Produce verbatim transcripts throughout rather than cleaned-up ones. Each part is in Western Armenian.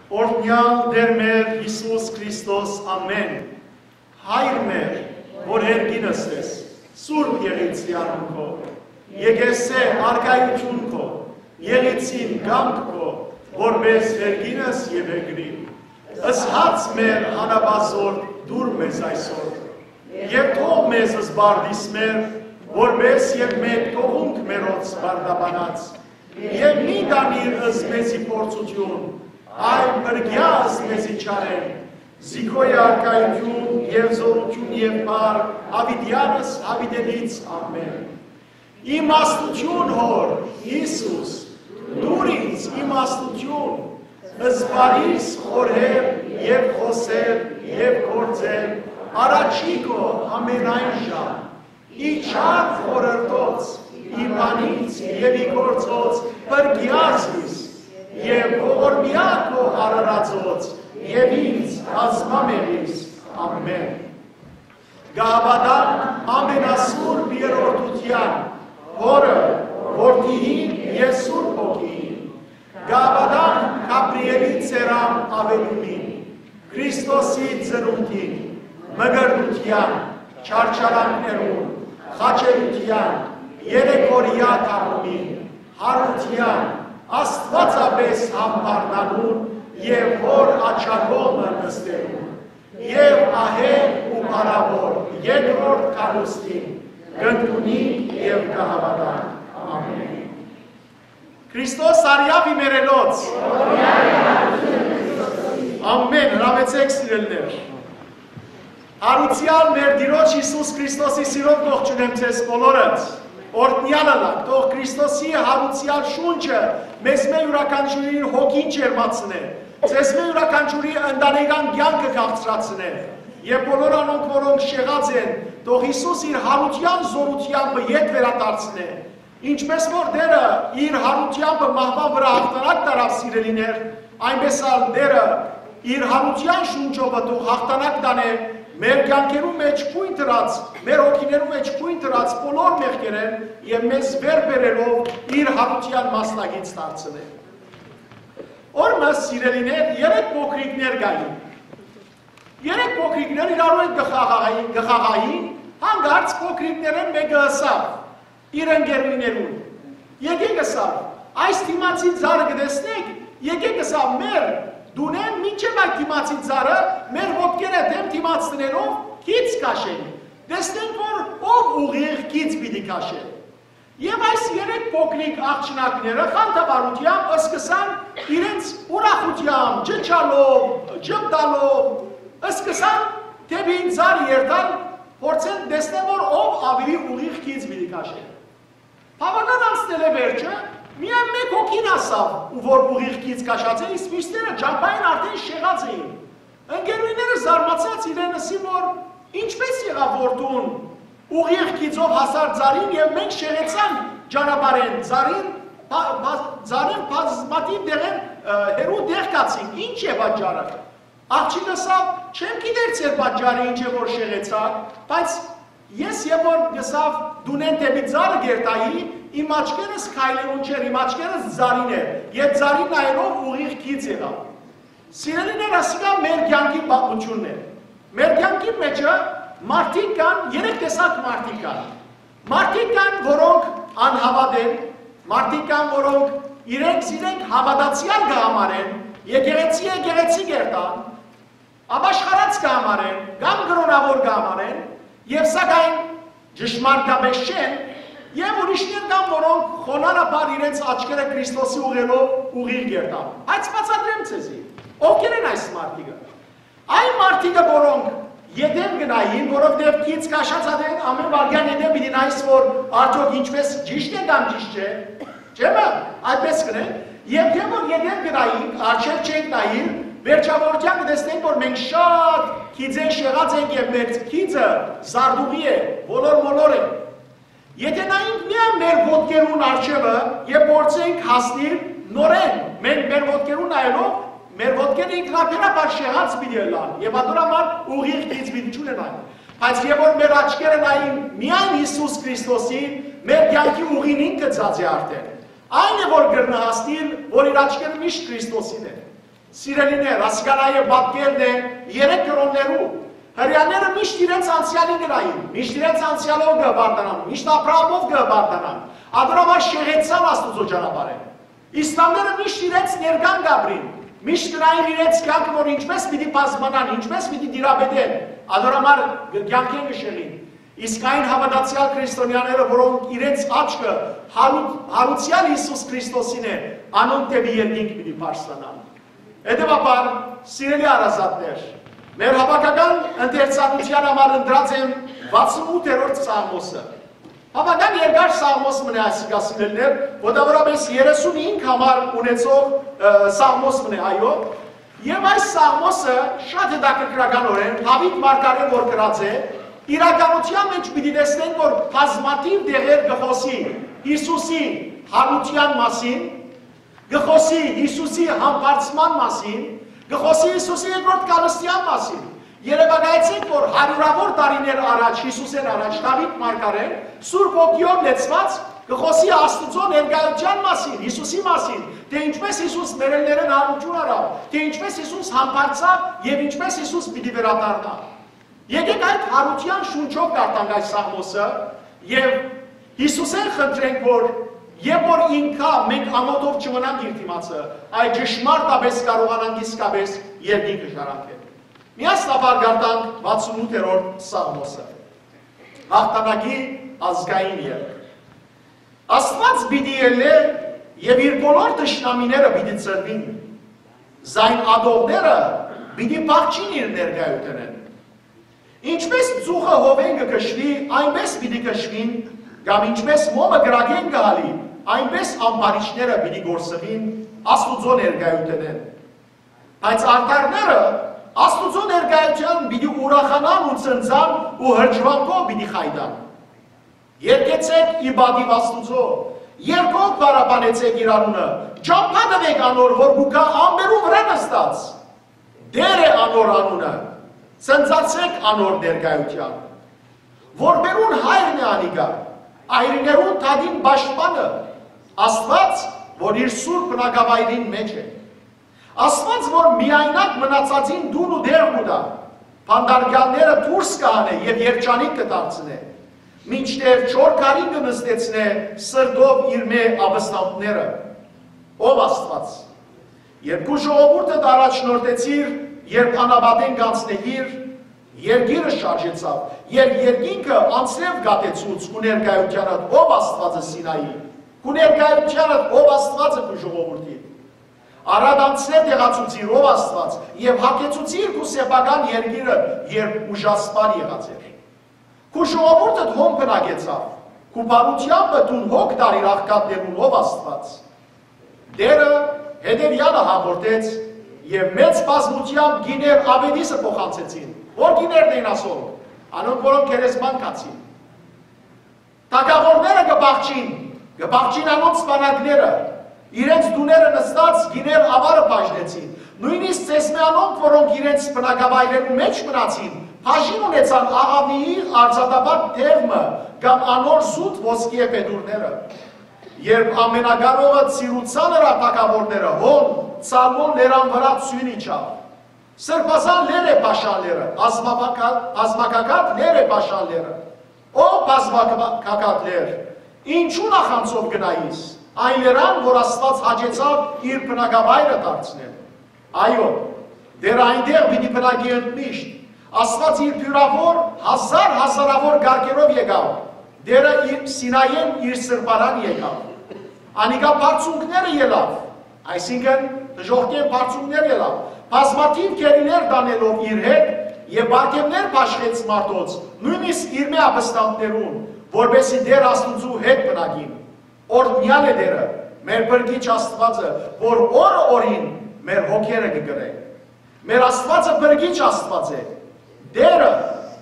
Օրհնեալ Տէր մեր Յիսուս Քրիստոս, ամէն։ Հայր մեր, որ երկինս ես, սուրբ եղիր անունքով։ Եկեսէ արքայութիւն քո, եղիր կամք քո, որպէս երկինս եւ երկրի։ Ըսհաց մեր հանապազորդ դուր մեզ այսօր, եւ թող մեզ զբաղիս մեր, որպէս եւ մենք թողունք մերոց բարդաբանած, եւ մի տանիր ըս մեզի փորձութիւն, այլ փրկեա ըս մեզի չարէն, զի քո է արքայութիւն եւ զօրութիւն եւ փառք, յաւիտեանս յաւիտենից, ամէն։ Իմաստութիւն, Հօր, Յիսուս, տուր ինձ իմաստութիւն, զբաղիս խորհել եւ խօսել եւ գործել առաջի քո ամենայն ժամ, ի չար խորհրդոց, ի բանից եւ ի գործոց փրկեա զիս, եւ ողորմեա քո արարածոց եւ ինձ բազմամեղիս, ամէն։ Կը հաւատանք ամենասուրբ երրորդութեան, Հօրը, Որդիին եւ Սուրբ Հոգիին։ Կը հաւատանք Գաբրիէլի ծերան աւելումին, Քրիստոսի ծնունդին, մկրտութեան, չարչարանքներուն, խաչելութեան, երեք օրեայ թաղումին, յարութեան, աստուածապէս համբարձանալուն եւ Հօր աջակողմը նստելուն, եւ ահեղ ու փառաւոր երկրորդ գալուստին կ'ընդունինք եւ կը հաւատանք։ Ամէն։ Քրիստոս արեաւ իմերելոց։ Ամէն, հրամեցէք, սիրելիներ։ Յարուցեալ մեր Տիրոջ Յիսուս Քրիստոսի սիրով կողջունեմ ձեզ բոլորը։ Օրհնեալ ըլլաք, թող Քրիստոսի յարուցեալ շունչը մեզմէ իւրաքանչիւրին հոգին ջերմացնէ, ձեզմէ իւրաքանչիւրի ընտանեկան կեանքը քաղցրացնէ, եւ բոլոր անոնք, որոնք շեղած են, թող Յիսուս իր յարութեան զօրութեամբը ետ վերադարձնէ, ինչպէս որ Տէրը իր յարութեամբը մահուան վրայ յաղթանակ տարաւ, սիրելիներ, այնպէս ալ Տէրը իր յարութեան շունչովը թող յաղթանակ տանէ մեր կեանքերու մեջ գոյն դրած, մեր հոգիներու մեջ գոյն դրած բոլոր մեղքերէն եւ մեզ վեր բերելով իր յարութեան մասնակից դարձնէ։ Օրմը, սիրելիներ, երեք փոքրիկներ կային։ Երեք փոքրիկներ իրարու հետ կը խաղային, կը խաղային, հանկարծ փոքրիկներէն մէկը ըսաւ իր ընկերուհիներուն. «Եկեք», ըսաւ, «այս դիմացի ծառը կը տեսնեք, եկեք», ըսաւ, «մեր տունէն մինչեւ այդ դիմացի ծառը մեր ոտքերը դէմ դիմաց դնելով քիծ քաշենք, տեսնենք, որ ով ուղիղ քիծ պիտի քաշէ»։ Եւ այս երեք փոքրիկ աղջնակները խանդավառութեամբ սկսան իրենց ուրախութեամբ, ճչալով, ճպտալով, սկսան դէպի ծառ երթալ, փորձեն տեսնել, որ ով աւելի ուղիղ քիծ պիտի քաշէ։ Բաւական անցնելէ վերջը, միայն մէկ հոգին հասաւ, ու որ ուղիղ քիծ քաշած է, իսկ մյուսները ճամբային արդէն շեղած էին։ Ընկերուհիները զարմացած իրեն ըսին, որ ինչպէս եղաւ, որ դուն ուղիղ քիծով հասար ծառին եւ մենք շեղեցանք ճանապարհէն, ծառին բա-, բա-, ծառին բազմաթիւ դեղեր, ը, հեռու դեղ գացին, ի՞նչ է պատճառը։ Աղջիկը ըսաւ. «Չեմ գիտեր ձեր պատճառը ինչ է որ շեղեցաք, բայց ես երբ որ գսաւ տունէն դէպի ծառը կերթայի, իմ աչքերս քայլերուն չէր, իմ աչքերս ծառին էր, եւ ծառին նայելով ուղիղ քիծ եղաւ»։ Սիրելիներ, ասիկա մեր կեանքի պատմութիւնն է։ Մեր կեանքի մեջը մարդիկ կան, երեք տեսակ մարդիկ կան։ Մարդիկ կան, որոնք անհաւատ են, մարդիկ կան, որոնք իրենց իրենք հաւատացեալ կը համարեն, եկեղեցի եկեղեցի կերտան, ապաշխարած կը համարեն, կամ կրոնաւոր կը համարեն, եւ սակայն ճշմարտապէս չեն, եւ ուրիշներ կան, որոնք խոնարհաբար իրենց աչքերը Քրիստոսի ուղղելով ուղիղ կերտան։ Բայց բացատրեմ ձեզի, ովքեր են այս մարդիկը։ Այն մարդիկը, որոնք ետեմ գնային, որովհետեւ քիծ քաշած ատեն ամէն վարքյան ետեմ պիտի նայես, որ արդյոք ինչպես ճիշտ է կամ ճիշտ չէ, չէ՞ մը, այդպես կնեն, եւ դե որ ետեմ գնային, արջեր չենք նայիր, վերջավորության կտեսնենք, որ մենք շատ քիծեն շեղած ենք եւ մեր քիծը զարտուղի է, ոլոր-մոլոր է։ Եթէ նայենք միայն մեր ոտքերուն առջեւը եւ փորձենք հասնիլ նորէն, մենք մեր ոտքերուն նայելով, մեր ոտքերը ինքնաբերաբար շեղած պիտի ըլլան եւ ատոր համար ուղիղ քիծ պիտի չունենան։ Բայց երբ որ մեր աչքերը նային միայն Յիսուս Քրիստոսին, մեր կեանքի ուղին ինքը ծած է արդեն։ Այն է, որ կրնա հասնիլ, որ իր աչքերը միշտ Քրիստոսին է։ Սիրելիներ, ասիկա նաեւ պատկերն է երեք կրօններու։ Հրեաները միշտ իրենց անցեալին կը նային, միշտ իրենց անցեալով կը հպարտանան, միշտ Աբրահամով կը հպարտանան։ Ատոր համար շեղեցան Աստուծոյ ճանապարհը։ Իսլամները միշտ իրենց ներկան կ'ապրին, միշտ կը նային իրենց կեանքը, որ ինչպէս պիտի բազմանան, ինչպէս պիտի տիրապետեն, ատոր համար կը-, կեանքէն կը շեղին։ Իսկ այն հաւատացեալ քրիստոնեաները, որոնք իրենց աչքը հարու-, յարուցեալ Յիսուս Քրիստոսին է, անոնք դէպի երկինք պիտի բարձրանան։ Հետեւաբար, սիրելի հարազատներ, մեր հաւաքական ընթերցանութեան համար ընտրած եմ վաթսուն ութերորդ Սաղմոսը։ Բաւական երկար Սաղմոս մըն է այսիկա, սիրելիներ, մոտաւորապէս երեսունհինգ համար ունեցող, ը, Սաղմոս մըն է, այո։ Եւ այս Սաղմոսը շատ հետաքրքրականօրէն Դաւիթ մարգարէ որ գրած է, իրականութեան մէջ պիտի տեսնենք, որ բազմաթիւ տեղեր կը խօսի Յիսուսի յարութեան մասին, կը խօսի Յիսուսի համբարձման մասին, կը խօսի Յիսուսի երկրորդ գալստեան մասին։ Երեւակայեցէք, որ հարիւրաւոր տարիներ առաջ, Յիսուսէն առաջ, Դաւիթ մարգարէն Սուրբ Հոգիով լեցուած կը խօսի Աստուծոյ ներկայութեան մասին, Յիսուսի մասին, թէ ինչպէս Յիսուս մեռելներէն յարութիւն առաւ, թէ ինչպէս Յիսուս համբարձաւ եւ ինչպէս Յիսուս պիտի վերադառնայ։ Եկէք այդ յարութեան շունչով կարդանք այս Սաղմոսը եւ Յիսուսէն խնդրենք, որ երբ որ ինքա մենք ամօթով չմնանք իր դիմացը, այլ ճշմարտապէս կարողանանք իսկապէս երկինքը ժառանգել։ Միասնաբար կարդանք վաթսուն ութերորդ Սաղմոսը։ Յաղթանակի ազգային երգ։ Աստուած պիտի ելլէ եւ իր բոլոր թշնամիները պիտի ցրուին, զայն ատողները պիտի փախչին իր ներկայութենէն։ Ինչպէս ծուխը հովէն կը քշուի, այնպէս պիտի քշուին, կամ ինչպէս մոմը կրակէն կը հալի, այնպէս ամբարիշները պիտի կորսուին Աստուծոյ ներկայութենէն։ Բայց արդարները Աստուծոյ ներկայութեան պիտի ուրախանան ու ցնծան ու հրճուանքով պիտի խայտան։ Երգեցէք ի պատիւ Աստուծոյ, երգով փառաբանեցէք իր անունը, ճամբայ տուէք անոր, որ կու գայ ամպերուն վրայ նստած։ Տէր է անոր անունը, ցնծացէք անոր ներկայութեան։ Որբերուն հայրն է անիկա, այրիներուն դատին պաշտպանը, Աստուած, որ իր սուրբ բնակավայրին մէջ է։ Աստուած, որ միայնակ մնացածին տուն ու տեղ կու տայ, բանտարկեալները դուրս կը հանէ եւ երջանիկ կը դարձնէ, մինչդեռ չոր քարին կը նստեցնէ սրտով իրմէ ապստամբները։ Ով Աստուած, երբ քու ժողովուրդդ առաջնորդեցիր, երբ անապատէն կանցնէիր, երկիրը շարժեցաւ, երբ երկինքը անձրեւ կաթեցուց քու ներկայութեանդ, ով Աստուածը Սինայի, քու ներկայութեանդ, ով Աստուածը քու ժողովուրդի։ Արդ անձրեւ տեղացուցիր, ով Աստուած, եւ հագեցուցիր քու սեփական երկիրը, երբ ուժասպառ եղած էր։ Քու ժողովուրդդ հոն բնակեցաւ, քու բարութեամբը դուն հոգ տար իր աղքատներուն, ով Աստուած։ Տէրը հետեւեալը հաղորդեց, եւ մեծ բազմութեամբ կիներ աւետիսը փոխանցեցին։ Ո՞ր կիներն էին ասոր։ Անոնք, որոնք գերեզման գացին։ Թագաւորները կը փախչին, կը փախչին անոնց սպանակները, իրենց տուները նստած կիներ աւարը բաժնեցին։ Նոյնիսկ ձեզմէ անոնք, որոնք իրենց բնակավայրերու մէջ մնացին, բաժին ունեցան Աղաւնիի արծաթապատ թեւ մը կամ անոր զուտ ոսկիէ փետուրները։ Երբ Ամենակարողը ծիրուցան նրա թագաւորները, հոն Ցալմոն լերան վրայ ձիւն իջաւ։ Սրբազան լեր է Բաշան լերը, բազմապակա-, բազմակակատ լեր է Բաշան լերը։ Ո բազմակակատ լեր, ինչու նախանձով գնայիս այն լերան, որ Աստուած հաճեցաւ իր բնակավայրը դարձնել։ Այո, Տէրը այնտեղ պիտի բնակի ընդմիշտ։ Աստուած իր բիւրաւոր, հազար հազարաւոր կարգերով եկաւ։ Տէրը իր Սինայէն իր սրբարան եկաւ։ Անիկա բարձունքները ելաւ, այսինքն՝ դժոխքէն բարձունքներ ելաւ, բազմաթիւ գերիներ տանելով իր հետ, եւ պարգեւներ բաշխեց մարդոց, նոյնիսկ իրմէ ապստամբներուն, որպէս զի Տէր Աստուծոյ հետ բնակին։ Օրհնեալ է Տէրը, մեր Փրկիչ Աստուածը, որ օրը օրին մեր հոգերը կը կրէ։ Մեր Աստուածը Փրկիչ Աստուած է։ Տէրը,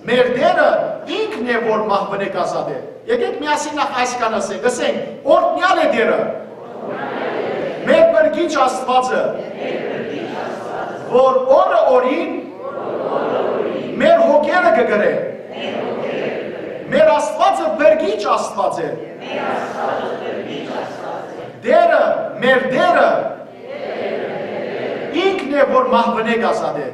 մեր Տէրը ինքն է, որ մահուընէ կ'ազատէ։ Եկէք միասին նախ այսքան ըսենք, ըսենք. «Օրհնեալ է Տէրը, մեր Փրկիչ Աստուածը, որ օրը օրին մեր հոգերը կը կրէ»։ Մեր Աստուածը Փրկիչ Աստուած է։ Տէրը, մեր Տէրը Ինքն է, որ մահուենէ կ'ազատէ։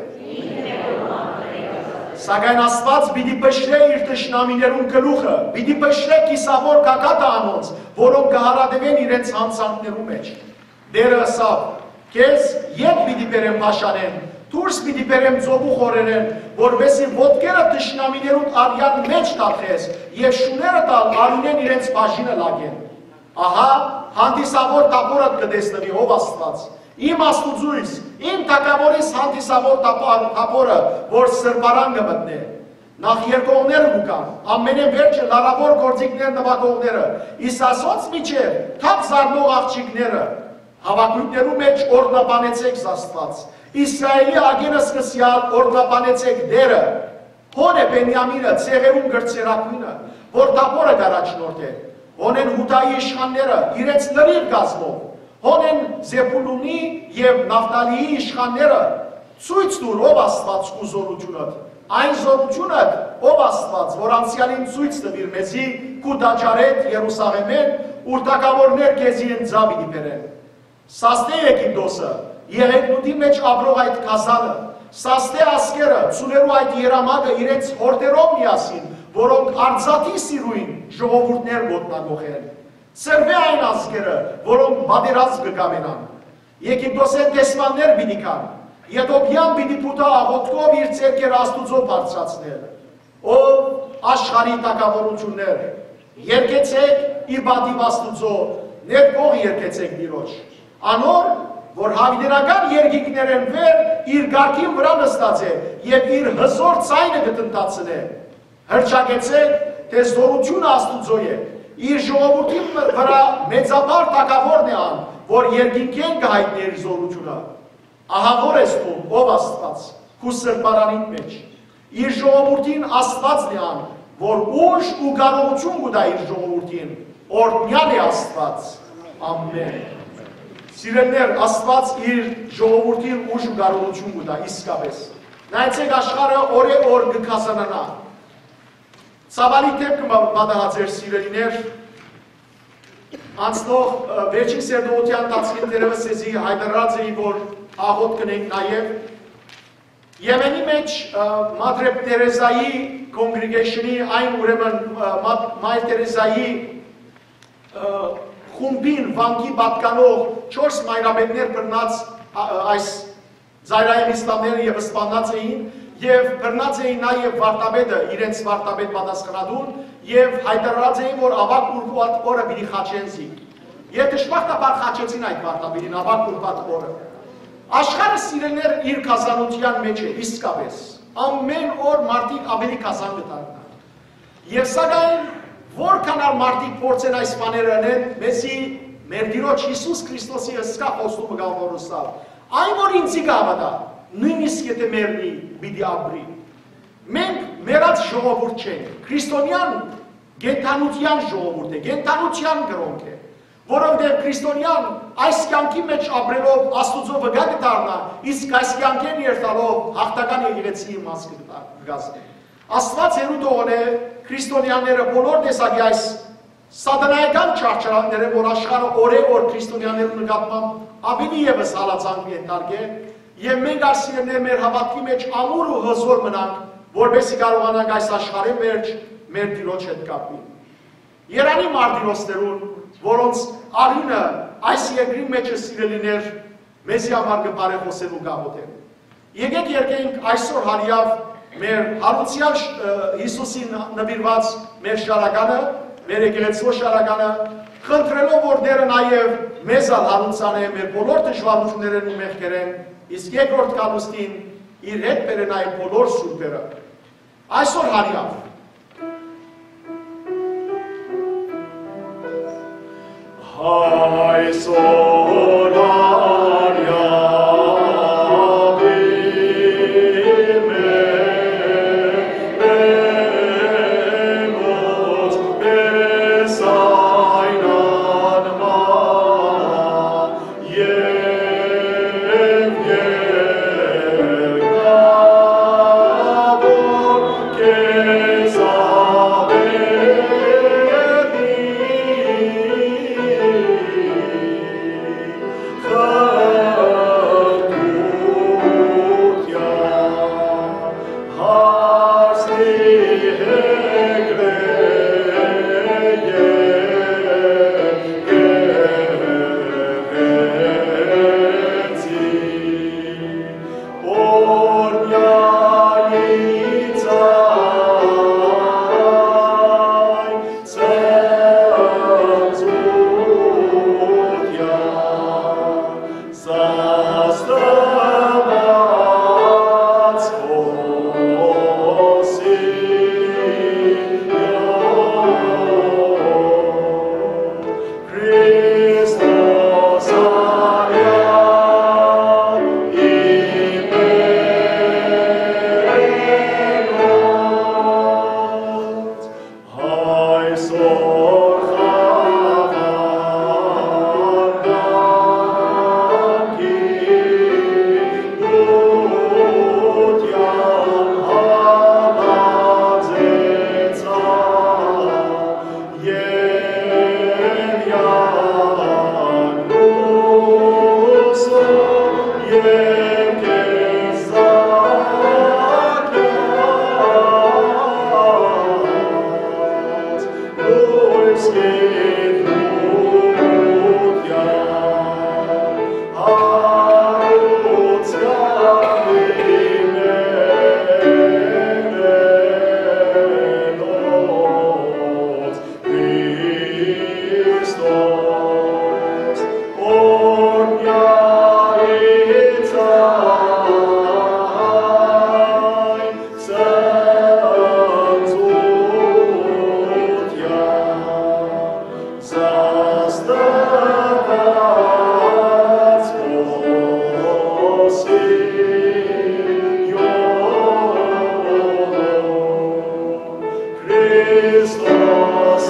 Սակայն Աստուած պիտի փշրէ իր թշնամիներուն գլուխը, պիտի փշրէ կիսաւոր գագաթը անոնց, որոնք կը յարատեւեն իրենց յանցանքներու մէջ։ Տէրը ըսաւ. «Քեզ ետ պիտի բերեմ Բաշանէն, դուրս պիտի բերեմ ծովու խորերէն, որպէս զի ոտքերը թշնամիներուդ արեան մէջ թափես եւ շուներդ ալ արիւնէն իրենց բաժինը լակեն»։ Ահա, հանդիսաւոր թափօրդ կը տեսնուի, ով Աստուած։ Իմ Աստուծոյս, իմ թագաւորիս հանդիսաւոր թափ-, թափօրը, որ սրբարան կը մտնէ։ Նախ երկողները կու գան, ամենէն վերջը լարաւոր գործիքներ նուագողները, իսկ ասոնց միջեւ թափ զարնող աղջիկները։ Հաւակոյտներու մէջ օրհնաբանեցէք Աստուած, Իսրայէլի ակէն սկսեալ օրհնաբանեցէք Տէրը։ Հոն է Բենիամինը, ցեղերուն կրտսերագոյնը, որ թափօրը կ'առաջնորդէ։ Հոն են Յուդայի իշխանները, իրենց լրիվ կազմով։ Հոն են Զեբուլունի եւ Նաֆթալիի իշխանները։ Ցոյց տուր, ով Աստուած, քու զօրութիւնդ, այն զօրութիւնդ, ով Աստուած, որ անցեալին ցոյց տուիր մեզի քու տաճարէդ Երուսաղէմէն, ուր թագաւորներ քեզի ընծայ պիտի բերեն։ Սաստէ Եգիպտոսը, եղեգնուտի մէջ ապրող այդ գազանը, սաստէ ազգերը, ծուլերու այդ երամակը իրենց հորդերով միասին, որոնք արծաթի սիրոյն ժողովուրդներ կ'ոտնակոխեն։ Ցրուէ այն ազգերը, որոնք պատերազմ կը կամենան։ Եգիպտոսէն դեսպաններ պիտի գան, Եթովպիան պիտի փութայ աղօթքով իր ձեռքերը Աստուծոյ բարձրացնել։ Ով աշխարհի թագաւորութիւններ, երգեցէք ի պատիւ Աստուծոյ, ներբող երգեցէք Տիրոջ։ Անոր, որ յաւիտենական երկինքներէն վեր իր կարգին վրայ նստած է եւ իր հզօր ձայնը կը տնտացնէ։ Հռչակեցէք, թէ զօրութիւնը Աստուծոյ է, իր ժողովուրդին վրայ մեծապար թագաւորն է ան, որ երկինքէն կը յայտնէ իր զօրութիւնը։ Ահա որ ես դուն, ով Աստուած, քու սրբարանիդ մէջ։ Իր ժողովուրդին Աստուածն է ան, որ ուժ ու կարողութիւն կու տայ իր ժողովուրդին, օրհնեալ է Աստուած։ Ամէն։ Սիրելիներ, Աստուած իր ժողովուրդին ուժ ու կարողութիւն կու տայ իսկապէս։ Նայեցէք, աշխարհը օրէ օր կը գազանանայ։ Ցաւալի դէպք մը պատահած էր, սիրելիներ, անցնող, ը, վերջին սերտողութեան ընթացքին դեռեւս ձեզի յայտարարած էի, որ աղօթք կ'ընենք նաեւ։ Եմենի մէջ, ը, Մադրե Տերեզայի congregation-ի, այն ուրեմն, ը, Մա-, Մայր Տերեզայի, ը, խումբին վանքի պատկանող չորս մայրապետներ բռնած, ա, ա, այս ծայրայեղ իսլամները եւ սպաննած էին, եւ բռնած էին նաեւ վարդապետը, իրենց վարդապետ պատասխանատուն, եւ յայտարարած էին, որ աւագ ուրբաթ օրը պիտի խաչեն զինք։ Եւ դժբախտաբար խաչեցին այդ վարդապետին, աւագ ուրբաթ օրը։ Աշխարհը, սիրելիներ, իր գազանութեան մէջ է, իսկապէս։ Ամէն օր մարդիկ աւելի գազան կը դառնան։ Եւ սակայն, որքան ալ մարդիկ փորձեն այս բաները ընեն, մեզի մեր Տիրոջ Յիսուս Քրիստոսի հսկայ խոստումը կա, որ ըսաւ. «Այն, որ ինձի կհաւատայ, նոյնիսկ եթէ մեռնի, պիտի ապրի»։ Մենք մեռած ժողովուրդ չենք, քրիստոնեան կենդանութեան ժողովուրդ է, կենդանութեան կրոնք է, որովհետեւ քրիստոնեան այս կեանքի մէջ ապրելով Աստուծոյ վկայ կը դառնայ, իսկ այս կեանքէն երթալով յաղթական եկեղեցիի մաս կը կա-, կը կազմի։ Աստուած հեռու թողնէ քրիստոնեաները բոլոր տեսակի այս սատանայական չարչարանքներէն, որ աշխարհը օրէ օր քրիստոնեաներու նկատմամբ աւելի եւս հալածանք կ'ենթարկէ, եւ մենք, սիրելիներ, մեր հաւատքի մէջ ամուր ու հզօր մնանք, որպէս զի կարողանանք այս աշխարհի մէջ մեր Տիրոջ հետ կապել։ Երանի մարտիրոսներուն, որոնց արիւնը այս երկրին մէջ է, սիրելիներ, մեզի համար կը բարեխօսեն ու կ'աղօթեն։ Եկէք երգենք այսօր հարիաւ մեր Յարուցեալ Յ-, ը, Յիսուսին նուիրուած մեր շարականը, մեր եկեղեցւոյ շարականը, խնդրելով, որ Տէրը նաեւ մեզ ալ յարուցանէ մեր բոլոր դժուարութիւններէն ու մեղքերէն, իսկ երկրորդ գալուստին իր հետ բերէ նաեւ բոլոր սուրբերը։ Այսօր հարիաւ։ Այսօր Քրիստոս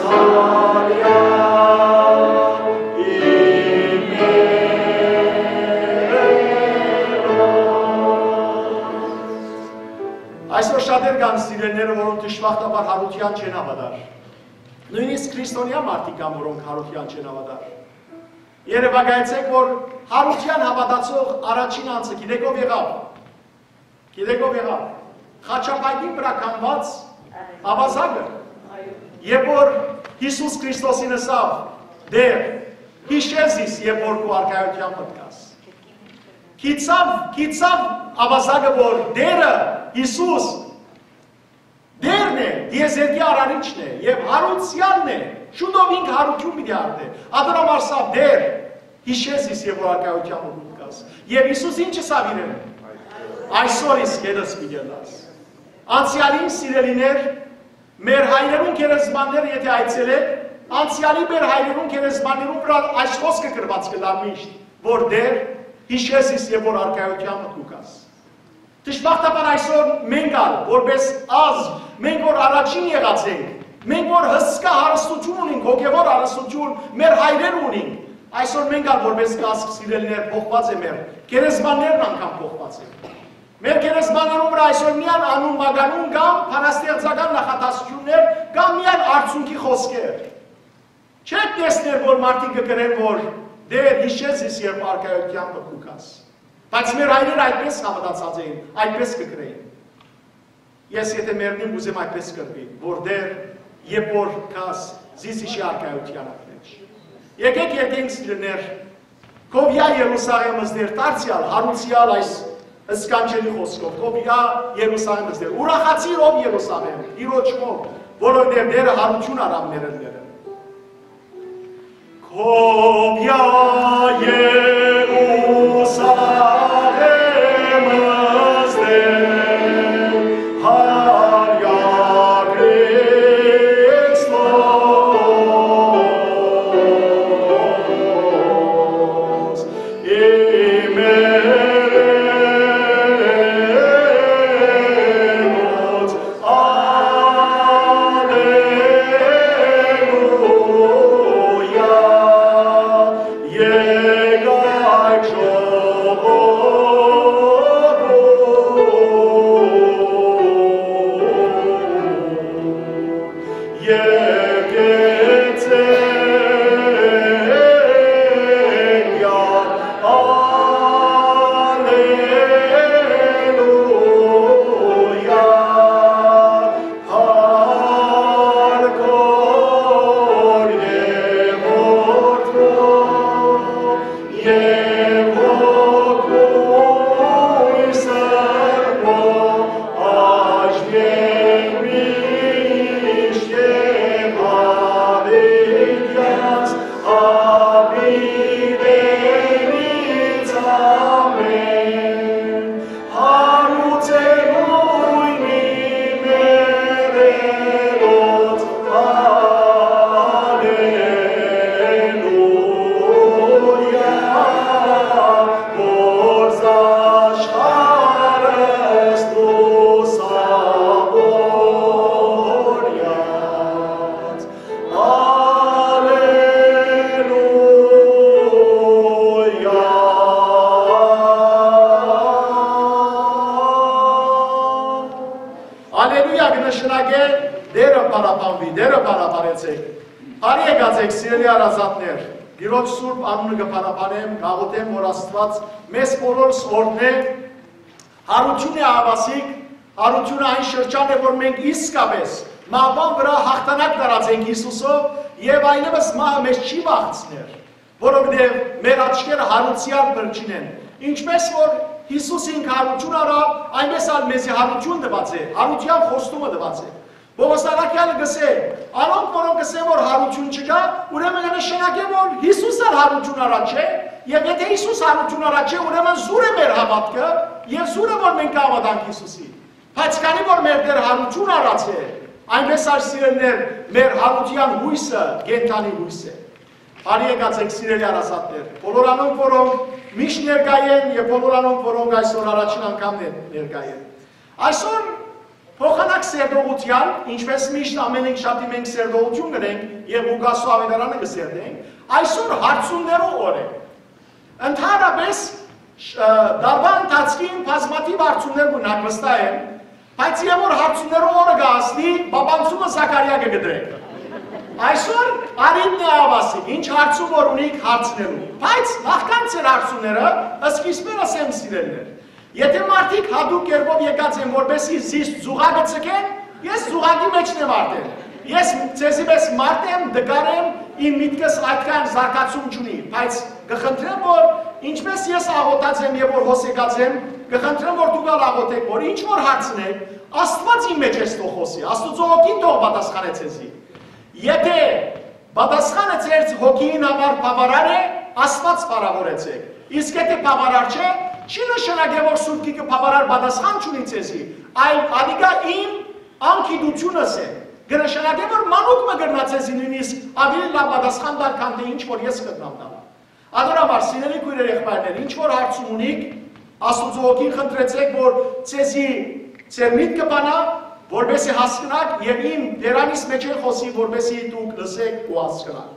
Այսօր շատեր կան սիրելիները, որոնք դժբախտաբար յարութեան չեն հաւատար։ Նոյնիսկ քրիստոնեայ մարդիկ կան, որոնք յարութեան չեն հաւատար։ Երեւակայեցէք, որ յարութեան հաւատացող առաջին անձը գիտեք ով եղաւ։ Գիտեք ով եղաւ։ Խաչապայտին վրայ կանգնած աւազակը։ Երբ որ Յիսուս Քրիստոսին ըսաւ. «Տէր, յիշէ զիս, երբ որ քու արքայութեան մտքաս»։ Գիտցաւ, գիտցաւ աւազակը, որ Տէրը, Յիսուս, Տէրն է, դիեզերքի արարիչն է եւ յարուցեալն է, շուտով ինք յարութիւն պիտի արտէ։ Ատոր համար սա Տէր, յիշէ զիս, երբ որ արքայութեան մտքաս։ Եւ Յիսուս ինչ ըսաւ իրեն. «Այսօր իսկ ետս պիտի ըլլաս»։ Անցեալին, սիրելիներ, մեր հայրերուն գերեզմանները եթէ այցելէք, անցեալի մեր հայրերուն գերեզմաններուն վրայ այս խօսքը գրուած կը լար միշտ, որ Տէր, յիշէ զիս, երբ որ արքայութեան մտքաս։ Դժբախտաբար այսօր մենք ալ, որպես ազգ, մենք որ առաջին եղած ենք, մենք որ հսկայ հարստութիւն ունենք, հոգեւոր հարստութիւն մեր հայրերը ունին, այսօր մենք ալ որպես ազգ, սիրելիներ, փոխուած է մեր գերեզմաններն անգամ փոխուած են։ Մեր գերեզմաններուն վրայ այսօր միայն անուն մականուն կամ բանաստեղծական նախադասութիւններ կամ միայն արցունքի խօսքեր։ Չէ՞ք տեսներ, որ մարդիկ կը գրեն, որ Տէր, յիշէ զիս, երբ արքայութեան մտքաս։ Բայց մեր հայրերը այդպես հաւատացած էին, այդպես կը գրէին։ Ես եթէ մեռնիմ, ուզեմ այդպես կրվի, որ Տէր, երբ որ գաս, զիս յիշի արքայութեան մէջ։ Եկէք, եկենք, սիրելիներ, քովիայ Երուսաղէմ ըսներ, դարձեալ, յարուցեալ այս սքանչելի խօսքով, քովիայ Երուսաղէմ ըսներ, ուրախացիր, ով Երուսաղէմ, Տիրոջ մով, որովհետեւ Տէրը յարութիւն առաւ մեր ըլներէն։ Քովիայ Երուսաղէմ ըսներ, Հարիա Քրիստոս, Ալելույա կը նշանակէ Տէրը փառաբանուի, Տէրը փառաբանեցէք։ Բարի եկած էք, սիրելի հարազատներ։ Տիրոջ սուրբ անունը կը փառաբանեմ, կաղոթեմ, որ Աստուած մեզ բոլորս օրհնէ։ Յարութիւնը, ահաւասիկ, յարութիւնը այն շրջան է, որ մենք իսկապէս մահուան վրայ յաղթանակ տարած ենք Յիսուսով եւ այլեւս մահը մեզ չի վախցներ, որովհետեւ մեր աչքերը յարուցեալ փնջին են։ Ինչպէս որ Յիսուս ինք յարութիւն առաւ, այնպէս ալ մեզի յարութիւն տուած է, յարութեան խոստումը տուած է։ Պօղլոս առաքեալը կ'ըսէ. «Անոնք, որոնք կ'ըսեն, որ յարութիւն չկայ, ուրեմն կը նշանակէ, որ Յիսուս ալ յարութիւն առած չէ, եւ եթէ Յիսուս յարութիւն առած չէ, ուրեմն զուր է մեր հաւատքը եւ զուր է, որ մենք կը հաւատանք Յիսուսի։ Բայց քանի որ մեր Տէր յարութիւն առած է, այնպէս ալ, սիրելիներ, մեր յարութեան յոյսը կենդանի յոյս է»։ Բարի եկած էք, սիրելի հարազատներ, բոլոր անոնք, որոնք Միշտ ներկայ են եւ բոլոր անոնք, որոնք այսօր առաջին անգամ ներ-, ներկայ են։ Այսօր փոխանակ սերտողութեան, ինչպես միշտ ամէն յինգշաբթի մենք սերտողութիւն կ'ընենք եւ Ղուկասու աւետարանը կը սերտենք, այսօր հարցումներու օր է։ Ընդհանրապես, շ-, ը, տարուան ընթացքին բազմաթիւ հարցումներ կու հագուստայ են, բայց եւ որ հարցումներու օրը կը հասնի, պապանցումը Զաքարիա կը կտրենք։ Այսօր արիդն է, ահա, ասի, ինչ հարցում որ ունիք, հարցնելու։ Բայց նախքան ձեր հարցումները, սկիզբը ըսեմ, սիրելիներ։ Եթե մարդիկ յատուկ կերպով եկած են, որպեսզի զիս զուգակը ցկեն, ես զուգակի մէջն եմ արդեն։ Ես ձեզի պես մարդ եմ, տկար եմ, իմ միտքս այդքան զարգացում չունի, բայց կը խնդրեմ, որ ինչպես ես աղոթած եմ եւ որ հոս եկած եմ, կը խնդրեմ, որ դուք ալ աղոթեք, որ ինչ որ հարցնեք, Աստուած իմ մէջ ես թող խօսի, Աստուծոյ հոգին թող պատասխանէ ձեզի։ Եթե պատասխանը ձեր հոգիին համար բաւարար է, Աստուած փառաւորեցէք։ Իսկ եթե բաւարար չէ, չի նշանակեր, որ Սուրբ Գիրքը բաւարար պատասխան չունի ձեզի, այլ ատիկա իմ անգիտությունս է։ Կը նշանակէ, որ մանուկ մը կրնայ ձեզի նոյնիսկ աւելի լաւ պատասխան տալ, քան թէ ինչ որ ես կրնամ տալ։ Ատոր համար, սիրելի քոյրեր, եղբայրներ, ինչ որ հարցում ունիք, Աստուծոյ հոգին խնդրեցէք, որ ձեզի ձեր միտքը բանայ, որպեսզի հասկնաք, եւ իմ բերանիս մէջէն խօսի, որպեսզի դուք լսեք ու հասկնաք։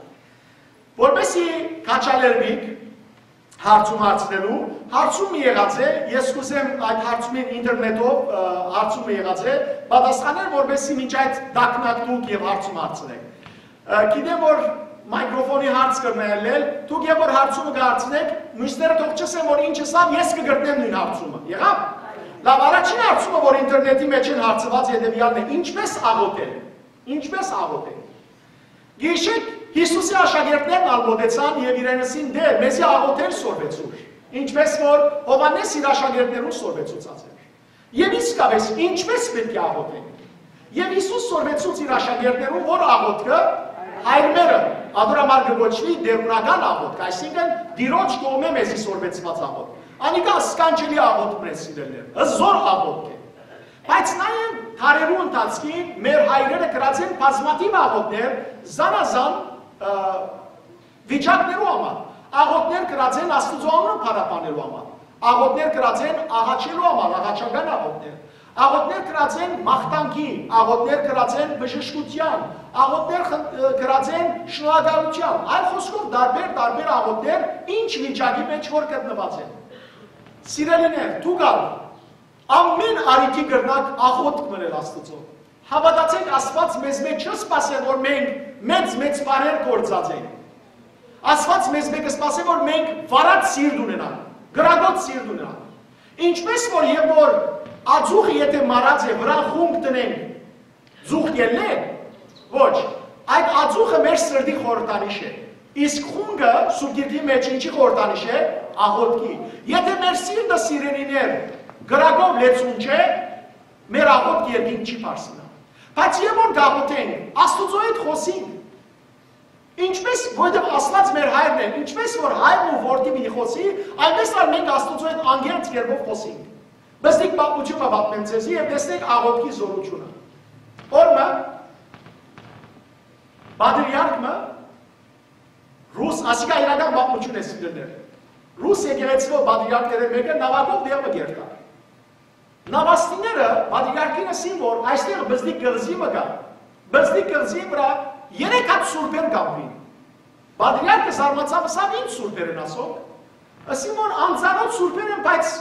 Որպեսզի քաջալերուիք հարցում հարցնելու, հարցումը եղած է, ես կ'ուզեմ այդ հարցումին ինտերնետով, ը, հարցումը եղած է, պատասխաներ, որպեսզի մինչ այդ տակնակ դուք եւ հարցում հարցնեք։ Ը, գիտեմ, որ մայկրոֆոնի հարց կրնայ ելլել, դուք երբ որ հարցումը կհարցնեք, մյուսները թող չըսեն, որ ինչ ըսաւ, ես կը գտնեմ նոյն հարցումը։ Եղա՞վ։ Լաւ, առաջին հարցումը, որ ինտերնետի մէջ են հարցուած, հետեւեալն է. ինչպե՞ս աղոթել։ Ինչպե՞ս աղոթել։ Գիշեր Յիսուսի աշակերտներն ալ մոտեցան եւ իրեն ըսին. «Տէր, մեզի աղոթել սորվեցուր, ինչպես որ Յովհաննէս իր աշակերտներուն սորվեցուցած էր»։ Եւ իսկապէս, ինչպես պէտք է աղոթենք։ Եւ Յիսուս սորվեցուց իր աշակերտներուն որ աղոթքը հայր մերը, ատոր համար կը կոչուի տէրունական աղոթք, այսինքն՝ Տիրոջ կողմէ մեզի սորվեցուած աղոթք։ Անիկա սքանչելի աղոթք մը է, սիրելիներ, հզօր աղոթք է։ Բայց նաեւ դարերու ընթացքին մեր հայրերը կրած են բազմաթիւ աղոթքներ, զանազան, ը, վիճակներու համար։ Աղոթքներ կրած են Աստուծոյ անունը փառաբանելու համար։ Աղոթքներ կրած են աղաչելու համար, աղաչական աղոթքներ։ Աղոթքներ կրած են մաղթանքի, աղոթքներ կրած են բժշկութեան, աղոթքներ խն-, ը, կրած են շնորհակալութեան։ Այլ խօսքով, տարբեր, տարբեր աղոթքներ, ինչ վիճակի մէջ որ գտնուած են։ Սիրելիներ, դուք ալ ամէն առիթի կրնաք աղոթք մընել Աստուծոյ։ Հաւատացէք, Աստուած մեզմէ չի սպասեր, որ մենք մեծ-մեծ բաներ գործած ենք։ Աստուած մեզմէ կը սպասէ, որ մենք վարած սիրտ ունենանք, կրակոտ սիրտ ունենանք։ Ինչպես որ, երբ որ ածուխը եթե մարած է, վրան խունկ դնենք, ծուխ կ'ելլե՞։ Ոչ, այդ ածուխը մեր սրտի խորհրդանիշ է։ Իսկ խունկը Սուրբ Գիրքի մէջ ինչի խորհրդանիշ է։ Աղոթքի։ Եթե մեր սիրտը, սիրելիներ, կրակով լեցուն չէ, մեր աղոթքը երկինք չի բարձրանայ։ Բայց երբ որ կաղոթենք, Աստուծոյ հետ խօսինք, ինչպես, որովհետեւ Աստուած մեր հայրն է, ինչպես որ հայրն ու որդի պիտի խօսի, այնպես ալ մենք Աստուծոյ հետ անկեղծ կերպով խօսինք։ Բզդիկ պատմութիւն մը պատմեմ ձեզի եւ տեսնենք աղոթքի զօրութիւնը։ Օրը մը պատրիարք մը, ռուս, ասիկա իրական պատմութիւն է, սիրելիներ, ռուս եկեղեցւոյ պատրիարքներէն մէկը նաւակով տեղ մը կ'երթար։ Նավաստիները պատրիարքին ըսին, որ այստեղ բզդիկ կղզի մը կայ, բզդիկ կղզիի վրայ երեք հատ սուրբեր կ'ապրին։ Պատրիարքը զարմացաւ, ըսաւ. «Ի՞նչ սուրբեր են ասոնք»։ Ըսին, որ անծանօթ սուրբեր են, բայց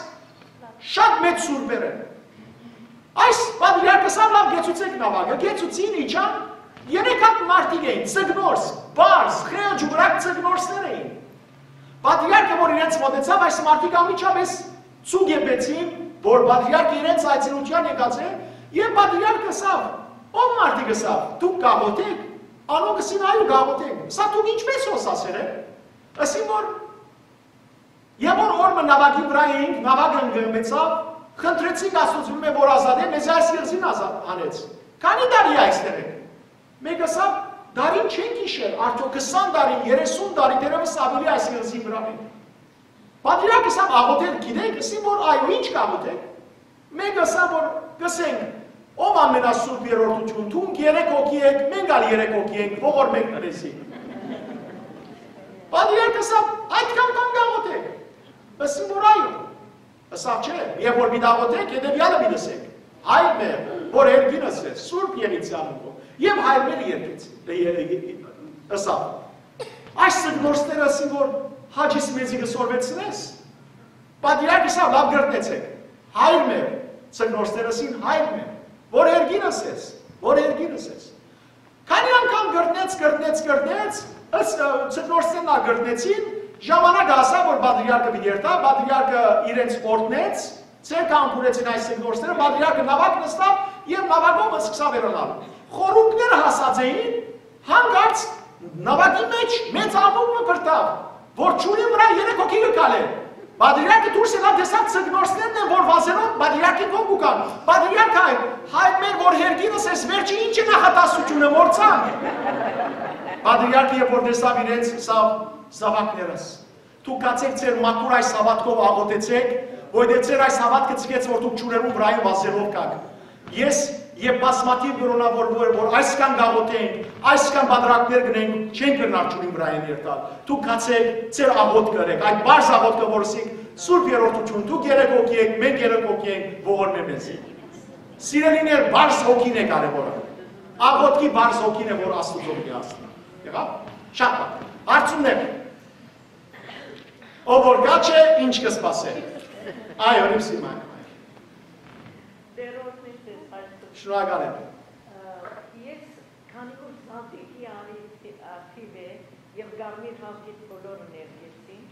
շատ մեծ սուրբեր են։ Այս պատրիարքը ըսաւ. «Լաւ, կեցուցէք նաւակը»։ Կեցուցին, իջան, երեք հատ մարդիկ էին, ձկնորս, պարզ, խեղճ ու վրակ ձկնորսներ էին։ Պատրիարքը որ իրենց մոտեցաւ, այս մարդիկ անմիջապէս ծուգ եփեցին, որ պատրիարքը իրենց այցելութեան եկած է, եւ պատրիարքը ըսաւ. «Ո՞վ մարդիկ», ըսաւ, «դուք կաղոթեք»։ Անոնք ըսին. «Այո, կաղոթենք»։ Ըսաւ. «Դուք ինչպես հոս ասեր եք»։ Ըսին, որ երբ որ օրը մը նաւակի վրայ էինք, նաւակը ընկղմեցաւ, խնդրեցինք Աստուծմէ, որ ազատէ, մեզ այս կղզին ազատ հանեց։ Քանի՞ տարի է այստեղ եք։ Մէկը ըսաւ. «Դարին չենք յիշեր, արդեօք քսան տարի, երեսուն տարի, դեռեւս աւելի այս կղզին վրայ ենք»։ Պատրիարքը ըսաւ. «Աղոթել գիտեք»։ Ըսին, որ այո, ինչ կաղոթեք։ Մէկը ըսաւ, որ կ'ըսենք. «Ով ամենասուրբ երրորդութիւն, դուք երեք հոգի եք, մենք ալ երեք հոգի ենք, ողորմեք մեզի»։ Պատրիարքը ըսաւ. «Այդքան բան կաղոթեք»։ Ըսին որ այո։ Ըսաւ չէ, երբ որ պիտի աղօթէք, հետեւեալը պիտի ըսէք. «Հայր մեր, որ երկինս ես, սուրբ եղի ձեանունքով»։ Եւ հայր մեր երկեց, ե-, ե-, ե-, ըսաւ։ Այս ձկնորսները ըսին որ Հաճիս մեզի կը սորվեցնես։ Պատրիարքը ըսաւ. «Լաւ, կրկնեցէք. Հայր մեր», ձկնորսները ըսին. «Հայր մեր, որ երկինս ես, որ երկինս ես»։ Քանի անգամ կրկնեց, կրկնեց, կրկնեց, ըս-, ը, ձկնորսներն ալ կրկնեցին, ժամանակը հասաւ որ պատրիարքը պիտի երթայ, պատրիարքը իրենց օրհնեց, ձեռքը անգուրեցին այս ձկնորսները, պատրիարքը նաւակ նստաւ եւ նաւակով սկսաւ հեռանալ։ Խորունկները հասած էին, հանկարծ նաւակի մէջ մեծ աղմուկ մը բրդաւ, որ ջուրին վրայ երեք հոգի կը քալէ։ Պատրիարքը դուրս ելաւ, տեսաւ ձկնորսներն են որ վազելով պատրիարքին կողմ կու գան։ «Պատրիարք հայր, հայր մեր որ երկինս ես, վերջի ի՞նչ է նախատասությունը, մոռցան»։ Պատրիարքը երբ որ տեսաւ իրենց, ըսաւ. «Զաւակներս, դուք գացէք ձեր մաքուր այս հաւատքով աղօթեցէք, որովհետեւ ձեր այս հաւատքը ձգեց որ դուք ջուրերուն վրայ վազելով գաք։ Ես եւ բազմաթիվ կրոնա որ, որ, որ այսքան կաղօթենք, այսքան պատրիարքներ գնենք, չենք կրնար ջուրին վրայ երթալ։ Դուք գացէք, ձեր աղօթքը ըրեք, այդ պարզ աղօթքը որ ըսինք, Սուրբ Երրորդութիւն, դուք երեք հոգի եք, մենք երեք հոգի ենք, ողորմէ մեզի»։ Սիրելիներ, պարզ հոգին է կարեւորը։ Աղօթքի պարզ հոգին է որ Աստուծոյ պիտի հասնի։ Եղա՞վ։ Շատ լաւ։ Հարցումներ։ Ով որ կաջ է, ինչ կը սպասէ։ Այո, Լիւսի մայր։ Տերոս միշտ ես այսօր։ Շնորհակալ եմ։ Ը, ես քանի որ Զատիկի արի-, ա, թիվ է եւ Կարմիր Հաւկիթ բոլորը ներկեցին,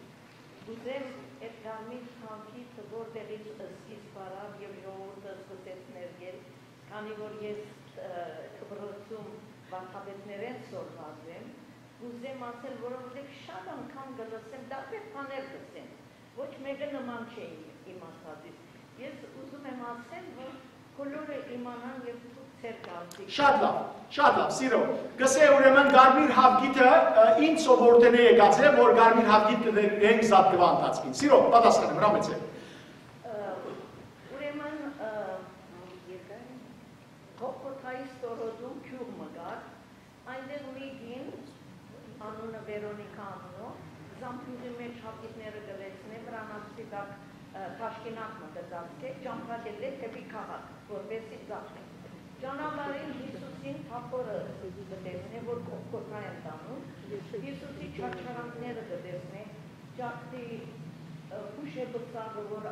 ուզեմ այդ Կարմիր Հաւկիթը որտեղից սկիզբ առաւ եւ ժողովուրդը սկսեց ներկել, քանի որ ես, ը, կբրոցում վարդապետներէն սորված եմ, ուզեմ ասել, որովհետեւ շատ անգամ կը լսեմ, տարբեր բաներ լսեմ, ոչ մէկը նման չէ իմ, իմ ասածից։ Ես ուզում եմ ասել, որ բոլորը իմանան եւ դուք ձեր կարծիքը։ Շատ լաւ, շատ լաւ, սիրով։ Կսե ուրեմն Կարմիր Հաւկիթը, ը, ինչ սովորութենէ եկած է, որ Կարմիր Հաւկիթ կը դենք զատկուան ընթացքին։ Սիրով, պատասխան եմ, հրամեցեք։ Ը, ուրեմն, ը, Կողկոթայի ստորոտում գիւղ մը կար, այնտեղ մի կին, անունը Վերոնիկա անունով, զամբիւղի մէջ հաւկիթները կը լեցնէ, վրանասպիտակ, ը, թաշկինակ մը կը ծածկէ, ճամբայ կ'ելլէ դէպի քաղաք, որպէսզի ծախէ։ Ճանապարհին Յիսուսին թափօրը կը տեսնէ, որ Կողկոթայ են տանում, Յիսուսի չարչարանքները կը տեսնէ, ճակտի, ը, փուշե բծակը, որ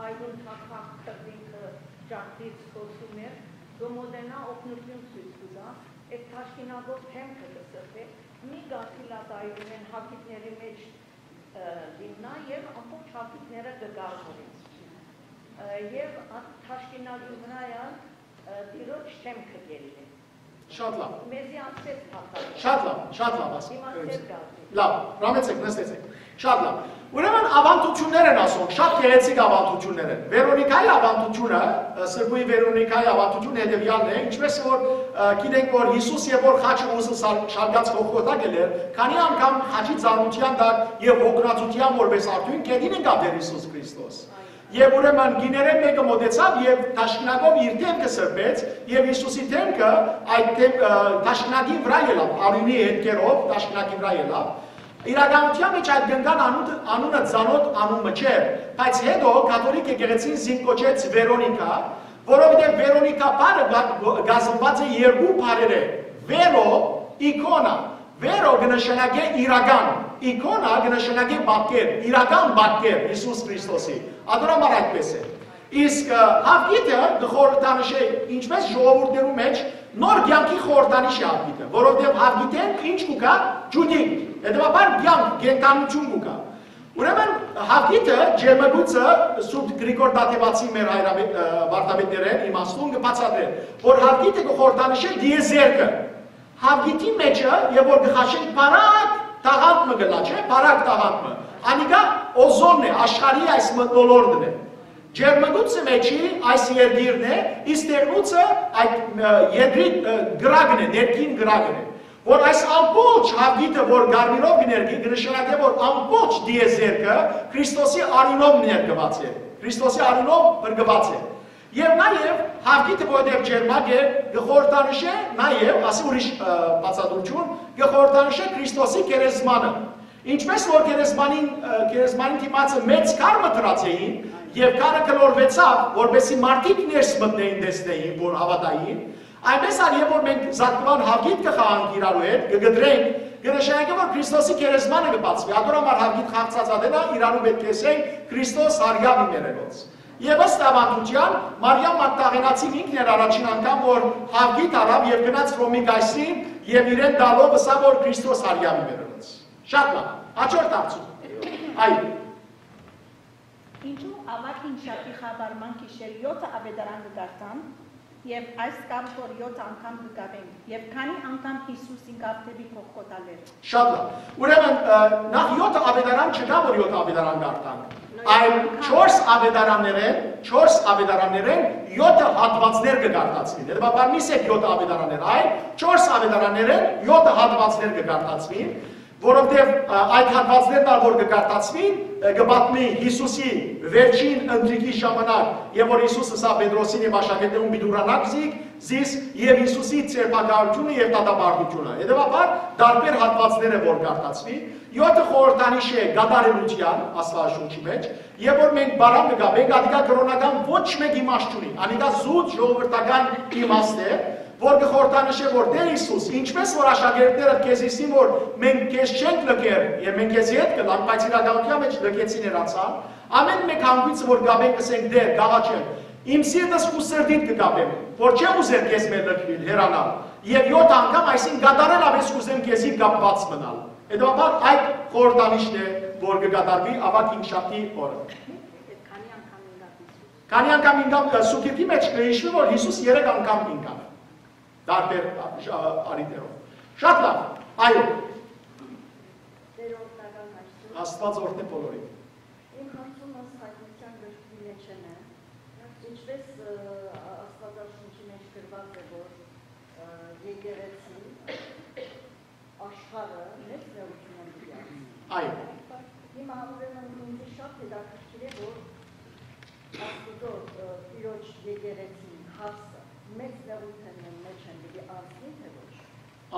այլուն թափ-, թափ քրտինքը ճակտից խօսում էր, կը մօտենայ, օգնութիւն ցոյց կու տայ, այդ թաշկինակով դէմքը կը սրբէ, մի կաթիլ ատայունեն հաւկիթների մէջ, ը, կ'իյնայ եւ ամբողջ հաւկիթները կը կարմրին։ Ը, եւ ա-, թաշկինակին վրայ ալ, ը, Տիրոջ դէմքը կ'ելլէ։ Շատ լաւ։ Մեզի ասեց բացատրել։ Շատ լաւ, շատ լաւ, ասա։ Հիմա ձեր կարծիք։ Լաւ, հրամեցեք, նստեցեք։ Շատ լաւ։ Ուրեմն աւանդութիւններ են ասում, շատ գեղեցիկ աւանդութիւններ են։ Վերոնիկայի աւանդութիւնը, ը, Սրբուհի Վերոնիկայի աւանդութիւնը հետեւեալն է, ինչպես որ, ը, գիտենք որ Յիսուս երբ որ խաչը ուզը սալ-, շալկած Կողկոթա գելեր, քանի անգամ խաչի ծանրութեան տակ եւ հոգնածութեան որպես արդիւն գետին ընկավ Տեր Յիսուս Քրիստոս։ Եւ ուրեմն կիներէն մէկը մօտեցաւ եւ թաշկինակով իր դէմքը սրբեց, եւ Յիսուսի դէմքը այդ դէմ-, ը, թաշկինակին վրայ ելաւ, արիւնի հետքերով թաշկինակի վրայ ելաւ։ Իրականութեան մէջ այդ կնկան անունը, անունը ծանօթ անուն մը չէր, բայց հետո կաթողիկ եկեղեցին զինք կոչեց Վերոնիկա, որովհետեւ Վերոնիկա բառը կա-, կազմուած է երկու բառերէ, Վերո, իքոնա, Վերո կը նշանակէ իրական, իքոնա կը նշանակէ պատկեր, իրական պատկեր Յիսուս Քրիստոսի։ Ատոր համար այդպես է։ Իսկ, ը, Հաւկիթը կը խորհրդանշէ, ինչպես ժողովուրդներու մէջ նոր կեանքի խորհրդանիշ է Հաւկիթը, որովհետեւ Հաւկիթէն ինչ կու գայ, ջուտիկ, հետեւաբար կեանք, կենդանութիւն կու գայ։ Ուրեմն Հաւկիթը, ջերմագոյցը Սուրբ Գրիգոր Դատեւացի մեր հայրապետ-, ը, վարդապետներէն իմաստուն կը բացատրէ, որ Հաւկիթը կը խորհրդանշէ դիեզերքը։ Հաւկիթի մէջը, երբ որ կը խաշենք, բարակ տաղանդ մը կ'ըլլայ, չէ՞, բարակ տաղանդ մը։ Անիկա օզոնն է, աշխարհի այս մթնոլորտն է։ Ջերմագոյցը մէջի այս երկիրն է, իսկ դեղնուցը այդ, ը, երկրի, ը, կրակն է, ներքին կրակն է, որ այս ամբողջ Հաւկիթը, որ կարմիրով կը ներկի, կը նշանակէ, որ ամբողջ դիեզերքը Քրիստոսի արիւնով ներկուած է, Քրիստոսի արիւնով փրկուած է։ Եւ նաեւ Հաւկիթը, որովհետեւ ջերմակ է, կը խորհրդանշէ նաեւ, ասի ուրիշ, ը, բացատրութիւն, կը խորհրդանշէ Քրիստոսի գերեզմանը։ Ինչպէս որ գերեզմանին, ը, գերեզմանին դիմացը մեծ քար մը դրած էին, եւ քարը գլորուեցաւ, որպեսզի մարդիկ ներս մտնեին, տեսնեին, որ հաւատային, այնպէս ալ երբ որ մենք զատկուան հաւիտ կը խաղանք իրարու հետ, կը կտրենք, կը նշանակէ, որ Քրիստոսի գերեզմանը կը բացուի։ Ատոր համար հաւիտ խաղցած ատենա իրարու պէտք է ասենք Քրիստոս հարիաւ իմերելոց։ Եվ ըստ աւանդութեան, Մարիամ Մագդաղենացին ինքն էր առաջին անգամ, որ հաւիտ առաւ եւ գնաց Ռոմի կայսրին եւ իրեն տալով ըսաւ, որ Քրիստոս հարիաւ իմերելոց։ Շատ լավ։ Հաջորդ հարցում։ Այո։ Ինչու Աւագ Հինգշաբթի խաւարման գիշեր յոթը աւետարան կը կարդան եւ այս կապ որ յոթ անգամ կը կապենք եւ քանի անգամ Յիսուս ինքն դէպի Գողգոթա լեռը։ Շատ լավ։ Ուրեմն, ը, նախ յոթ աւետարան չկայ, որ յոթ աւետարան կարդանք, այլ չորս աւետարաններէն, չորս աւետարաններէն յոթը հատուածներ կը կարդացուին։ Հետեւաբար մի սեկ յոթ աւետարաններ, այլ չորս աւետարաններէն յոթը հատուածներ կը կարդացուին, որովհետեւ, ը, այդ հատուածներն ալ որ կը կարդացուին, ը, կը պատմի Յիսուսի վերջին ընթրիքի ժամանակ, եւ որ Յիսուս ըսաւ Պետրոսին եւ աշակերտներուն՝ «Պիտի ուրանաք զիք, զիս եւ Յիսուսի ձերբակալութիւնը եւ դատապարտութիւնը»։ Հետեւաբար, տարբեր հատուածներ է որ կարդացուի, յոթը խորհրդանիշ է կատարելութեան Աստուածաշունչի մեջ, եւ որ մենք բարան կը կապենք, ատիկա կրօնական ոչ մէկ իմաստ չունի, անիկա զուտ ժողովրդական իմաստ է, որ կը խորհրդանշէ, որ Տէր Յիսուս, ինչպէս որ աշակերտները քեզ ըսին, որ մենք քեզ չենք լքեր եւ մենք քեզի հետ կ'ըլլանք, բայց իրականութեան մեջ լքեցին, հեռացան, ամէն մէկ հանգոյցը որ կապենք, կ'ըսենք. «Տէր, կ'աղաչեմ, իմ սիրտս ու սրտիդ կը կապեմ, որ չեմ ուզեր քեզմէ լքուիլ, հեռանալ, եւ յոթ անգամ այսինքն կատարելապէս կ'ուզեմ քեզի կապուած մնալ»։ Հետեւաբար այդ խորհրդանիշն է, որ կը կատարուի Աւագ Հինգշաբթի օրը։ Քանի անգամ ինկա Յիսուս։ Քանի անգամ ինկա, ը, Սուգիրտի մեջ կը յիշուի, որ Յիսուս երեք անգամ ինկաւ, տարբեր, ա, շ-, ա, առիթերով։ Շատ լավ, այո։ Տեր օրհնական Աստուծո։ Աստուած օրհնէ բոլորին։ Իմ հարցումս Հայտնության գրքի մեջ է, ինչպես, ը, Աստուածաշունչի մեջ գրված է, որ, ը, եկեղեցին աշխարհը մեծ նեղութիւնով պիտի անցնի։ Այո։ Հիմա ուրեմն ինձ շատ հետաքրքիր է, որ Աստուծո, ը, Տիրոջ եկեղեցին հարցը մեծ նեղութիւններուն մեջ են պիտի անցնի, թե ոչ։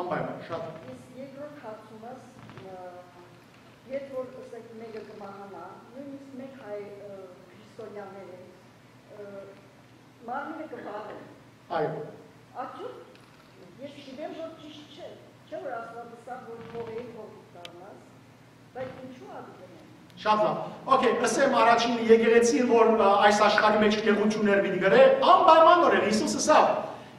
Անպայման, շատ։ Իսկ երկրորդ հարցումս, ը, երբ որ, ըսենք, մէկը կը մահանայ, նոյնիսկ մէկ հայ, ը, քրիստոնեաներ են, ը, մարմինը կը պարեն։ Այո։ Արդյոք ես գիտեմ, որ ճիշտ չէ, չէ՞ որ Աստուած ըսաւ, որ հողէ հող կը դառնաս, բայց ինչու ատիկը մնա։ Շատ լավ։ Okay, ըսեմ առաջին եկեղեցին, որ, ը, այս աշխարհի մեջ նեղութիւններ պիտի կրէ, անպայմանօրէն Յիսուս ըսաւ,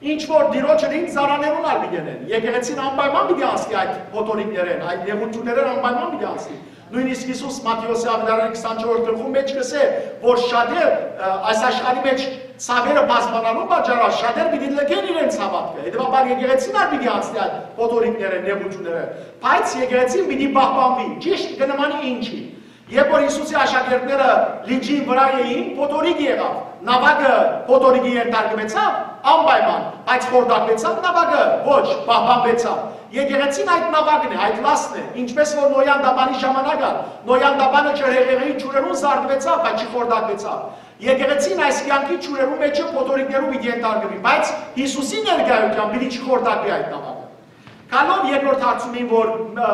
ինչ որ Տիրոջը դին, ծառաներուն ալ պիտի ընեն։ Եկեղեցին անպայման պիտի անցնի այդ փոթորիկներէն, այդ նեղութիւններէն անպայման պիտի անցնի։ Նոյնիսկ Յիսուս Մատթէոսի աւետարանի քսանչորսերորդ գլխուն մեջ կ'ըսէ, որ շատեր, ը, այս աշխարհի մեջ ցաւերը բազմանալուն պատճառով շատեր պիտի լքեն իրենց հաւատքը, հետեւաբար եկեղեցին ալ պիտի անցնի այդ փոթորիկները, նեղութիւնները, բայց եկեղեցին պիտի պահպանուի, ճիշտ կը նմանի ինչի։ Երբ որ Յիսուսի աշակերտները լիճին վրայ էին, փոթորիկ եղաւ, նաւակը փոթորիկի ենթարկուեցաւ անպայման, բայց խորտակուեցաւ նաւակը, ոչ, պահպանուեցաւ։ Եկեղեցին այդ նաւակն է, այդ լաստն է, ինչպես որ Նոյան տապանի ժամանակ ալ, Նոյան տապանը ջրհեղեղի ջուրերուն զարդուեցաւ, բայց չխորտակուեցաւ։ Եկեղեցին այս կեանքի ջուրերու մէջը փոթորիկներու պիտի ենթարկուի, բայց Յիսուսի ներկայութեան պիտի չխորտակուի այդ նաւակը։ Գալով երկրորդ հարցումին, որ, ը,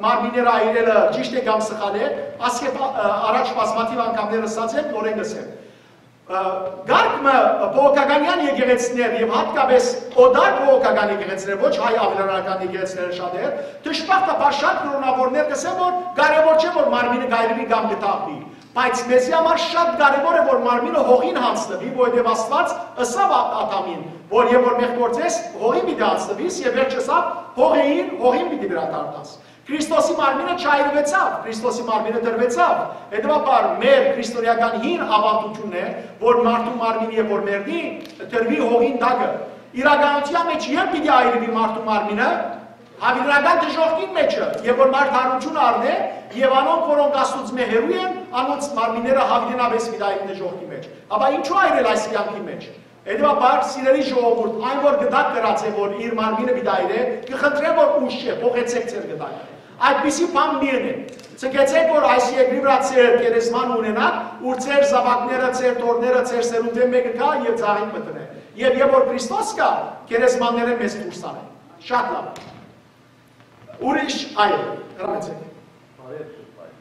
մարմինները այրելը ճիշտ է կամ սխալ է, ասկէ պա-, ը, առաջ բազմաթիվ անգամներ ըսած եմ, նորէն կ'ըսեմ։ Ը, կարգ մը բողոքականեան եկեղեցիներ եւ յատկապէս օտար բողոքական եկեղեցիներ, ոչ հայ աւելարանական եկեղեցիները շատեր, դժբախտաբար շատ կրօնաւորներ կ'ըսեն, որ կարեւոր չէ, որ մարմինը կ'այրուի կամ կը թաղուի, բայց մեզի համար շատ կարեւոր է, որ մարմինը հողին յանձնուի, որովհետեւ Աստուած ըսաւ Ա-, Ադամին, որ եւ որ մեղկորձես հողին պիտի յանձնուիս, եւ վերջ ըսաւ, հողէ ին, հողին պիտի վերադառնաս։ Քրիստոսի մարմինը չայրուեցաւ, Քրիստոսի մարմինը տրուեցաւ։ Հետեւաբար մեր քրիստոնեական հին աւանդութիւնն է, որ մարդու մարմինը երբ որ մեռնի, տրուի հողին տակը։ Իրականութեան մեջ երբ պիտի այրուի մարդու մարմինը, հաւիտենական դժոխքին մէջը, եւ որ մարդ հարութիւն առնէ, եւ անոնք, որոնք Աստուծմէ հեռու են, անոնց մարմինները հաւիտենապէս պիտի այրին դժոխքի մեջ։ Ապա ինչու այրել այս կեանքի մեջ։ Հետեւաբար, սիրելի ժողովուրդ, այն որ գդակ կրած է, որ իր մարմինը պիտի այրէ, կը խնդրեմ, որ ուշ չէ, փոխեցեք ձեր գդակը։ Այդպիսի բան մի ընէք։ Ցկեցեք, որ այս երկրի վրայ ձեր գերեզման ունենաք, ուր ձեր զաւակները, ձեր թոռները, ձեր սերունդէն մէկը գայ եւ ծաղիկ մը դնէ։ Եւ երբ որ Քրիստոս գայ, գերեզմաններէն մեզ դուրս անէ։ Շատ լավ։ Ուրիշ, այո, հրամեցեք։ Բարեւ Սուրբ Հայր։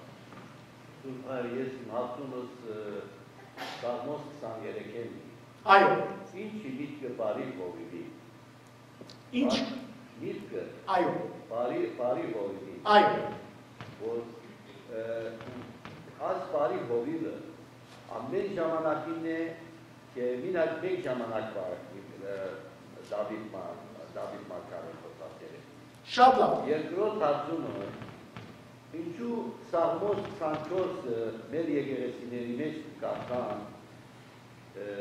Սուրբ Հայր, ես իմ հարցումս, ը, Սաղմոս քսաներեքէն է։ Այո։ Ի՞նչ է միտքը բարի հովիվի։ Ի՞նչ։ Միտքը։ Այո։ Բարի, բարի հովիվի։ Այո։ Որ, ը, այս բարի հովիվը ամեն ժամանակին է, թե մինակ մէկ ժամանակվա, ը, Դաւիթ մա-, Դաւիթ մարգարեն խօսած էր։ Շատ լաւ։ Երկրորդ հարցումը, ինչու Սաղմոս քսանչորսը մեր եկեղեցիների մէջ կը կարդան, ը,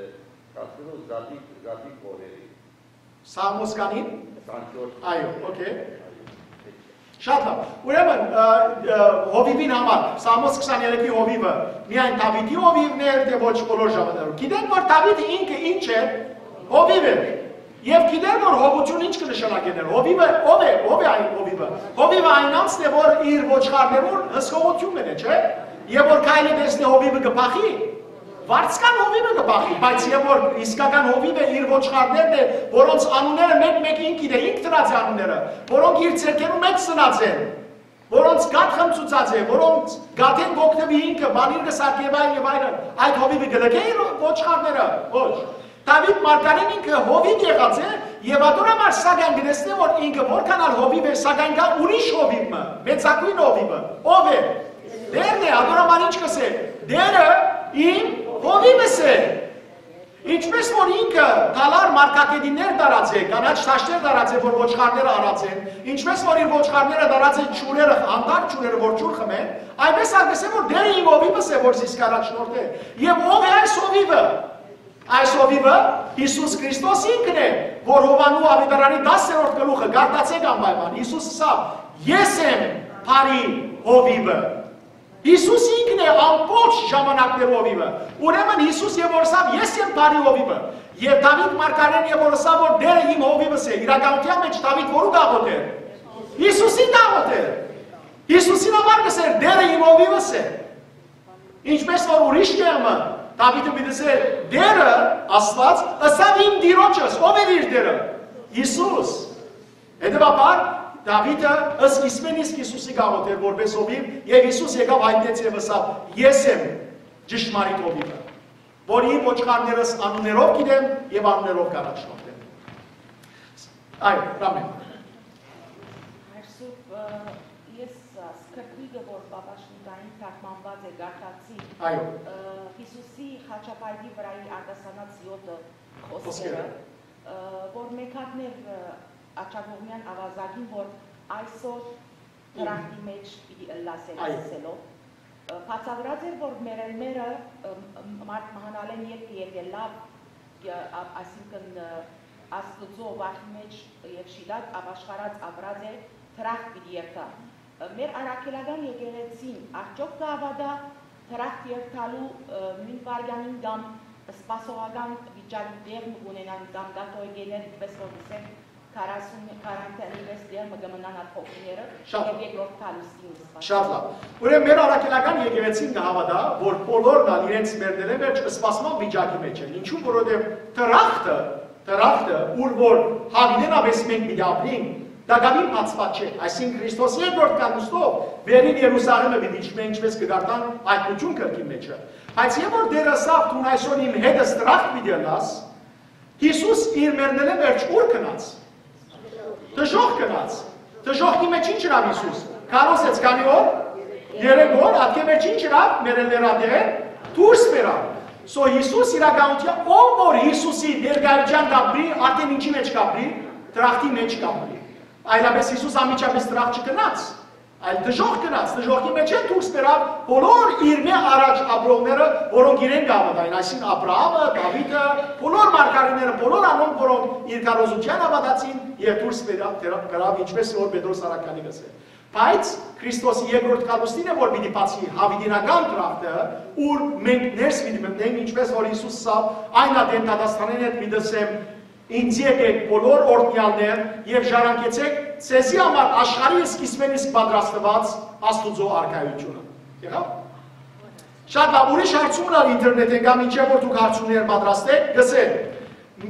կարդնող զատիկ, զատիկ օրերի։ Սաղմոս քսանին։ Քսանչորս։ Այո, օքեյ։ Շատ լաւ։ Ուրեմն, ը, ը, հովիվին համար, Սաղմոս քսաներեքի հովիվը միայն Դաւիթի հովիվն էր, թէ ոչ բոլոր ժամանակներուն։ Գիտենք, որ Դաւիթը ինքը ինչ է, հովիվ է։ Եւ գիտենք, որ հովութիւն ինչ կը նշանակէ ներ։ Հովիվը ո՞վ է, ո՞վ է այն հովիվը։ Հովիվը այն անձն է, որ իր ոչխարներուն հսկողութիւնն է, չէ՞։ Եւ որ քայլը տեսնի, հովիվը կը փախի, վարձկան հովիվը կը փախի, բայց եւ որ իսկական հովիվը իր ոչխարներն է, որոնց անունները մէկ-մէկ ինք գիտէ, ինք դրած է անունները, որոնք իր ձեռքերու մէջ ծնած են, որոնց կաթ խմցուցած է, որոնց կաթէն կ'օգնուի ինքը, պանիր կը սարքէ եւ այլն եւ այլն, այդ հովիվը կը լքէ իր ոչխարները։ Ոչ։ Դաւիթ մարգարեն ինքը հովիվ եղած է, եւ ատոր համար սակայն կը տեսնէ, որ ինքը որքան ալ հովիվ է, սակայն կայ ուրիշ հովիվ մը, մեծագոյն հովիվը։ Ո՞վ է։ Տէրն է, ատոր համար ինչ կ'ըսէ։ Տէրը իմ հովիվս է։ Ինչպէս որ ինքը թալար մարգագետիններ դարած է, կանաչ թաշտեր դարած է, որ ոչխարները առած են, ինչպէս որ իր ոչխարները դարած են ջուրերը, անտառ ջուրերը, որ ջուր խմեն, այնպես ալ կ'ըսէ, որ Տէրը իմ հովիվս է, որ զիս կ'առաջնորդէ։ Եւ ո՞վ է այս հովիվը։ Այս հովիվը Յիսուս Քրիստոս ինքն է, որ Յովհաննու աւետարանի տասներորդ գլուխը, կարդացէք անպայման, Յիսուս ըսաւ. «Ես եմ բարի հովիվը»։ Յիսուս ինքն է ամբողջ ժամանակներու հովիվը։ Ուրեմն Յիսուս եւ որ ըսաւ. «Ես եմ բարի հովիվը»։ Եւ Դաւիթ մարգարեն եւ որ ըսաւ, որ Տէրը իմ հովիվս է, իրականութեան մէջ Դաւիթ որու գաղութ էր։ Յիսուսի գաղութ էր։ Յիսուսին համար կ'ըսէր. «Տէրը իմ հովիվս է»։ Ինչպէս որ ուրիշ կեղմը, Դաւիթը պիտի ըսէր. «Տէրը, Աստուած, ըսաւ իմ Տիրոջս»։ Ո՞վ էր իր Տէրը։ Յիսուս։ Հետեւաբար, Դաւիթը սկիզբէն իսկ Յիսուսի գաղութ էր որպէս հովիվ, եւ Յիսուս եկաւ, հայտնեց եւ ըսաւ. «Ես եմ ճշմարիտ հովիվը, որ իմ ոչխարներս անուններով գիտեմ եւ անուններով կ'առաջնորդեմ»։ Այո, Ռամեն։ Հայր Սուրբ, ը, ես, ը, սքրթուիկը, որ Պապաշնիտային թարգմանուած է, կարդացի, Այո։ ը, Յիսուսի խաչապայտի վրայի արտասանած յոթը Խոսքերը։ խոսքերը, ը, որ մեկատներ, ը, աջակողմեան աւազակին, որ այսօր դրախտի մէջ պիտի ըլլաս Այո։ ըսելով, ը, բացատրած էր, որ մեռելները, ը, մ-, մարդ մահանալէն ետքը եթէ լաւ, ը, ա-, այսինքն, ը, Աստուծոյ վախի մէջ եւ շիտակ ապաշխարած ապրած է, դրախտ պիտի երթայ։ Ը, մեր առաքելական եկեղեցին արդյոք կը հաւատայ դրախտ երթալու, ը, նոյն վայրկյանին կամ սպասողական վիճակի տեղ մը կ'ունենան կամ կաթողիկէներ, ինչպես որ կ'ըսեն, քառասուն, քառանթ պես տեղ մը կը մնան այդ հոգիները Շատ։ Եւ երկրորդ գալուստին սպասեն։ Շատ լաւ։ Ուրեմն մեր առաքելական եկեղեցին կը հաւատայ, որ բոլորն ալ իրենց մեռնելէ վերջ սպասման վիճակի մէջ են։ Ինչու՞, որովհետեւ դրախտը, դրախտը, ուր որ հավիտենապէս մենք պիտի ապրենք, տակաւին բացուած չէ։ Այսինքն Քրիստոսի երկրորդ գալուստով վերին Երուսաղէմը պիտի իջնէ, ինչպես կը կարդանք Հայտնութիւն գրքին մէջը։ Բայց եւ որ Տէրը ըսաւ. «Դուն այսօր իմ հետ ես դրախտ պիտի ըլլաս», Յիսուս իր մեռնելէ վերջ ո՞ւր գնաց։ Դժոխք գնաց։ Դժոխքի մէջ ի՞նչ ըրաւ Յիսուս։ Քարոզեց քանի՞ օր։ Երեք օր, ատկէ վերջ ի՞նչ ըրաւ, մեռելներու ատեն դուրս բերաւ։ So Յիսուս իրականութեան, ով որ Յիսուսի ներկայութեան կ'ապրի, արդեն ինչի՞ մէջ կ'ապրի, դրախտի մէջ կ'ապրի։ Այլապէս Յիսուս անմիջապէս դրախտ չգնաց, այլ դժոխք գնաց, դժոխքի մէջ են դուրս բերաւ բոլոր իրմէ առաջ ապրողները, որոնք իրեն կ'հաւատային, այսինքն Աբրահամը, Դաւիթը, բոլոր մարգարիները, բոլոր անոնք, որոնք իր քարոզութեան հաւատացին, եւ դուրս բերաւ, դրա-, կրաւ, ինչպես որ Պետրոս առաքյալը կ'ըսէ։ Բայց Քրիստոսի երկրորդ գալուստին է, որ պիտի բացի հավիտենական դրախտը, ուր մենք ներս պիտի մտնենք, ինչպես որ Յիսուս ըսաւ. «Այն ատեն դատաստանէն հետ պիտի ըսեմ. Ինծի եկէք բոլոր օրհնեալներ եւ ժառանգեցէք ձեզի համար աշխարհի սկիզբէն իսկ պատրաստուած Աստուծոյ արքայութիւնը»։ Եղա՞վ։ Շատ լաւ, ուրիշ հարցումներ ալ ինտերնետէն կամ ինչեւ որ դուք հարցումներ պատրաստէք, կ'ըսեն,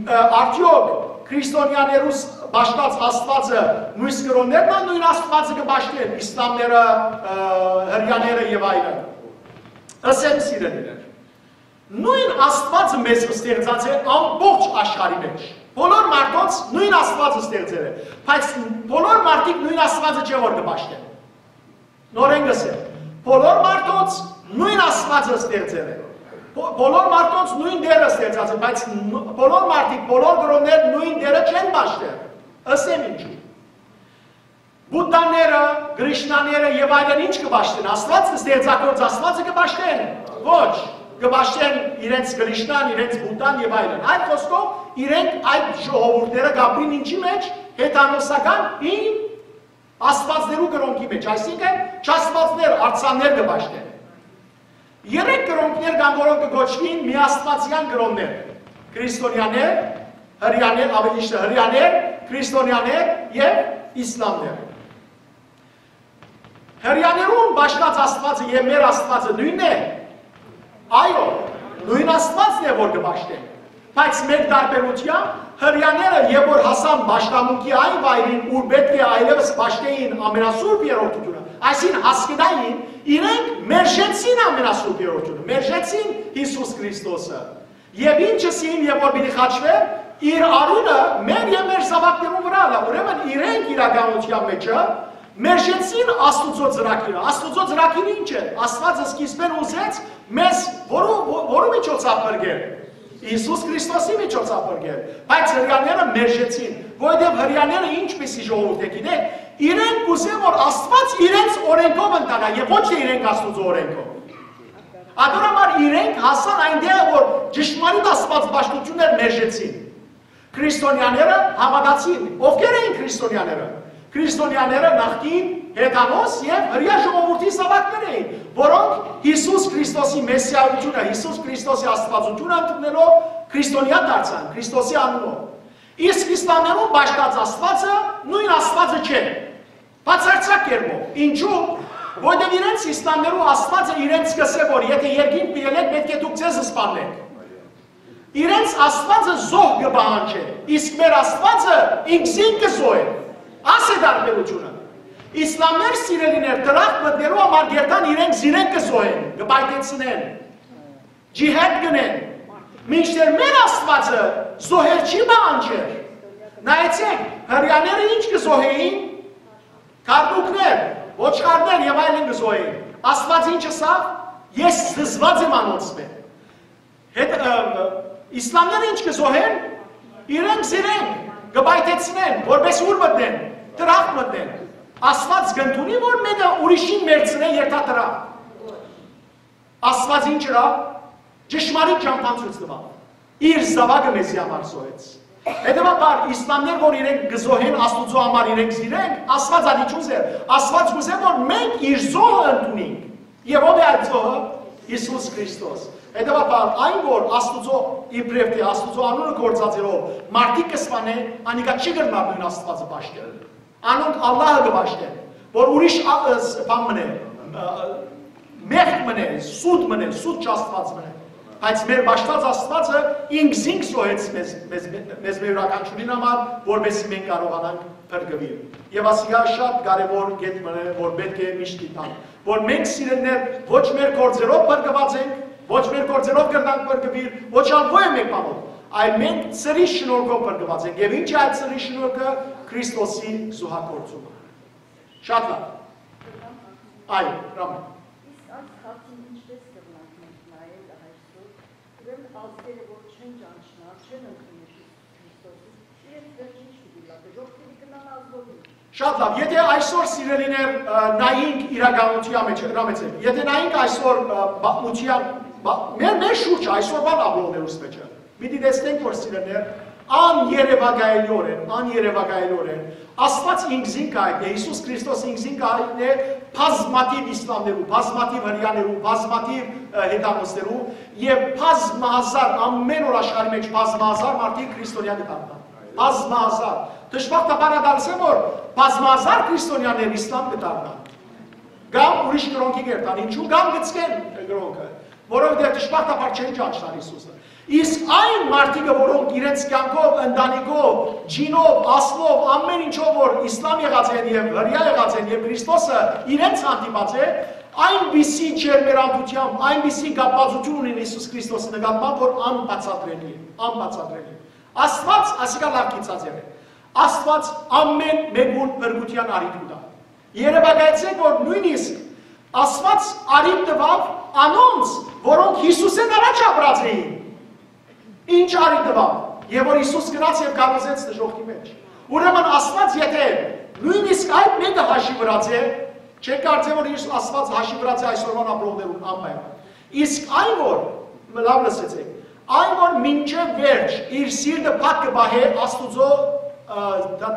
ը, արդեօք Քրիստոնեաներուս պաշտած Աստուածը, նոյն կրոններն ալ նոյն Աստուածը կը պաշտեն, իսլամները, ը, հրեաները եւ այլն։ Ըսեմ, սիրելիներ, նոյն Աստուածը մեզ ստեղծած է ամբողջ աշխարհի մէջ։ Բոլոր մարդոց նոյն Աստուածը ստեղծեր է, բայց բոլոր մարդիկ նոյն Աստուածը չէ որ կը պաշտեն։ Նորէն կ'ըսեմ, բոլոր մարդոց նոյն Աստուածը ստեղծեր է։ Բոլոր մարդոց նոյն Տէրը ստեղծած է, բայց բոլոր մարդիկ, բոլոր կրոններ նոյն Տէրը չեն պաշտեր։ Ըսեմ ինչու։ Բուդդաները, Կրիշնաները եւ այլն ինչ կը պաշտեն, Աստուած, ստեղծագործ Աստուածը կը պաշտեն։ Ոչ, կը պաշտեն իրենց Կրիշնան, իրենց Բուդդան եւ այլն։ Այլ խոսքով, իրենք այդ ժողովուրդները կապրին ինչի մեջ, հեթանոսական, ին, աստուածներու կրոնքի մեջ, այսինքն չաստուածներ, արձաններ կը պաշտեն։ Երեք կրոնքներ կան, որոնք կը կոչուին միաստվածեան կրոններ. քրիստոնեաներ, հրեաներ, ավելի ճիշդը, հրեաներ, քրիստոնեաներ եւ իսլամներ։ Հրեաներուն պաշտած Աստուածը եւ մեր Աստուածը նոյնն է։ Այո, նոյն Աստուածն է որ կը պաշտեն, բայց մեր տարբերութեամբ, հրեաները երբ որ հասան պաշտամունքի այն վայրին, ուր պէտք է այլեւս պաշտէին ամենասուրբ երրորդութիւնը, այսինքն՝ հասկնային, իրենք մերժեցին ամենասուրբ երրորդութիւնը, մերժեցին Յիսուս Քրիստոսը։ Եւ ինչս իմ, երբ որ պիտի խաչուէր, իր արիւնը մեր եւ մեր զաւակներուն վրայ ըլլայ։ Ուրեմն իրենք իրականութեան մէջը մերժեցին Աստուծոյ ծրագիրը։ Աստուծոյ ծրագիրը ի՞նչ է։ Աստուածը սկիզբէն ուզեց մեզ, որու, ո-, որու միջոցաւ փրկել։ Յիսուս Քրիստոսի միջոցաւ փրկել։ Բայց հրեաները մերժեցին, որովհետեւ հրեաները ինչպիսի ժողովուրդ է, գիտեք, իրենք կ'ուզեն, որ Աստուած իրենց օրէնքով ընթանայ եւ ոչ թէ իրենք Աստուծոյ օրէնքով։ Ատոր համար իրենք հասան այնտեղ, որ ճշմարիտ Աստուած պաշտություններ մերժեցին։ Քրիստոնեաները հաւատացին։ Ովքեր էին քրիստոնեաները։ Քրիստոնեաները նախկին հեթանոս եւ հրեայ ժողովուրդի զաւակներ էին, որոնք Յիսուս Քրիստոսի մեսիայությունը, Յիսուս Քրիստոսի Աստուածությունը ընդունելով քրիստոնեայ դարձան, Քրիստոսի անունով։ Իսկ իսլամներուն պաշտած Աստուածը նոյն Աստուածը չէ։ Բացարձակ կերպով։ Ինչու՞։ Որովհետեւ իրենց իսլամներու Աստուածը իրենց կ'ըսէ, որ եթէ երկինք պիտի ելլէք, պէտք է դուք ձեզ սպաննէք։ Իրենց Աստուածը զոհ կը պահանջէ, իսկ մեր Աստուածը ինքզինք կը զոհէ։ Աս է տարբերութիւնը։ Իսլամներ, սիրելիներ, դրախտ մտնելու համար կերտան իրենք զիրենք կը զոհեն, կը պայթեցնեն, ջիհադ կ'ընեն, մինչդեռ մեր Աստուածը զոհեր չի պահանջեր։ Նայեցէք, հրեաները ինչ կը զոհէին, քարտուքներ, ոչխարներ եւ այլն կը զոհէին։ Աստուած ինչ ըսաւ։ Ես զզված եմ անոնցմէ։ Հետ, ը, իսլամները ինչ կը զոհեն, իրենք զիրենք կը պայթեցնեն, որպէս ուր մտնեն, դրախտ մտնեն։ Աստուած կ'ընդունի, որ մէկը ուրիշին մեռցնէ երթա դրախտ։ Աստուած ինչ ըրաւ։ Ճշմարիտ ճամբան ցոյց տուաւ։ Իր զաւակը մեզի համար զոհեց։ Հետեւաբար, իսլամներ, որ իրենք կը զոհեն Աստուծոյ համար իրենք զիրենք, Աստուած ալ ի՞նչ ուզեր։ Աստուած կ'ուզէ, որ մենք իր զոհը ընդունենք։ Եւ ո՞վ է այդ զոհը։ Յիսուս Քրիստոս։ Հետեւաբար, այն որ Աստուծոյ իբրեւ թէ Աստուծոյ անունը գործածելով մարդիկ կը սպանէ, անիկա չի կրնար նոյն Աստուածը պաշտել։ Անոնք Ալլահը կը պաշտեն, որ ուրիշ ա-, ը, ս-, բան մնէ, ը, մեղք մնէ, սուտ մնէ, սուտ չաստուած մնէ։ Բայց մեր պաշտած Աստուածը ինքզինք զոհեց մեզ, մեզ, մեզ մեր իւրաքանչիւրին համար, որպեսզի մենք կարողանանք փրկուիլ։ Եւ ասիկա շատ կարեւոր կետ մնէ, որ պէտք է միշտ գիտանք, որ մենք, սիրելիներ, ոչ մեր գործերով փրկուած ենք, ոչ մեր գործերով կրնանք փրկուիլ, ոչ ալ ոյ մէկ բանով, այլ մենք ծրի շնորհքով փրկուած ենք։ Եւ ինչ է այդ ծրի շնորհքը։ Քրիստոսի զոհագործումը։ Շատ լավ։ Այո, Ռամեն։ Իսկ այս հարցին ինչպես կրնանք մենք նայել այսօր։ Ուրեմն ազգերը, որ չեն ճանչնար, չեն ընդունի Քրիստոսին, իրենց վերջը ինչ պիտի լա, դժոխք պիտի գնան ազգովին։ Շատ լավ, եթե այսօր, սիրելիներ, ը, նայենք իրականության մեջ, Ռամեն, եթե նայենք այսօր, ը, պատմության, բա-, մեր, մեր շուրջը, այսօրվան ապրողներուս մեջը, պիտի տեսնենք, որ, սիրելիներ, աներևակայելիօրէն, աներևակայելիօրէն, Աստուած ինքզինքը այդ է, Յիսուս Քրիստոս ինքզինքը այդ է, բազմաթիւ իսլամներու, բազմաթիւ հրեաներու, բազմաթիւ, ը, հեթանոսներու, եւ բազմահազար, ամէն օր աշխարհի մեջ բազմահազար մարդիկ քրիստոնեայ կը դառնան։ Բազմահազար։ Դժբախտաբար ատալսեմ, որ բազմահազար քրիստոնեաներ իսլամ կը դառնան։ Կամ ուրիշ կրոնքի կերտան, ինչու, կամ կցկեն կրոնքը, որովհետեւ դժբախտաբար չեն ճանչնար Յիսուսը։ Իսկ այն մարդիկը, որոնք իրենց կեանքով, ընտանիքով, ջինով, ասլով, ամեն ինչով որ Իսլամ եղած են եւ հրեա եղած են եւ Քրիստոսը իրենց հանդիպած է, այնպիսի ջերմերանդությամբ, այնպիսի կապվածություն ունին Յիսուս Քրիստոսի նկատմամբ, որ անբացատրելի է, անբացատրելի է։ Աստված, ասիկա լավ գիտած եղել, Աստված ամեն մեկուն փրկութեան առիթ կու տայ։ Երեւակայեցէք, որ նոյնիսկ Աստված առիթ տուաւ անոնց, որոնք Յիսուսէն առաջ ապրած էին։ Ինչ առիթ տուաւ, եւ որ Յիսուս գնաց եւ քարոզեց դժոխքի մէջ։ Ուրեմն Աստված եթէ նոյնիսկ այդ մեկը հաշի վրած է, չէ կարծե որ Յիսուս Աստված հաշի վրած է այսօրվան ապրողներուն անպայման։ Իսկ այն որ, լավ լսեցեք, այն որ մինչեւ վերջ իր սիրտը փակ կը պահէ Աստուծոյ, ը,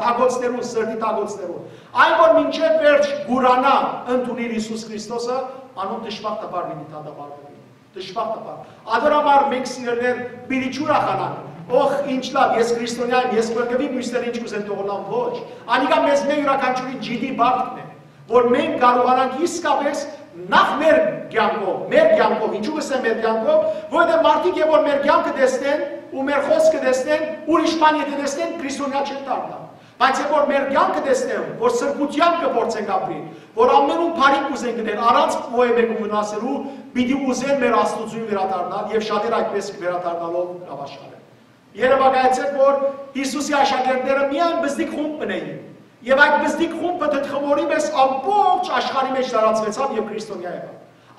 թագոցներուն, սրտի թագոցներուն, այն որ մինչեւ վերջ կ'ուրանայ ընդունիլ Յիսուս Քրիստոսը, անոնք դժբախտաբար պիտի դատապարտուին։ Դժբախտաբար։ Ադոր համար մենք, սիրելիներ, պիտի չուրախանանք։ Օխ, ինչ լավ, ես քրիստոնեայ եմ, ես փրկուի, մյուսները ինչ կ'ուզեն թողնան, ոչ։ Անիկա մեզ մէ յուրաքանչիուրին ջիդի պարտքն է, որ մենք կարողանանք իսկապես նախ մեր կեանքով, մեր կեանքով, ինչու՞ կ'ըսեմ մեր կեանքով, որովհետեւ մարդիկ երբ որ մեր կեանքը տեսնեն ու մեր խօսքը տեսնեն, ուրիշ բան եթէ տեսնեն, քրիստոնեայ չեն դառնայ։ Բայց երբ որ մեր կեանքը տեսնեն, որ սրբութեամբ կը փորձենք ապրիլ, որ ամենուն բարի կ'ուզենք ընել, առանց ոեւէ մեկուն վնասելու, պիտի ուզեն մեր Աստուծոյ վերադառնալ եւ շատեր այդպես վերադառնալով կ'աշխարեն։ Երեւակայեցէք, որ Յիսուսի աշակերտները միայն բզդիկ խումբ մը էին, եւ այդ բզդիկ խումբը թթխմորի մէս ամբողջ աշխարհի մէջ տարածուեցաւ եւ քրիստոնեայ եղաւ։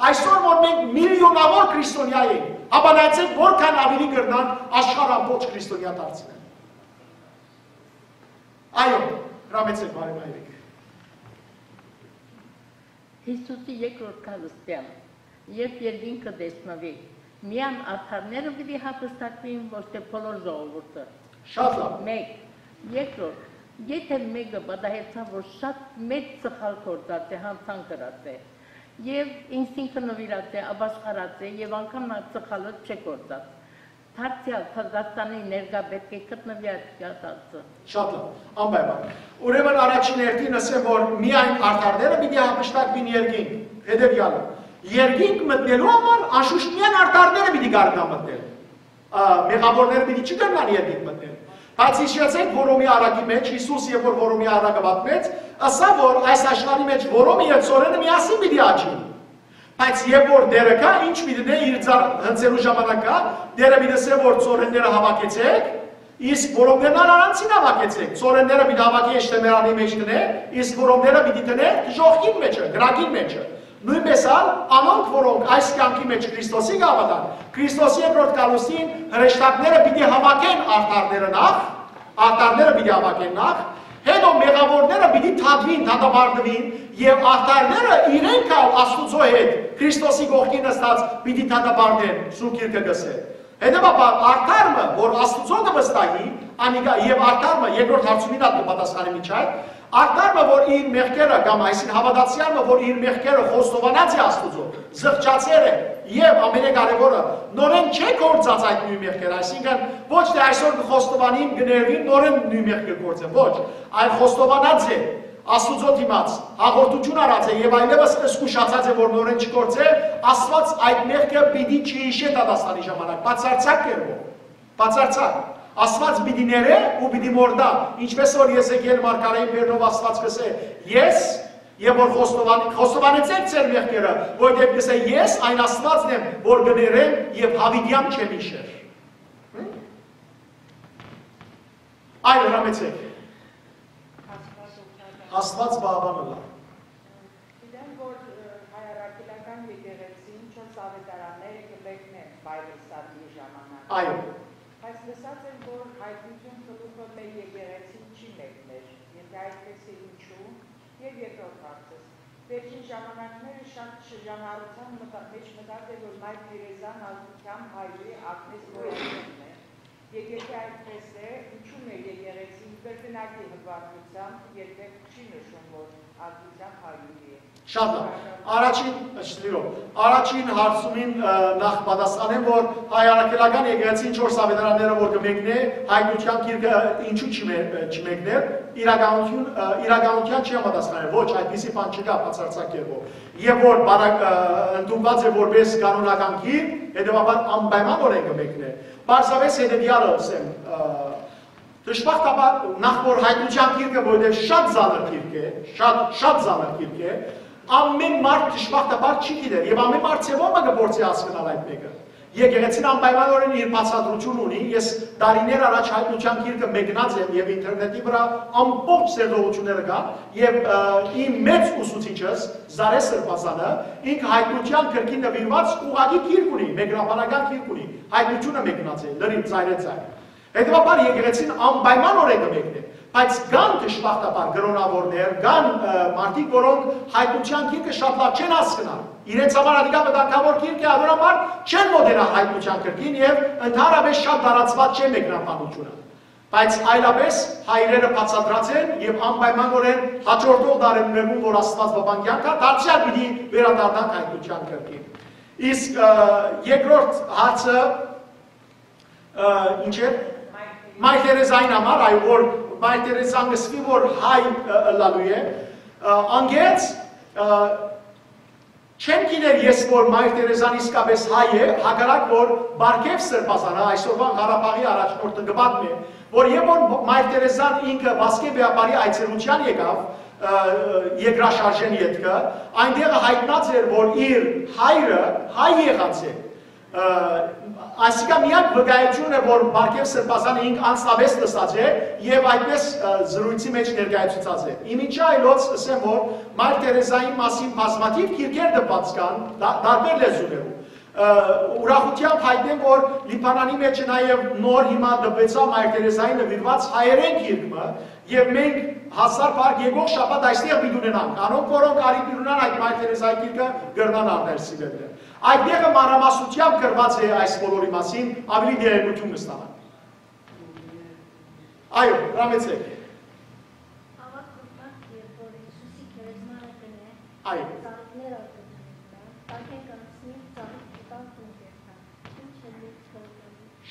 Այսօր որ մենք միլիոնաւոր քրիստոնեայ ենք, հապա նայեցէք, որքան աւելի կրնան աշխարհ ամբողջ քրիստոնեայ դարձնել։ Այո, հրամեցեք, բարի մայրիկ։ Յիսուսի երկրորդ գալստեան, երբ երկինքը տեսնուի, միայն արդարները պիտի հափշտակուին, ոչ թէ բոլոր ժողովուրդը։ Շատ լավ։ Մեկ։ Երկրորդ, եթէ մէկը պատահեցաւ, որ շատ մեծ սխալ գործած է, յանցանք ըրած է, եւ ինքզինքը նուիրած է, ապաշխարած է, եւ անգամ նա սխալը չէ գործած, դարձեալ Դատաստանի ներկայ պէտք է գտնուի այդ կատարածը։ Շատ լավ, անպայման։ Ուրեմն առաջին հերթին ասեմ, որ միայն արդարները պիտի հափշտակվին երկինք, հետեւեալը։ Երկինք մտնելու համար անշուշտ միայն արդարները պիտի կարենան մտնել։ Ա, մեղավորները պիտի չկարենան երկինք մտնել։ Բայց հիշեցեք, Հռոմի առակի մէջ, Յիսուս երբ որ Հռոմի առակը պատմեց, ասաւ, որ այս աշխարհի մէջ Հռոմը եւ Ծորենը միասին պիտի աճին։ Բայց երբ որ Տերը գայ, ինչ պիտի դնէ իր ձա-, հնձելու ժամանակ գայ, Տերը պիտի ասէ, որ Ծորենները հաւաքեցէք, իսկ Հռոմներն ալ առանձին հաւաքեցէք։ Ծորենները պիտի հաւաքէ իշտեմերանի մէջ դնէ, իսկ Հռոմները պիտի դնէ ժողքին մէջը, կրակին մէջը։ Նոյնպես ալ անոնք, որոնք այս կեանքի մէջ Քրիստոսի կը հաւատան, Քրիստոսի երկրորդ գալուստին հրեշտակները պիտի հաւաքեն արդարները նախ, արդարները պիտի հաւաքեն նախ, հետո մեղավորները պիտի դատուին, դատապարտուին, եւ արդարները իրենք ալ Աստուծոյ հետ Քրիստոսի կողքին նստած պիտի դատապարտեն, Սուրբ Գիրքը կ'ըսէ։ Հետեւաբար, արդար մը, որ Աստուծոյ կը վստահի, անիկա, եւ արդար մը, երկրորդ հարցումին ալ կը պատասխանի միջայ, արդար մը, որ իր մեղքերը, կամ այսին հաւատացեալ մը, որ իր մեղքերը խոստովանած է Աստուծոյ, զղջացեր է, եւ ամենակարեւորը, նորէն չէ գործած այդ նոյն մեղքերը, այսինքն ոչ թէ այսօր կը խոստովանին, կը ներուին, նորէն նոյն մեղքը գործեն, ոչ, այլ խոստովանած է Աստուծոյ դիմաց, հաղորդութիւն առած է եւ այլեւս զգուշացած է, որ նորէն չգործէ, Աստված այդ մեղքը պիտի չհիշէ դատաստանի ժամանակ, բացարձակ կերպով, բացարձակ։ Աստված պիտի ներէ ու պիտի մորթայ, ինչպես որ Եզեկիել մարգարէին բերնով Աստված կ'ըսէ, ես, եւ որ խոստովան-, խոստովանեցեք ձեր մեղքերը, որովհետեւ կ'ըսէ, ես այն Աստվածն եմ, որ կներեմ եւ յաւիտեան չեմ յիշեր։ Այո, հրամեցեք։ Աստված պահապան ըլլայ։ Գիտեմ, որ, ը, հայ առաքելական եկեղեցին չորս աւետարանները կը մեկնեն Bible study-ի ժամանակ։ Այո։ Բայց լսած եմ, որ հայտնութիւն գլուխը մեր եկեղեցին չի մեկներ։ Եթէ այդպես է, ինչու՞։ Եւ երկրորդ հարցս։ Վերջին ժամանակները շատ շրջանառութեան մտա-, մէջ մտած է, որ Մայր Թերեզան ազգութեամբ հայու է, Ագնէս Գոյակյանն է։ Եթէ այդպես է, ինչու մեր եկեղեցին կրկնակի հպարտությամբ երբեք չի նշում, որ ազգությամբ հայու է։ Շատ լավ։ Առաջին, շնորհիվ, առաջին հարցումին, ը, նախ պատասխանեմ, որ հայ առաքելական եկեղեցին չորս աւետարանները որ կը մեկնէ, հայտնության գիրքը ինչու չի մե-, չմեկներ, իրականություն, ը, իրականության չի համապատասխանել, ոչ, այդպիսի բան չկայ բացարձակ կերպով։ Եւ որ բարակ-, ը, ընդունուած է որպես կանոնական գիրք, հետեւաբար անպայմանորեն կը մեկնէ։ Պարզապէս հետեւեալը ըսեմ, ը, դժբախտաբար, նախ որ հայտնութեան գիրքը, որովհետեւ շատ ծանր գիրք է, շատ, շատ ծանր գիրք է, ամէն մարդ դժբախտաբար չի գիտեր, եւ ամէն մարդ ձեւով մը կը փորձի հասկնալ այդ մէկը։ Եկեղեցին անպայմանօրէն իր բացատրութիւնը ունի, ես տարիներ առաջ հայտնութեան գիրքը մեկնած եմ եւ ինտերնետի վրայ ամբողջ ձերտողութիւնները կան, եւ, ը, իմ մեծ ուսուցիչս, Զարէ Սրբազանը, ինքը հայտնութեան կրկին նուիրուած ուղղակի գիրք ունի, մեկնաբանական գիրք ունի, հայտնութիւնը մեկնած է, լրիվ ծայրեծայր։ Հետեւաբար եկեղեցին անպայմանօրէն կը մեկնէ, բայց կան դժբախտաբար կրօնաւորներ, կան, ը, մարդիկ, որոնք հայտնութեան գիրքը շատ լաւ չեն հասկնար։ Իրենց համար ատիկա վտանգաւոր գիրք է, անոր համար չեն մոտենայ հայտնութեան կրկին եւ ընդհանրապէս շատ տարածուած չէ մեկնաբանութիւնը։ Բայց այլապէս հայրերը բացատրած են եւ անպայմանօրէն հաջորդող դարերուն, որ Աստուած պապան կեանք տայ, դարձեալ պիտի վերադառնանք հայտնութեան կրկին։ Իսկ, ը, երկրորդ հարցը, ը, ինչ էր։ Մայր Թերեզային համար, այո, որ Մայր Թերեզան կսկսի, որ հայ, ը, ըլլալու է, ը, անգերց, ը, չեմ գիտեր ես, որ Մայր Թերեզան իսկապէս հայ է, հակառակ որ Պարգեւ Սրբազանը, այսօրվան Ղարաբաղի առաջնորդը, կը պատմէ, որ երբ որ Մայր Թերեզան ինքը Վասկեն Վեապարի այցելութեան եկաւ, ը, երկրաշարժէն ետքը, այնտեղ յայտնած էր, որ իր հայրը հայ եղած է։ Ը, այսինքն միակ վկայությունն է, որ Պարգեւ Սրբազանը ինք անձնապէս լսած է եւ այդպես, ը, զրույցի մէջ ներկայացուցած է։ Ի միջի այլոց ըսեմ, որ Մայր Թերեզայի մասին բազմաթիւ գիրքեր տպված կան, դա-, տարբեր լեզուներով։ Ը, ուրախութեամբ հայտնեմ, որ Լիբանանի մէջ նաեւ նոր հիմա տպեցաւ Մայր Թերեզային նուիրուած հայերէն գիրք մը, եւ մենք հազար փառք եկող շաբաթ այստեղ պիտի ունենանք։ Անոնք, որոնք առիթ ունենան այդ Մայր Թերեզայի գիրքը, կրնան առնել սիրելիներ։ Այդ տեղը մանրամասնությամբ գրված է այս բոլորի մասին, ավելի տեղեկութիւն կստանան։ Այո, հրամեցեք։ Ավագ Ղուկաս, երբ որ Հիսուսի քերեզմանը կնէ, այո, ծաղիկներ ալ կդնեն վրան, տակէն կանցնի, ծաղիկ կտան, տուն կերթան։ Ինչ է միտքը։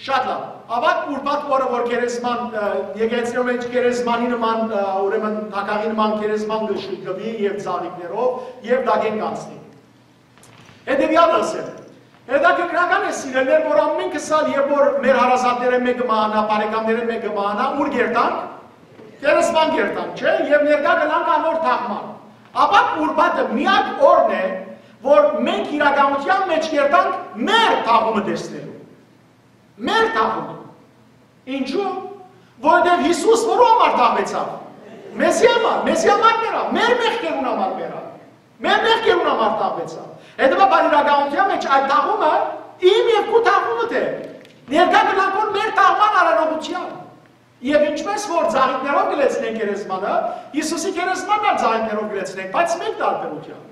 Շատ լավ։ Ավագ Ուրբաթ օրը, որ քերեզման, ը, եկեղեցիներու մէջ քերեզմանի նման, ը, ուրեմն թագաղի նման քերեզման կը շուտկուի եւ ծաղիկներով, եւ տակէն կանցնի։ Հետեւեալը ըսեմ։ Հետաքրքրական է, սիրելիներ, որ ամէնքս ալ, երբ որ մեր հարազատներէն մէկը մահանայ, բարեկամներէն մէկը մահանայ, ուր կերտանք։ Քերեզման կերտանք, չէ՞, եւ ներկայ կ'ըլլանք անոր թաղման։ Ավագ Ուրբաթը միակ օրն է, որ մենք իրականութեան մէջ կերտանք մեր թաղումը տեսնելու։ Մեր թաղումը։ Ինչու՞։ Որովհետեւ Հիսուս որու համար թաղուեցաւ։ Մեզի համար, մեզի համար մեռաւ, մեր մեղքերուն համար մեռաւ։ Մեր մեղքերուն համար թաղուեցաւ։ Հետեւաբար իրականութեան մէջ այդ թաղումը իմ եւ քու թաղումդ է։ Ներկայ կ'ըլլանք որ մեր թաղման արարողութեան։ Եւ ինչպես որ ծաղիկներով կը լեցնենք քերեզմանը, Հիսուսի քերեզմանն ալ ծաղիկներով կը լեցնենք, բայց մեկ տարբերությամբ։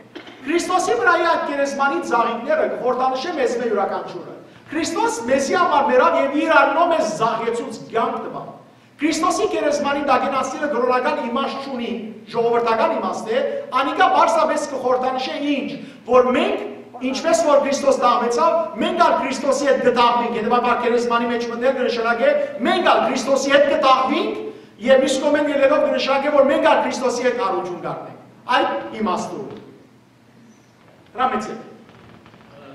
Քրիստոսի վրայի այդ քերեզմանի ծաղիկները կը խորհրդանշեն մեզմէ իւրաքանչիւրը։ Քրիստոս մեզի համար մեռաւ եւ իր անունով մեզ զահեցուց, կեանք տուաւ։ Քրիստոսի քերեզմանի տակէն անցնելը կրօնական իմաստ չունի, ժողովրդական իմաստ է, անիկա պարզապէս կը խորհրդանշէ ինչ, որ մենք, ինչպես որ Քրիստոս թաղուեցաւ, մենք ալ Քրիստոսի հետ կը թաղուինք, հետեւաբար քերեզմանի մէջ մտնել կը նշանակէ, մենք ալ Քրիստոսի հետ կը թաղուինք, եւ մյուս կողմէն ելլելով կը նշանակէ, որ մենք ալ Քրիստոսի հետ հարություն կ'առնենք։ Այդ իմաստով։ Հրամեցեք։ Ը,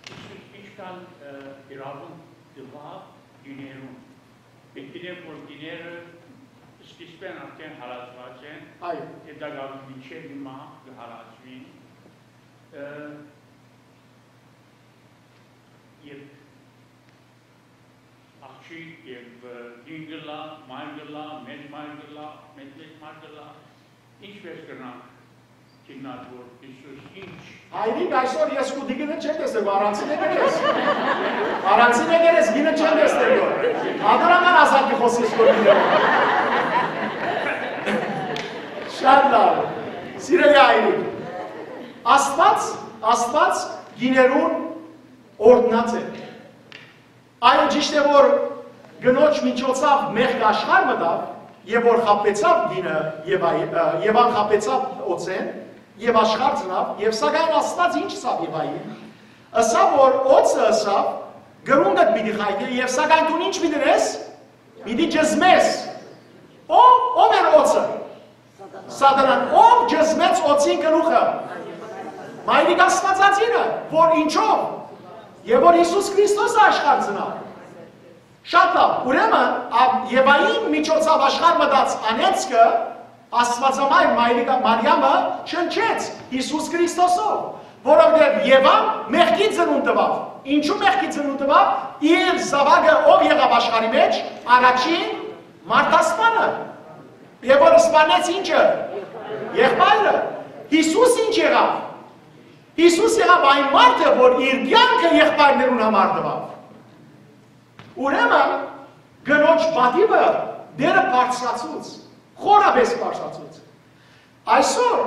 Հիսուս ինչքան, ը, իրաւունք տուաւ կիներուն։ Մենք գիտենք, որ կիները սկիզբէն արդեն հալածուած են, այո, եւ դա գալու մինչեւ հիմա կը հալածուին, ը, եւ աղջիկ եւ, ը, կին կ'ըլլայ, մայր կ'ըլլայ, մեծ մայր կ'ըլլայ, մեծ մեծ մայր կ'ըլլայ, ինչպէս կրնանք գիտնալ, որ Հիսուս ինչ։ Հայրիկ, այսօր ես քու տիկինը չեմ տեսել, առանցին եկեր ես։ Առանցին եկեր ես, գինը չեմ տեսնել, որ։ Ադորական ազատ կը խոսես, որ գինը։ Շատ լավ։ Սիրելի հայրիկ, Աստված, Աստված գիներուն օրհնած է։ Այո, ճիշդ է, որ կնոջ միջոցով մեղքը աշխարհ մտաւ, եւ որ խաբեցաւ գինը եւ այ-, ը, եւ անխաբեցաւ օծեն, եւ աշխարհ ծնաւ, եւ սակայն Աստված ինչ ըսաւ Եվային, ըսաւ, որ օծը ըսաւ, կրունկդ պիտի խայտէ, եւ սակայն դուն ինչ պիտի դնես, պիտի ճզմես։ Ո-, ով էր օծը։ Սատանան, ով ճզմեց օծին գլուխը։ Մայրիկ Աստվածածինը, որ ինչով, եւ որ Հիսուս Քրիստոս աշխարհ ծնաւ։ Շատ լաւ, ուրեմն, ա, Եվային միջոցաւ աշխարհ մտած անեծքը, Աստուածամայր Մայրիկա Մարիամը չնչեց Յիսուս Քրիստոսով, որովհետեւ Եվան մեղքի ծնունդ տուաւ։ Ինչու մեղքի ծնունդ տուաւ։ Իր զաւակը ով եղաւ աշխարհի մեջ, առաջին մարդասպանը։ Եւ որ սպանեց ինչը, եղբայրը։ Յիսուս ինչ եղաւ։ Յիսուս եղաւ այն մարդը, որ իր կեանքը եղբայրներուն համար տուաւ։ Ուրեմն, կնոջ պատիւը Տէրը բարձրացուց, խորապէս բարձրացուց։ Այսօր,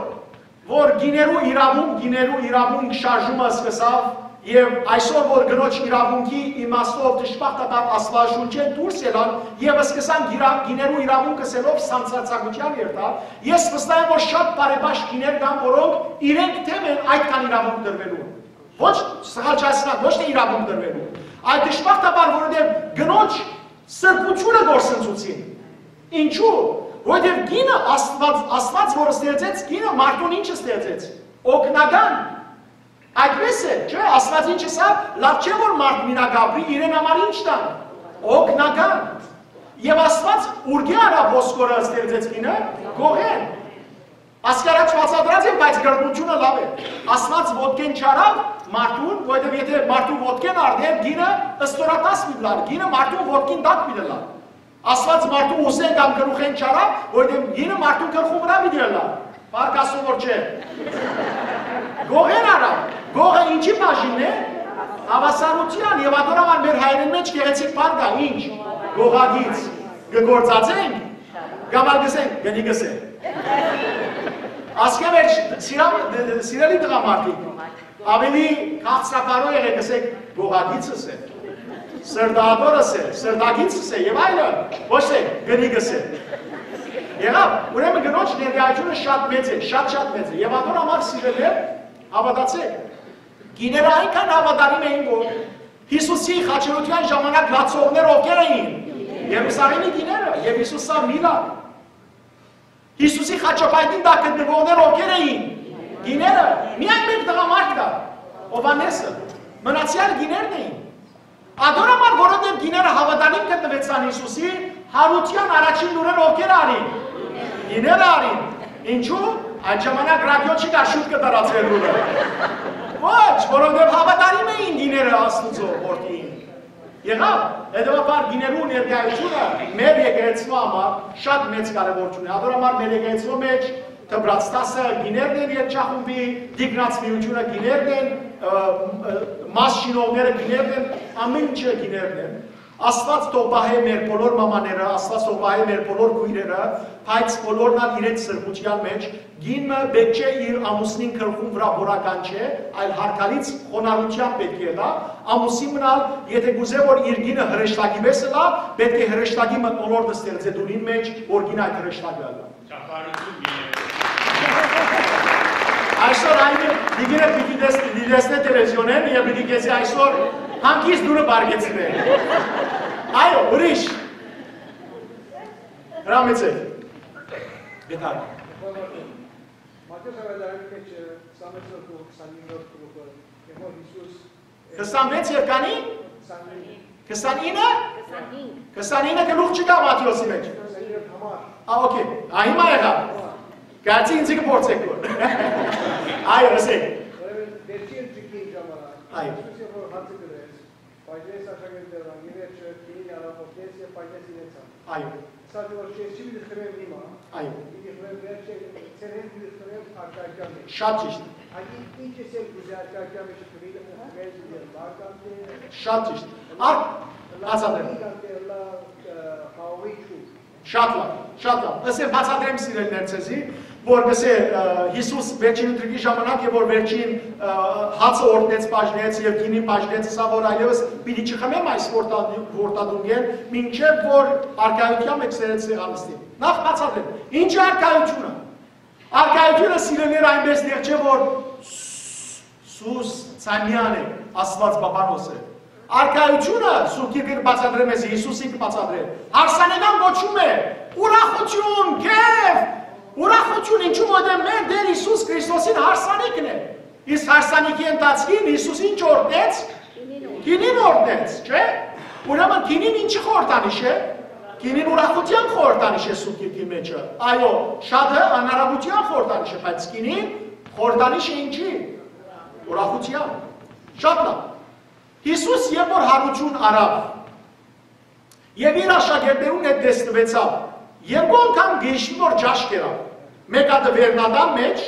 որ կիներու իրաւունք, կիներու իրաւունք շարժումը սկսաւ, եւ այսօր, որ կնոջ իրաւունքի իմաստով դժբախտաբար Աստուածաշունչէն դուրս ելան, եւ սկսան գիրա-, կիներու իրաւունքը սելով սանձարձակութեան երթալ, ես վստահ եմ, որ շատ բարեպաշտ կիներ կան, որոնք իրենք դէմ են այդքան իրաւունք տրուելուն։ Ոչ սխալչացնան, ոչ թե իրաւունք տրուելուն, այլ դժբախտաբար, որովհետեւ կնոջ սրբութիւնը կորսնցուցին։ Ինչու՞։ Որովհետեւ կինը Աստուած, Աստուած որ ստեղծեց կինը, մարդուն ինչ ստեղծեց։ Օգնական։ Այդպես է, չէ՞։ Աստուած ինչ ըսաւ, լաւ չէ որ մարդ մինակ ապրի, իրեն համար ինչ տան։ Օգնական։ Եւ Աստուած ուրկէ առաւ ոսկորը ստեղծեց կինը, գողէն։ Ասկի առաջ բացատրած եմ, բայց գրգնութիւնը լաւ է։ Աստուած ոտքէն չարաւ մարդուն, որովհետեւ եթե մարդուն ոտքէն առնէր, կինը ստորատաս պիտի լար, կինը մարդուն ոտքին տակ պիտի լար։ Աստուած մարդուն ուսէն կամ գլուխէն չարաւ, որովհետեւ կինը մարդուն գլխուն վրայ պիտի լար։ Փառք Աստուծոյ որ չէ։ Գողէն առաւ, գողը ինչի բաժինն է։ Հավասարութեան, եւ ատոր համար մեր հայերէն մեջ գեղեցիկ բառ կայ, ինչ, գողագիծ, կը գործածենք, կամ ալ կ'ըսենք, կնի կ'ըսենք։ Ասկէ վերջ, սիրամ-, սիրելի տղամարդիկ, ավելի քաղցրաբարոյ եղեք, ըսեք, գողագիծս է, սրտահատորս է, սրտագիծս է, եւ այլը, ոչ թե կնի կ'ըսեք։ Եղաւ, ուրեմն կնոջ ներկայությունը շատ մեծ է, շատ-շատ մեծ է, եւ ատոր համար սիրելիներ, հավատացեք, կիները այնքան հավատարիմ էին, որ Յիսուսի խաչելութեան ժամանակ լացողներ ովքեր էին, Երուսաղէմի կիները, եւ Յիսուս սա մի լաց։ Յիսուսի խաչապայտին տակ գտնուողներ ովքեր էին, կիները, միայն մէկ տղամարդ կար, Յովհաննէսը, մնացեալ կիներն էին։ Ատոր համար, որովհետեւ կիները հավատարիմ գտնուեցան Յիսուսի, յարութեան առաջին լուրերը ովքեր առին, կիները առին։ Ինչու՞։ Այդ ժամանակ ռադիո չի կար, շուտ կը տարածուէր լուրը։ Ոչ, որովհետեւ հավատարիմ էին կիները Աստուծոյ որդիին։ Եղաւ, հետեւաբար կիներու ներկայությունը մեր եկեղեցու համար շատ մեծ կարեւորութիւն է։ Ատոր համար մեր եկեղեցու մեջ դպրաց դասը կիներն են, երգչախումբի, տիկնաց միութիւնը կիներն են, ը, ը, մաս շինողները կիներն են, ամէն ինչը կիներն են։ Աստուած թող պահէ մեր բոլոր մամաները, Աստուած թող պահէ մեր բոլոր քոյրերը, բայց բոլորն ալ իրենց սրբութեան մեջ, կին մը պէտք չէ իր ամուսնին գլխուն վրայ որական չէ, այլ հարգալից խոնարհութեան պէտք է ըլլայ, ամուսին մնալ, եթե կուզէ որ իր կինը հրեշտակի պէս ըլլայ, պէտք է հրեշտակի մթնոլորտը ստեղծէ դուռին մեջ, որ կին այդ հրեշտակը ըլլայ։ Չափառություն կիներ։ Այսօր այն տիկինը պիտի տես-, պիտի տեսնէ տելեվիզիոնէն եւ պիտի քեզի այսօր հանգիստ դուռը բարգեցնէ։ Այո, ուրիշ։ Հրամեցեք։ Գետար։ Մատթէոս Աւետարանի մեջ քսանութ գլուխ, քսանինը գլուխը, եւ որ Յիսուս քսանվեց եւ քանի՞։ Քսանինը։ Քսանինը։ Քսանինը գլուխ չկայ Մատթէոսի մեջ։ Քսանինը համար։ Ա, օքեյ։ Ա, հիմա եղա։ Համար։ Կարծի ինձ կը փորձեք որ։ Այո, ըսեք։ Ուրեմն, վերջին ճկին ժամանակ, այո, Յիսուս երբ որ հացը կրեց, բայց ես աշակերտներն, ի վերջը, քինի արաբոքես եւ բայց ես իրենց ան։ Այո։ Սա որ ես չի պիտի խմեմ հիմա, այո, պիտի խմեմ վերջը, ձեր հետ պիտի խմեմ արկայական մեջ։ Շատ ճիշտ։ Ակի ինչ ես էլ կուզե արկայական մեջ խմել, խմել պիտի ըլլա, կամ թե շատ ճիշտ։ Ա, բացատրեմ։ Կամ թե ըլլա, ը, խաղողի չուր։ Շատ լավ, շատ լավ։ Ըսեմ, բացատրեմ, սիրելիներ, ձեզի, որ կսե, ը, Յիսուս վերջին ընթրիքի ժամանակ եւ որ վերջին, ը, հացը օրհնեց, բաժնեց եւ գինին բաժնեց, ըսա որ այլեւս պիտի չխմեմ այս որդա-, որդատունկեն, մինչեւ որ արկայութեան մեջ սերեց սեղանստին։ Նախ բացատրեմ, ինչ է արկայությունը։ Արկայությունը, սիրելիներ, այնպես տեղ չէ որ Սուս Ցանյան է, Աստուած Պապանոս է։ Արկայությունը, Սուրբ Գիրքը կը բացատրեմ, ես Յիսուսին կը բացատրեմ, հարսանեկան կոչում է, ուրախություն, քեֆ, ուրախություն, ինչու որ դե մեր Տէր Յիսուս Քրիստոսին հարսանիքն է։ Իսկ հարսանիքի ընթացքին Յիսուս ինչ օրհնեց։ Գինին օրհնեց, չէ՞։ Ուրեմն գինին ինչի խորհրդանիշ է։ Գինին ուրախութեան խորհրդանիշ է Սուրբ Գիրքին մէջը։ Այո, շատը անարագութեան խորհրդանիշ է, բայց գինին խորհրդանիշ է ինչի։ Ուրախութեան։ Շատ լավ։ Յիսուս երբ որ յարութիւն առաւ, եւ իր աշակերտներուն հետ տեսնուեցաւ, երկու անգամ կ'հիշի որ ճաշ կերաւ, մէկ հատը վերնատան մէջ,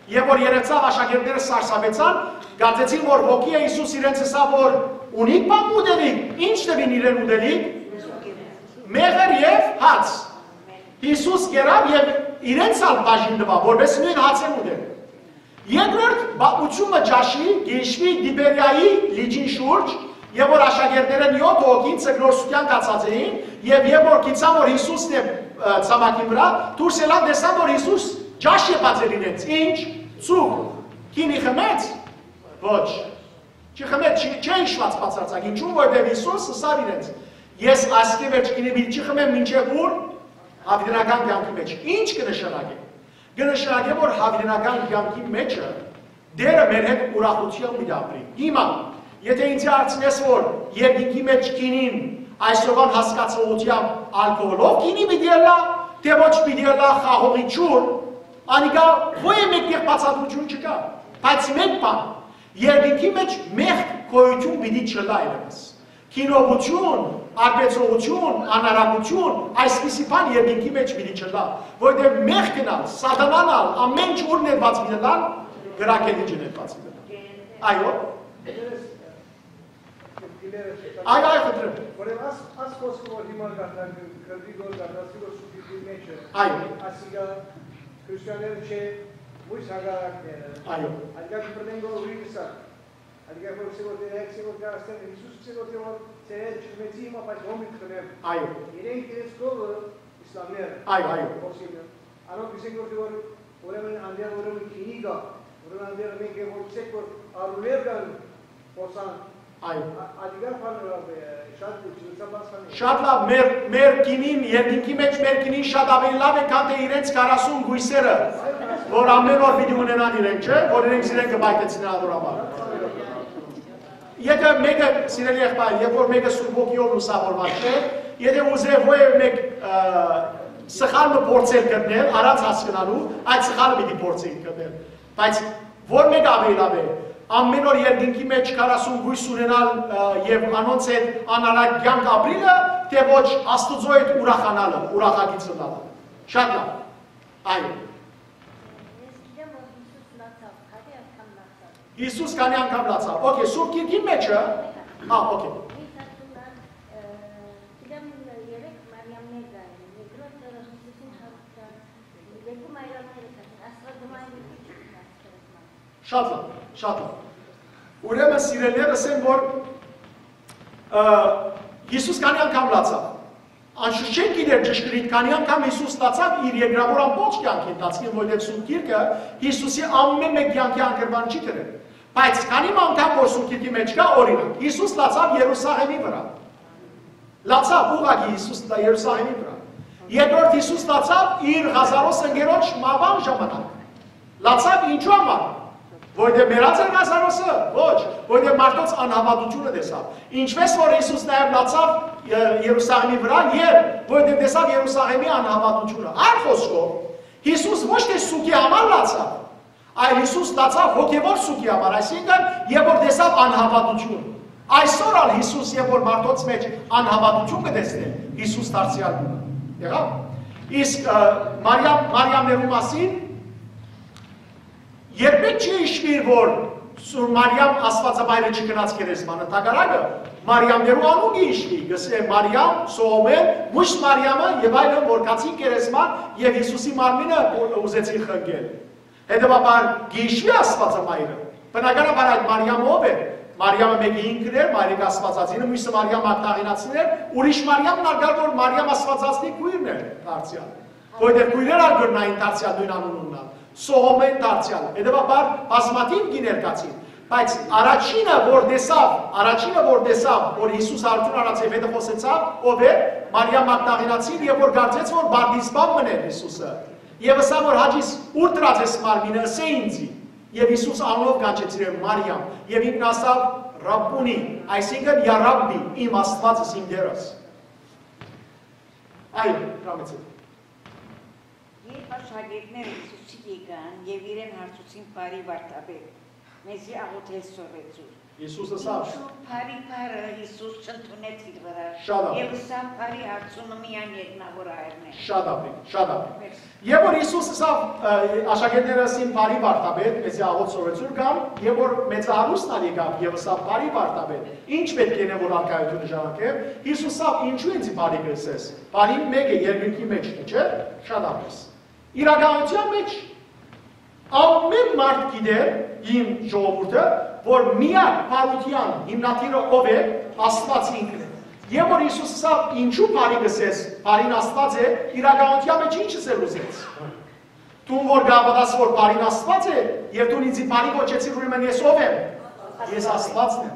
եւ որ երեւցաւ, աշակերտները սարսափեցան, կարծեցին որ հոգի է, Յիսուս իրենց ըսաւ որ ունի՞ք բան ուտելիք, ինչ տուին իրեն ուտելիք, մեղր եւ հաց։ Յիսուս կերաւ եւ իրենց ալ բաժին տուաւ, որպէս նոյն հացեր ուտեն։ Երկրորդ պատմութիւնը ճաշի կ'հիշուի Տիբերիայի լիճին շուրջ, եւ որ աշակերտներէն եօթ հոգին ձկնորսութեան գացած էին, եւ երբ որ գիցան որ Յիսուսն է, ը, ցամաքին վրայ, դուրս ելան, տեսան որ Յիսուս ճաշ եպած էր իրենց։ Ինչ, ծուխ, գինի խմեց։ Ոչ, չխմեց, չի, չէ հիշուած բացարձակ, ինչու, որովհետեւ Յիսուս ըսաւ իրենց. «Ես այսքէ վերջ գինի պիտի չխմեմ մինչեւ ուր, յաւիտենական կեանքի մէջ»։ Ինչ կը նշանակէ։ Կը նշանակէ որ յաւիտենական կեանքի մէջը Տէրը մեր հետ ուրախութեամբ պիտի ապրի։ Հիմա, եթէ ինձի հարցնես որ երկինքի մէջ գինին այսօրուան հասկացողութեամբ ալկոհոլով գինի պիտի ըլլայ, թէ ոչ պիտի ըլլայ խաղողի ջուր, անիկա ոյ մէկտեղ բացատրութիւն չկայ, բայց մէկ բան, երկինքի մէջ մեղք գոյութիւն պիտի չըլլայ երեւս։ Գինովութիւն, արբեցողութիւն, անարագութիւն, այսպիսի բան երկինքի մէջ պիտի չըլլայ, որովհետեւ մեղքն ալ, սատանան ալ, ամէն ինչ ուր ներուած պիտի ըլլան, կրակէ լիճը ներուած պիտի ըլլան։ Այո։ Այո, այո, խնդրեմ։ Ուրեմն աս, աս խոսքը որ հիմա կատարվի, կրվի որ կատարվի որ Սուրբ Գիրքին մէջ է։ Այո։ Ասիկա քրիստոնեան չէ, մույս հակառակները։ Այո։ Ալկա կպրտեն գոր ուրի կսա։ Ալկա որ սի որ դերեքսի որ կարաստեն Յիսուս սի որ որ ծերել չմեցի հիմա բայց հոմի կխնեմ։ Այո։ Իրենք իրենց կողը իսլամները։ Այո, այո։ Խոսինը։ Անոնք կսեն որ որ ուրեմն անդեր ուրեմն քինի գա, ուրեմն անդեր մենք որ ցեք որ արուներ կան, Պոսան։ Այո։ Ա-, ադիգար բաներ ալ, շատ լուրջ, լուսաբաց բաներ։ Շատ լավ, մեր, մեր գինին, երկինքի մէջ մեր գինին շատ ավելի լավ է, քան թէ իրենց քառասուն կոյսերը, որ ամեն օր պիտի ունենան իրենք, չէ՞, որ իրենք իրեն կպայթեցնեն ադոր համար։ Եթե մեկը, սիրելի եղբայր, երբ որ մեկը Սուրբ Ոգիով լուսավորված չէ, եթե ուզէ ոեւ մեկ, ը, սխալ մը փորձել գտնել, առանց հասկնալու, այդ սխալը պիտի փորձի գտնել։ Բայց որ մեկը աւելի լաւ է, ամեն օր երկինքի մէջ քառասուն կոյս ունենալ, ը, եւ անոնց հետ անարակ կեանք ապրիլը, թէ ոչ Աստուծոյ հետ ուրախանալը, ուրախագիծ ըլլալը։ Շատ լաւ։ Այո։ Ես գիտեմ, որ Յիսուս լացաւ, քանի անգամ լացաւ։ Յիսուս քանի անգամ լացաւ։ Okay, Սուրբ Գիրքին մէջը։ Հա, okay։ Մի հատունան, ը, գիտեմ, երեք Մարիամներ կային, երկրորդը Յիսուսին հարցան, երկու Մարիամները կային, Աստվածամայրը քիչ մնաց քերեզման։ Շատ լավ, շատ լավ։ Ուրեմն, սիրելիներս, ասեմ, որ, ը, Յիսուս քանի անգամ լացաւ։ Անշուշտ չենք գիտեր ճշգրիտ քանի անգամ Յիսուս լացաւ իր երկրավոր ամբողջ կեանքի ընթացքին, որովհետեւ Սուրբ Գիրքը Յիսուսի ամեն մէկ կեանքի անկրման չի դրել։ Բայց քանի մը անգամ որ Սուրբ Գիրքի մէջ կայ, օրինակ, Յիսուս լացաւ Երուսաղեմի վրայ։ Լացաւ ուղղակի Յիսուս լա-, Երուսաղեմի վրայ։ Երկրորդ Յիսուս լացաւ իր Ղազարոս ընկերոջ մահվան ժամանակ։ Լացաւ ինչու համար։ Որովհետեւ մեռած էր Ղազարոսը, ոչ, որովհետեւ մարդոց անհավատությունը տեսաւ։ Ինչպես որ Յիսուս նաեւ լացաւ, ը, Երուսաղեմի վրայ, եւ որովհետեւ տեսաւ Երուսաղեմի անհավատությունը։ Այլ խոսքով, Յիսուս ոչ թէ սուգի համար լացաւ, այլ Յիսուս լացաւ հոգեվոր սուգի համար, այսինքն, երբ որ տեսաւ անհավատություն։ Այսօր ալ Յիսուս, երբ որ մարդոց մէջ անհավատություն կը տեսնէ, Յիսուս դարձեալ մնայ։ Եղա՞վ։ Իսկ, ը, Մարիամ, Մարիամներու մասին երբեք չի հիշուիր, որ Սուր Մարիամ Աստվածամայրը չգնաց գերեզմանը, հակառակը, Մարիամներու անունը հիշուի, կսե Մարիամ, Սողոմե, միշտ Մարիամը եւ այլն, որ գացին գերեզման եւ Յիսուսի մարմինը ու-, ուզեցին խնկել։ Հետեւաբար, կհիշուի Աստվածամայրը։ Բնականաբար, այդ Մարիամը ով էր։ Մարիամը մեկը ինքն էր, մայրիկ Աստվածածինը, մյուսը Մարիամ Մագդաղինացին էր, ուրիշ Մարիամն ալ կար, որ Մարիամ Աստվածածնի քույրն էր դարձեալ։ Որովհետեւ քույրեր ալ կրնային դարձեալ նոյն անունն ալ, Սողոմեն դարձեալ։ Հետեւաբար, բազմաթիւ կիներ կացին։ Բայց առաջինը, որ տեսաւ, առաջինը, որ տեսաւ, որ Յիսուս արդուն առած եւ հետը խոսեցաւ, ով էր, Մարիամ Մագդաղինացին, եւ որ կարծեց, որ Բարդիզպան մըն էր Յիսուսը։ Եւ ըսաւ, որ «Հաճիս, ո՞ւր դրած ես մարմինը, ըսէ ինձի»։ Եւ Յիսուս անունով կանչեց իրեն Մարիամ, եւ ինքն ասաւ, Ռաբբունի, այսինքն՝ Յա Ռաբբի, իմ Աստուածս, իմ Տերս։ Այո, Ռամեցի։ Երբ աշակերտները Յիսուսին եկան եւ իրեն հարցուցին. «Բարի Վարդապետ, մեզի աղօթել սորվեցուր»։ Յիսուս ըսաւ. «Ինչու բարի բառը Յիսուս չընդունեց իր վրայ»։ Շատ աղ։ Եւ ըսաւ. «Բարի հարցումը միայն երկնաւոր Հայրն է»։ Շատ աղ, շատ աղ։ Մերսի։ Եւ որ Յիսուս ըսաւ, ը, աշակերտները ըսին. «Բարի Վարդապետ, մեզի աղօթ սորվեցուր»։ Կամ, եւ որ մեծահարուստն ալ եկաւ եւ ըսաւ. «Բարի Վարդապետ, ի՞նչ պէտք է, որ արքայութիւնը ժառանգեմ»։ Յիսուս ըսաւ. «Ինչու ինձի բարի կ'ըսես։ Բարին մէկը երկնքի մէջ է, չէ՞»։ Շատ աղ։ Իրականութեան մէջ ամէն մարդ գիտէր, իմ ժողովուրդը, որ միակ բարութեան հիմնադիրը ով է, Աստուած ինքն է։ Եւ որ Յիսուս ըսաւ. «Ինչու բարի կ'ըսես, բարին Աստուած է»։ Իրականութեան մէջ ի՞նչ ըսել ուզեց։ Դուն որ կհաւատաս, որ բարին Աստուած է, եւ դուն ինձի բարի կոչեցիր, ուրեմն ես ո՞վ եմ։ Ես Աստուածն եմ։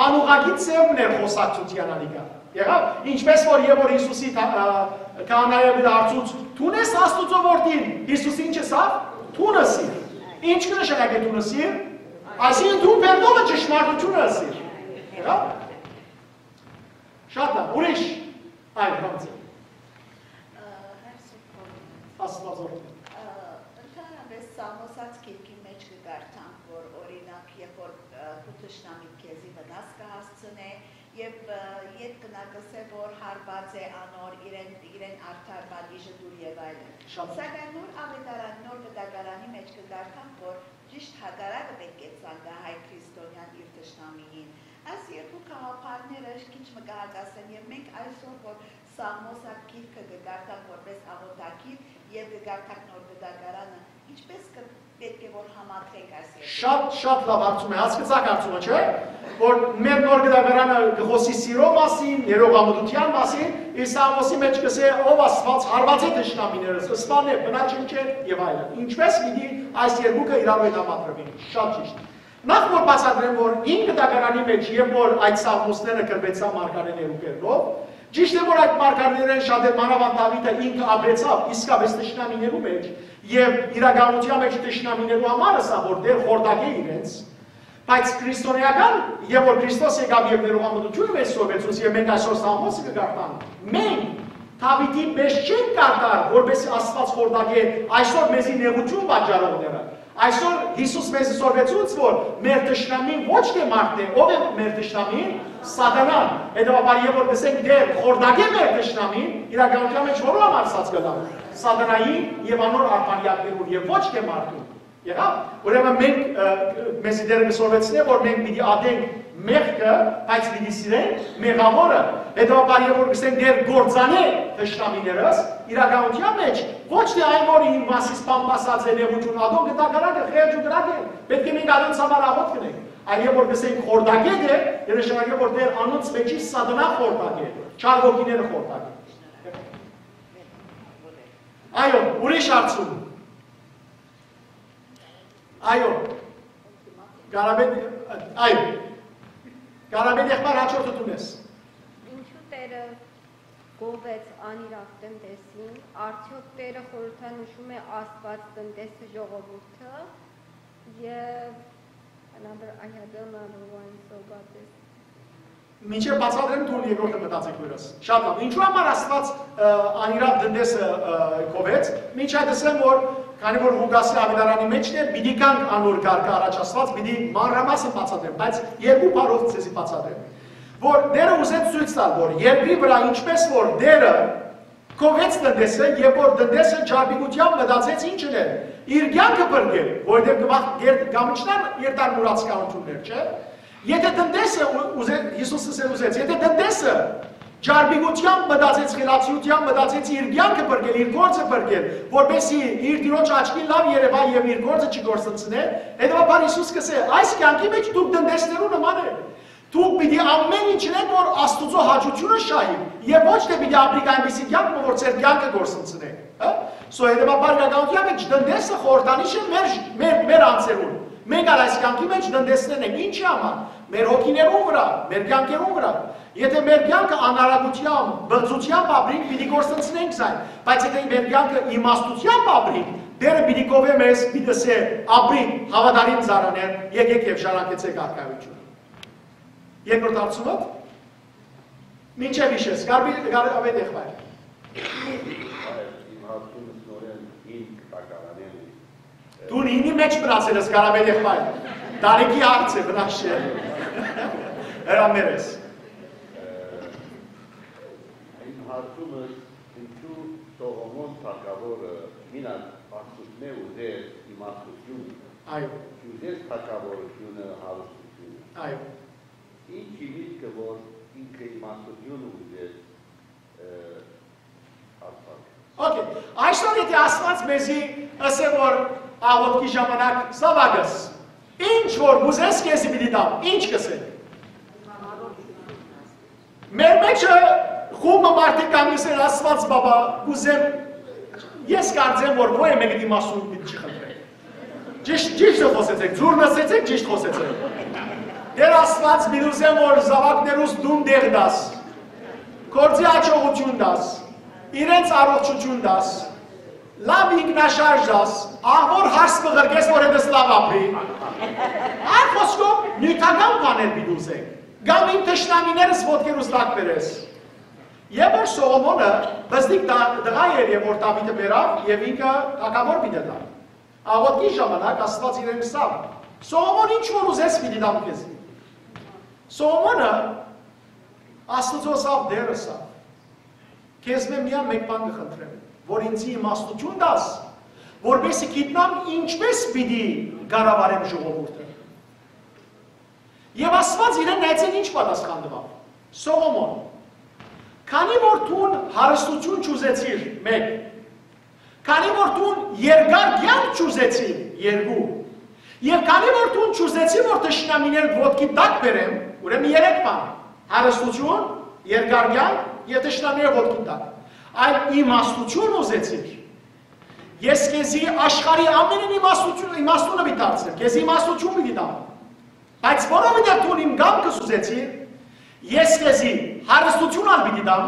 Անուղղակի ձեւն էր խօսակցութեան անիկա։ Եղա՞վ, ինչպես որ, եւ որ Յիսուսի թա-, ա, քահանայապետը հարցուց. «Դո՞ւն ես Աստուծոյ որդին»։ Յիսուս ի՞նչ ըսաւ։ «Դուն ըսիր»։ Ի՞նչ կը նշանակէ «դուն ըսիր»։ Այսինքն՝ դու բերնովը ճշմարտութիւնը ըսիր։ Եղա՞վ։ Շատ լաւ, ուրիշ։ Այո, Ռամզի։ Ը, Հրսուփ Հովհաննես։ Աստուածորդ։ Ը, ընդհանրապես Սաղմոսաց գիրքի մէջ կը կարդանք, որ, օրինակ, երբ որ, ը, քու թշնամիդ քեզի վնաս կը հասցնէ, եւ, ը, ետք կը ըսէ, որ հարուած է անոր իրեն, իրեն արդար պատիժը տուր եւ այլն։ Շատ։ Սակայն Նոր Աւետարան, Նոր Վտակարանի մէջ կը կարդանք, որ ճիշդ հակառակը պէտք է ցանկայ հայ քրիստոնեան իր թշնամիին։ Այս երկու գաղափարները քիչ մը կը հակասեն, եւ մենք այսօր, որ Սաղմոսաց գիրքը կը կարդանք որպես աղօթագիր եւ կը կարդանք Նոր Վտակարանը, ինչպես կը, պէտք է որ համադրենք այս երկու։ Շատ, շատ լաւ հարցում է, հասկցաք հարցումը, չէ՞, որ մեր Նոր Վտակարանը կը խօսի սիրո մասին, ներողամտութեան մասին, իսկ Սաղմոսի մէջ կ'ըսէ. «Ով Աստուած, հարուածէ թշնամիներս, սպանէ, բնաչնչէ» եւ այլն։ Ինչպես պիտի այս երկուքը իրարու հետ համադրուին։ Շատ ճիշտ։ Նախ որ բացատրեմ, որ Հին Վտակարանի մէջ, երբ որ այդ սաղմոսները գրուեցան մարգարէներու կերպով, ճիշդ է, որ այդ մարգարէներէն շատեր, մանաւանդ Դաւիթը, ինքը ապրեցաւ իսկապէս թշնամիներու մէջ, եւ իրականութեան մէջ թշնամիներու համար ըսաւ, որ Տէր խորտակէ իրենց, բայց քրիստոնեական, երբ որ Քրիստոս եկաւ եւ ներողամտութիւնը մեզ սորվեցուց, եւ մենք այսօր սաղմոսը կը կարդանք, մենք Դաւիթին պէս չենք կարդար, որպեսզի Աստուած խորտակէ, այսօր մեզի նեղութիւն պատճառողները։ Այսօր Յիսուս մեզի սորվեցուց, որ մեր թշնամին ոչ թէ մարդն է, ով է մեր թշնամին, Սատանան։ Հետեւաբար, երբ որ կ'ըսենք. «Տէր, խորտակէ մեր թշնամին», իրականութեան մէջ որո համար ասած կ'ըլլանք, Սատանային եւ անոր արբանյակներուն, եւ ոչ թէ մարդուն։ Եղա՞վ։ Ուրեմն մենք, ը, մեզի Տէրը կը սորվեցնէ, որ մենք պիտի ատենք մեղքը, բայց պիտի սիրենք մեղաւորը։ Հետեւաբար, երբ որ կ'ըսենք. «Տէր, կործանէ թշնամիներս», իրականութեան մէջ ոչ թէ այն, որ իմ մասիս բան ասած է, նեղութիւն, ատոնք կտակարանքը խեղճ ու կրակ են, պէտք է մենք անոնց համար աղօթք կ'ընենք, այլ երբ որ կ'ըսենք. «Խորտակէ Տէր», կը նշանակէ, որ Տէր անոնց մէջի Սատանա խորտակէ, չար ոգիները խորտակէ։ Այո, ուրիշ հարցում։ Այո։ Կարապետ, այո։ Կարապետ եղբայր, հաջորդը դուն ես։ Ինչու Տերը գովեց անիրաւ տնտեսին, արդյոք Տերը խորհրդանշում է Աստուած, տնտեսը, ժողովուրդը, եւ another, I had another one, so got this. Մինչեւ բացատրեմ, դու երկրորդը մտածեք վերս։ Շատ լավ։ Ինչու համար Աստուած, ը, անիրաւ տնտեսը, ը, գովեց, մինչ այդ ասեմ, որ քանի որ Ղուկասի Աւետարանի մէջ է, պիտի գանք անոր կարգը առաջ Աստուած, պիտի մանրամասն բացատրեմ, բայց երկու բառով ձեզի բացատրեմ, որ Տերը ուզեց ցոյց տալ, որ երկրի վրայ ինչպես որ Տերը գովեց տնտեսը, երբ որ տնտեսը ճարպիկութեան մտածեց ինչ ընել, իր կեանքը փրկել, որովհետեւ կմախ-, կեր-, կամիջնան երթար մուրացկանութիւններ, չէ՞։ Եթե տնտեսը, ու-, ուզե-, Յիսուսը սեր ուզեց, եթե տնտեսը ճարպիկութեան մտածեց, խելացիութեան մտածեց իր կեանքը փրկել, իր գործը փրկել, որպեսզի իր Տիրոջ աչքին լաւ երեւայ եւ իր գործը չկորսնցնէ, հետեւաբար Յիսուս կ'ըսէ. «Այս կեանքի մէջ դուք տնտեսներու նման եք»։ Դուք պիտի ամէն ինչ ընեք, որ Աստուծոյ հաճութիւնը շահիք, եւ ոչ թէ պիտի ապրիք այնպիսի կեանք մը, որ ձեր կեանքը կորսնցնէ, հա՞։ So, հետեւաբար իրականութեան մէջ տնտեսը խորհրդանիշ է մեր, մեր, մեր անձերուն։ Մենք ալ այս կեանքի մէջ տնտեսներն ենք։ Ինչի՞ համար։ Մեր հոգիներուն վրայ, մեր կեանքերուն վրայ։ Եթե մեր կեանքը անարագութեամբ, բղծութեամբ ապրինք, պիտի կորսնցնենք զայն, բայց եթե մեր կեանքը իմաստութեամբ ապրինք, Տերը պիտի գովէ մեզ, պիտի ըսէ. «Ապրի, հաւատարիմ ծառաներ, եկէք եւ ժառանգեցէք արքայութիւնը»։ Երկրորդ հարցումը, մինչեւ իշես, Գարբի-, Գար-, Գարաբեթ եղբայր։ Իմ հարցումս նորէն հին կը տակարանեմ։ Դուն ինի մեջ մնացել ես, Գարաբեթ եղբայր։ Տարիքի հարց է, վնաս չէ։ Հրամեր ես։ Իմ հարցումս, ինչու Սողոմոն թագաւորը մինակ Աստուծմէ ուզեց իմաստութիւնը, Այո, չուզեց թագաւորութիւնը, հարստութիւնը։ Այո։ Ինչի միտքը, որ ինքը իմաստութիւնը ուզեց, ը, Աստված։ Okay, այսօր եթե Աստված մեզի ըսէ, որ աղօթքի ժամանակ, զաւակս, ինչ որ կ'ուզես, քեզի պիտի տամ, ինչ կ'ըսէ։ Մեր մէջը խումբը մարդիկ կան, կ'ըսեն, Աստված բաբա, կ'ուզեմ, ես կարծեմ, որ ոյ մէկը իմաստուն պիտի չի խնդրել։ Ճիշտ, ճիշտ խօսեցէք, ձուռ նսեցէք, ճիշտ խօսեցէք։ Տէր Աստված, պիտի ուզեմ, որ զաւակներուս դուն տեղ տաս, գործի յաջողութիւն տաս, իրենց առողջութիւն տաս, լաւ ինքնաշարժ տաս, ահ որ հարս մը ղրկես, որ հետս լաւ ապրի։ Այլ խօսքով, նիւթական բաներ պիտի ուզենք, կամ իմ թշնամիներս ոտքերուս տակ բերես։ Եւ որ Սողոմոնը բզդիկ տա-, տղայ էր, եւ որ Դաւիթը բերաւ, եւ ինքը թագաւոր պիտի ըլլայ։ Աղօթքի ժամանակ Աստուած իրեն ըսաւ. «Սողոմոն, ինչ որ ուզես, պիտի տամ քեզի»։ Սողոմոնը Աստուծոյ ըսաւ, Տէր ըսաւ. «Քեզմէ միայն մէկ բան կը խնդրեմ, որ ինձի իմաստութիւն տաս, որպէսզի գիտնամ ինչպէս պիտի կառավարեմ ժողովուրդը»։ Եւ Աստուած իրեն նայեցէ, ինչ պատասխան տուաւ. «Սողոմոն, քանի որ դուն հարստութիւն չուզեցիր, մէկ, քանի որ դուն երկար կեանք չուզեցիր, երկու, եւ քանի որ դուն չուզեցիր, որ թշնամիներդ ոտքի տակ բերեմ, ուրեմն երեք բան. հարստութիւն, երկար կեանք եւ թշնամիներ ոտքի տակ, այլ իմաստութիւն ուզեցիր։ Ես քեզի աշխարհի ամենէն իմաստութիւն, իմաստունը պիտի դարձնեմ, քեզի իմաստութիւն պիտի տամ։ Բայց որովհետեւ դուն իմ կամքս ուզեցիր, ես քեզի հարստութիւն ալ պիտի տամ,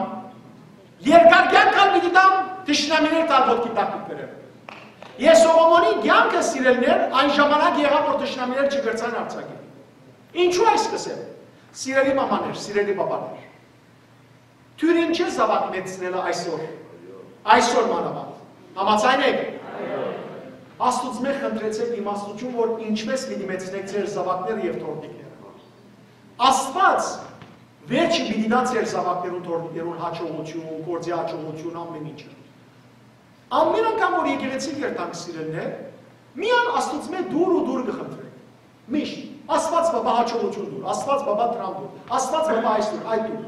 երկար կեանք ալ պիտի տամ, թշնամիներդ ալ ոտքի տակ պիտի բերեմ»։ Ես Սողոմոնին կեանքը, սիրելիներ, այն ժամանակ եղաւ, որ թշնամիներ չկրցան արձակել։ Ինչու այս կ'ըսեմ, սիրելի մամաներ, սիրելի բաբաներ։ Դուք ինչ է զաւակ մեծցնելը այսօր, այսօր մանաւանդ։ Համաձայն եք։ Աստուծմէ խնդրեցէք իմաստութիւն, որ ինչպէս պիտի մեծցնէք ձեր զաւակները եւ թոռնիկները։ Աստուած վերջը պիտի տայ ձեր զաւակներուն, թոռնիկներուն յաջողութիւն, գործի յաջողութիւն, ամէն ինչը։ Ամէն անգամ որ եկեղեցի կ'երթանք, սիրելիներ, միայն Աստուծմէ դուռ ու դուռ կը խնդրենք։ Միշտ. «Աստուած բաբա յաջողութիւն տուր, Աստուած բաբա դրամ տուր, Աստուած բաբա այս տուր, այդ տուր»։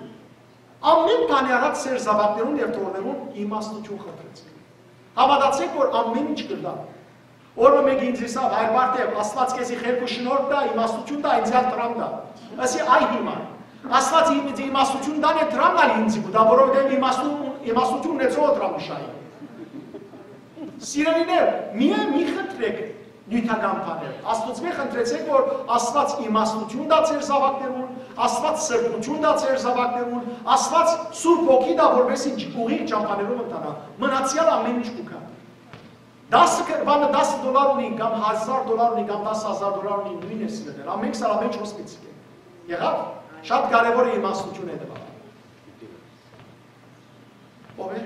Ամէն բանի առաջ ձեր զաւակներուն եւ թոռներուն իմաստութիւն խնդրեցէք։ Հաւատացէք, որ ամէն ինչ կ'ըլլայ։ Օրը մէկ ինձ ըսաւ. «Հայր Բարթեւ, Աստուած քեզի խելք ու շնորհք տայ, իմաստութիւն տայ, ինձ ալ դրամ տայ»։ Ըսի. «Այ հիմա, Աստուած ինձի իմաստութիւն տանէ, դրամ ալ ինձի կու տայ, որովհետեւ իմաստուն, իմաստութիւն ունեցողը դրամ կը շահի»։ Սիրելիներ, միայն մի խնդրեք նիւթական բաներ։ Աստուծմէ խնդրեցէք, որ Աստուած իմաստութիւն տայ ձեր զաւակներուն, Աստուած սրբութիւն տայ ձեր զաւակներուն, Աստուած Սուրբ Հոգի տայ, որպէս զի ուղիղ ճամբաներով ընթանայ, մնացեալ ամէն ինչ կու գայ։ Տասը կրպանը, տասը դոլար ունին, կամ հազար դոլար ունին, կամ տասը հազար դոլար ունին, նոյն է սիրելիներ։ Ամէն քսան, ամէն չորս պիտի գայ։ Եղա՞վ։ Շատ կարեւոր է իմաստութիւն է տուաւ։ Ո՞վ է։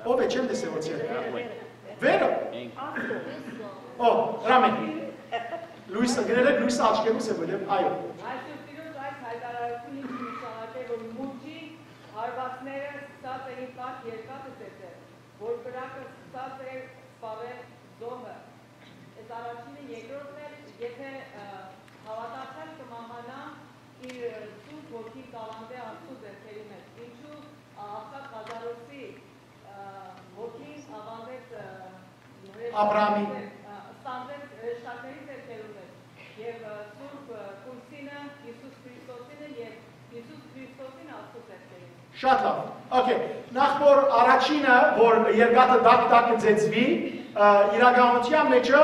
Ո՞վ է, չեմ տեսել, որ ձեր։ Վերը։ Ո, Ռամեն։ Լույսը, գրել եք, լույսը աչքերուս է, որտեղ, այո։ Այսօր Տիրոջ այս հայտարարությունը ինձ նշանակել, որ մուտքի հարվածները սկսած էին տաք երկաթը ծեծել, որ կրակը սկսած էր սպառել զոհը։ Այս առաջինը, երկրորդն էլ, եթե, ը, հաւատացյալ կը մահանայ իր, ը, սուրբ ոգին կ'աւանդէ Աստուծոյ ձեռքերու մէջ, ինչու, ա, աղքատ Ղազարոսի, ը, ոգին աւանդեց, ը, Աբրահամի։ Ը, ստանձնեց հրեշտակների ձեռքերու մէջ, եւ, ը, սուրբ, ը, կոյսինը, Յիսուս Քրիստոսինը եւ Յիսուս Քրիստոսին Աստուծոյ ձեռքերու մէջ։ Շատ լավ։ Okay, նախ որ առաջինը, որ երկաթը տակ-տակ կը ծեծուի, ը, իրականութեան մէջը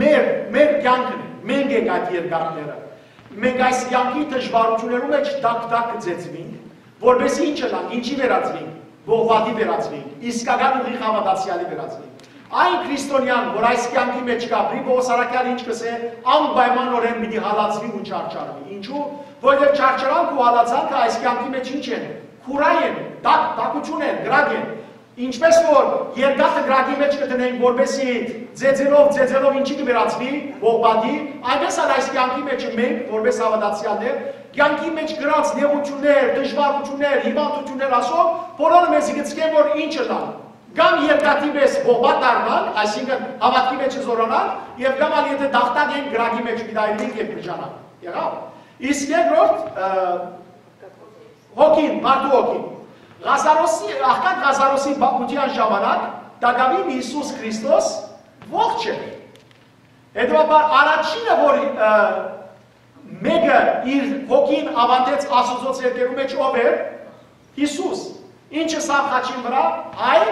մեր, մեր կեանքն է, մենք ենք այդ երկաթները։ Մենք այս կեանքի դժվարութիւններու մէջ տակ-տակ կը ծեծուինք, որպէս ի՞նչ ըլլանք, ինչի վերածուինք, բողբատի վերածուինք, իսկական ուղիղ հաւատացեալի վերածուինք։ Այն քրիստոնեան, որ այս կեանքի մէջ կ'ապրի, Պողոս առաքեալը ինչ կ'ըսէ, անպայմանօրէն պիտի հալածուի ու չարչարուի։ Ինչու՞, որովհետեւ չարչարանք ու հալածանքը այս կեանքի մէջ ինչ են, քուրայ են, տակ, տակութիւն են, կրակ են։ Ինչպէս որ երկաթը կրակի մէջ կը դնենք, որպեսզի ձեձելով, ձեձելով ինչի՞ կը վերածուի, պողպատի, այնպէս ալ այս կեանքի մէջ մենք, որպէս հաւատացեալներ, կեանքի մէջ կրած նեղութիւններ, դժուարութիւններ, հիւանդութիւններ, ասով, բոլորը մեզի կ'ըսեն, որ ինչ ըլլան։ Կամ երկաթի պէս պողպատ դառնանք, այսինքն՝ հաւատքի մէջ զօրանանք, եւ կամ ալ, եթէ տախտակ ենք, կրակի մէջ պիտի այրուինք եւ կ'եժանանք։ Եղա՞վ։ Իսկ երկրորդ, ը, հոգին, մարդու հոգին։ Ղազարոսի, աղքատ Ղազարոսի պատմութեան ժամանակ տակաւին Յիսուս Քրիստոս ողջ է։ Հետեւաբար, առաջինը, որ, ը, մէկը իր հոգին աւանդեց Աստուծոյ ձեռքերու մէջ, ով էր? Յիսուս։ Ինչ ըսաւ խաչին վրայ, այ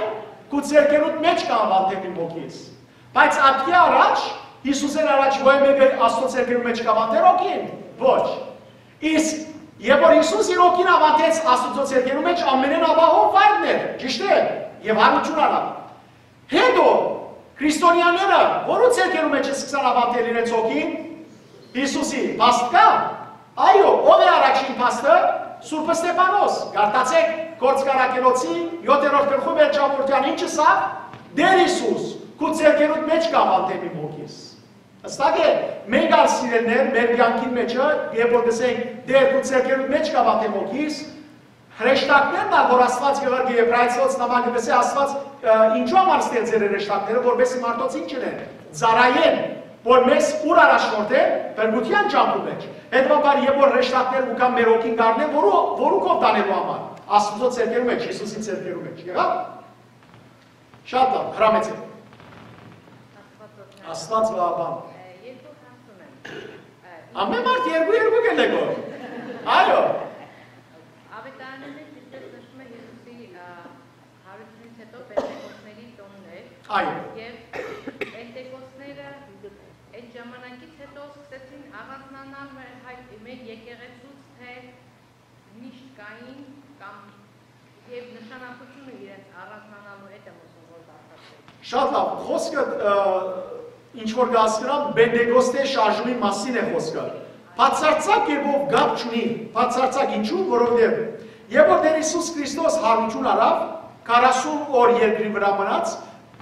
քու ձեռքերուդ մէջ կ'աւանդեմ իմ հոգիս։ Բայց ատկի առաջ, Յիսուսէն առաջ ոյ մէկը Աստուծոյ ձեռքերու մէջ կ'աւանդէր հոգին։ Ոչ։ Իսկ երբ որ Յիսուս իր հոգին աւանդեց Աստուծոյ ձեռքերու մէջ, ամենէն ապահով վայրն էր, ճիշդ է, եւ հարութիւն առաւ։ Հետո քրիստոնեաները որո՞ւ ձեռքերու մէջ սկսան աւանդել իրենց հոգին? Յիսուսի։ Փաստ կա՞։ Այո, ո՞վ է առաջին փաստը? Սուրբ Ստեփանոս։ Կարդացէք Գործք Առաքելոցի յոթերորդ գլխու վերջավորութեան, ինչ ըսաւ Տէր Յիսուս. «Քու ձեռքերուդ մէջ կ'աւանդեմ իմ հոգիս»։ Հստակ է, մենք ալ, սիրելիներ, մեր կեանքին մէջը, երբ որ կ'ըսենք, «Տէր, քու ձեռքերուդ մէջ կ'աւանդեմ հոգիս», հրեշտակներն ալ, որ Աստուած կ'ղրկէ, Եբրայեցիներուն նամակը կ'ըսէ, Աստուած, ը, ինչու համար ստեղծեր է հրեշտակները, որպեսզի մարդոց ինչ ընեն, ծառայեն, որ մեզ ուր առաջնորդեն, փրկութեան ճամբու մէջ։ Հետեւաբար, երբ որ հրեշտակները կու գան մեր հոգին կ'առնեն, որու, որու քով տանելու համար, Աստուծոյ ձեռքերու մէջ, Յիսուսի ձեռքերու մէջ։ Եղա՞վ։ Շատ լաւ, հրամեցէ։ Աստուած օրհնի։ Աստուած վաղաբան։ Ը, երկու հարց ունեմ։ Ը, Ամեն մարդ երկու, երկու կ'ելեգոր։ Այո։ Աւետարանին մէջ, ինչպէս նշում է, Յիսուսի, ա, հարութիւնից յետոյ Պենտեկոստների տօնն էր։ Այո։ Եւ Պենտեկոստները այդ ժամանակից յետոյ սկսեցին առանձնանալ մեր հայ-, մեր եկեղեցուց, թէ միշտ կային կամ, եւ նշանակութիւնը իրենց առանձնանալու հետ եմ ուզում, որ բարձրացնեմ։ Շատ լաւ, խօսքը, ը, ինչ որ կ'հասկնամ, Պենտեկոստէ շարժումի մասին է խօսքը։ Բացարձակ կերպով կապ չունի, բացարձակ, ինչու՞, որովհետեւ երբ որ Տէր Յիսուս Քրիստոս հարութիւն առաւ, քառասուն օր երկրի վրայ մնաց,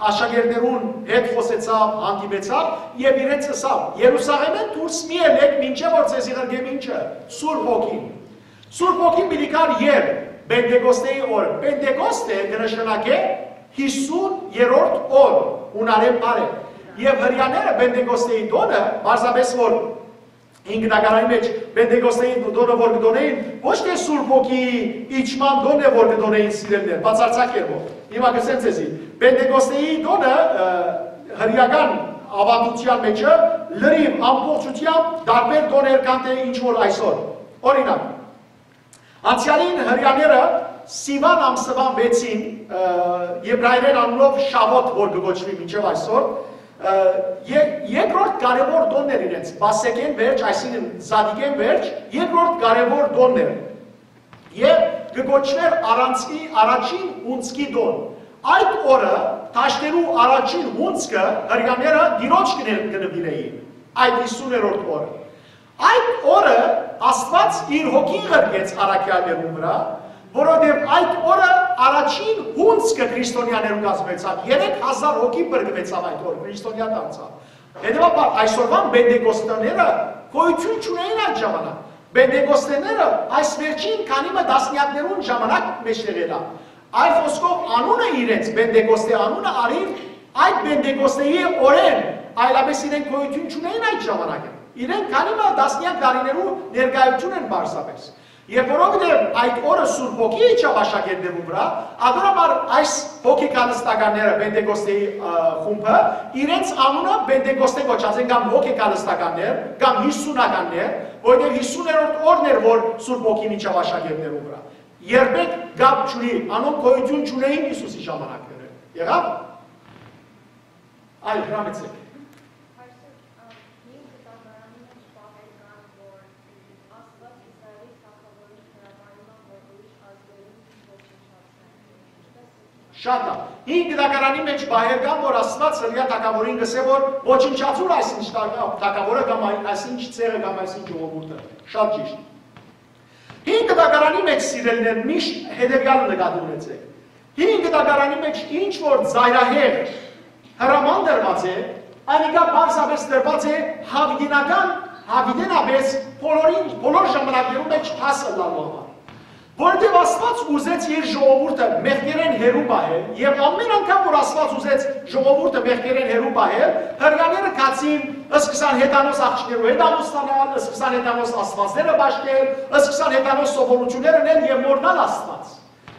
աշակերտներուն հետ խօսեցաւ, հանդիպեցաւ եւ իրենց ըսաւ. «Երուսաղէմէն դուրս մի ելէք, մինչեւ որ ձեզի ղրկեմ ինչը, Սուրբ Հոգին»։ Սուրբ Հոգին պիտի գար երբ? Պենտեկոստեի օր։ Պենտեկոստը կը նշանակէ յիսուն երրորդ օր, յունարէն բառ է։ Եւ հրեաները Պենտեկոստեի տօնը, պարզապէս որ Հին Գիտականային մէջ Պենտեկոստեի տօնը որ կը տօնէին, ոչ թէ Սուրբ Հոգիի իջման տօնն է որ կը տօնէին, սիրելիներ, բացարձակ կերպով։ Հիմա կ'ըսեմ ձեզի, Պենտեկոստեի տօնը, ը, հրեական աւանդութեան մէջը լրիվ ամբողջութեամբ տարբեր տօն էր, քան թէ ինչ որ այսօր։ Օրինակ, անցեալին հրեաները Սիւան ամսուան վեցին, ը, եբրայերէն անունով Շավոթ որ կը կոչուի մինչեւ այսօր, ը, ե-, երկրորդ կարեւոր տօնն էր իրենց, Պասեքէն վերջ, այսինքն Զատիկէն վերջ, երկրորդ կարեւոր տօնն էր։ Եւ կը կոչուէր առանցքի առաջին հունձքի տօն։ Այդ օրը դաշտերու առաջին հունձքը հրեաները Տիրոջ կը ներ-, կը նուիրէին, այդ յիսուներորդ օրը։ Այդ օրը Աստուած իր հոգին ղրկեց առաքեալներուն վրայ, որովհետեւ այդ օրը առաջին հունձքը քրիստոնեաներուն կազմեցաւ, երեք հազար հոգի փրկուեցաւ այդ օրը, քրիստոնեայ դարձաւ։ Հետեւաբար այսօրվան Պենտեկոստաները գոյութիւն չունէին այդ ժամանակ։ Պենտեկոստաները այս վերջին քանի մը տասնեակներուն ժամանակ մէջտեղ ելան։ Այլ խօսքով, անունը իրենց, Պենտեկոստի անունը առին այդ Պենտեկոստեի օրէն, այլապէս իրենք գոյութիւն չունէին այդ ժամանակը։ Իրենք քանի մը տասնեակ տարիներու ներկայութիւն են պարզապէս։ Եւ որովհետեւ այդ օրը Սուրբ Հոգի իջաւ աշակերտներուն վրայ, ատորաբար այս հոգեկալստականները, Պենտեկոստեի, ը, խումբը, իրենց անունը Պենտեկոստե կոչած են, կամ հոգեկալստականներ, կամ յիսունականներ, որովհետեւ յիսուներորդ օրն էր, որ Սուրբ Հոգին իջաւ աշակերտներուն վրայ։ Երբեք կապ չունի, անոնք գոյութիւն չունէին Յիսուսի ժամանակներէն։ Եղա՞վ։ Այ, հրամեցեք։ Հին Գիտակարանի մէջ պահեր կան, որ Աստուած Իսրայէլի թագաւորին հրամայում է, որ ուրիշ ազգերուն ոչնչացնեն։ Ինչպէս Շատ լավ։ Հին Գտակարանի մէջ բաներ կան, որ Աստուած հրեայ թագաւորին կ'ըսէ, որ ոչնչացուր այսինչ թագ-, թագաւորը կամ այ-, այսինչ ցեղը կամ այսինչ ժողովուրդը։ Շատ ճիշտ։ Հին Գտակարանի մէջ, սիրելիներ, միշտ հետեւեալը նկատի ունեցէք։ Հին Գտակարանի մէջ ինչ որ ծայրահեղ հրաման տրուած է, անիկա պարզապէս տրուած է յաւիտենական, յաւիտենապէս բոլորին, բոլոր ժամանակներուն մէջ հաս ըլլալու համար։ Որովհետեւ Աստուած ուզեց իր ժողովուրդը մեղքերէն հեռու պահել, եւ ամէն անգամ որ Աստուած ուզեց ժողովուրդը մեղքերէն հեռու պահել, հրեաները գացին, սկսան հեթանոս աղջիկներու հետ ամուսնանալ, սկսան հեթանոս աստուածները պաշտել, սկսան հեթանոս սովորութիւններ ընել եւ մոռնալ Աստուած։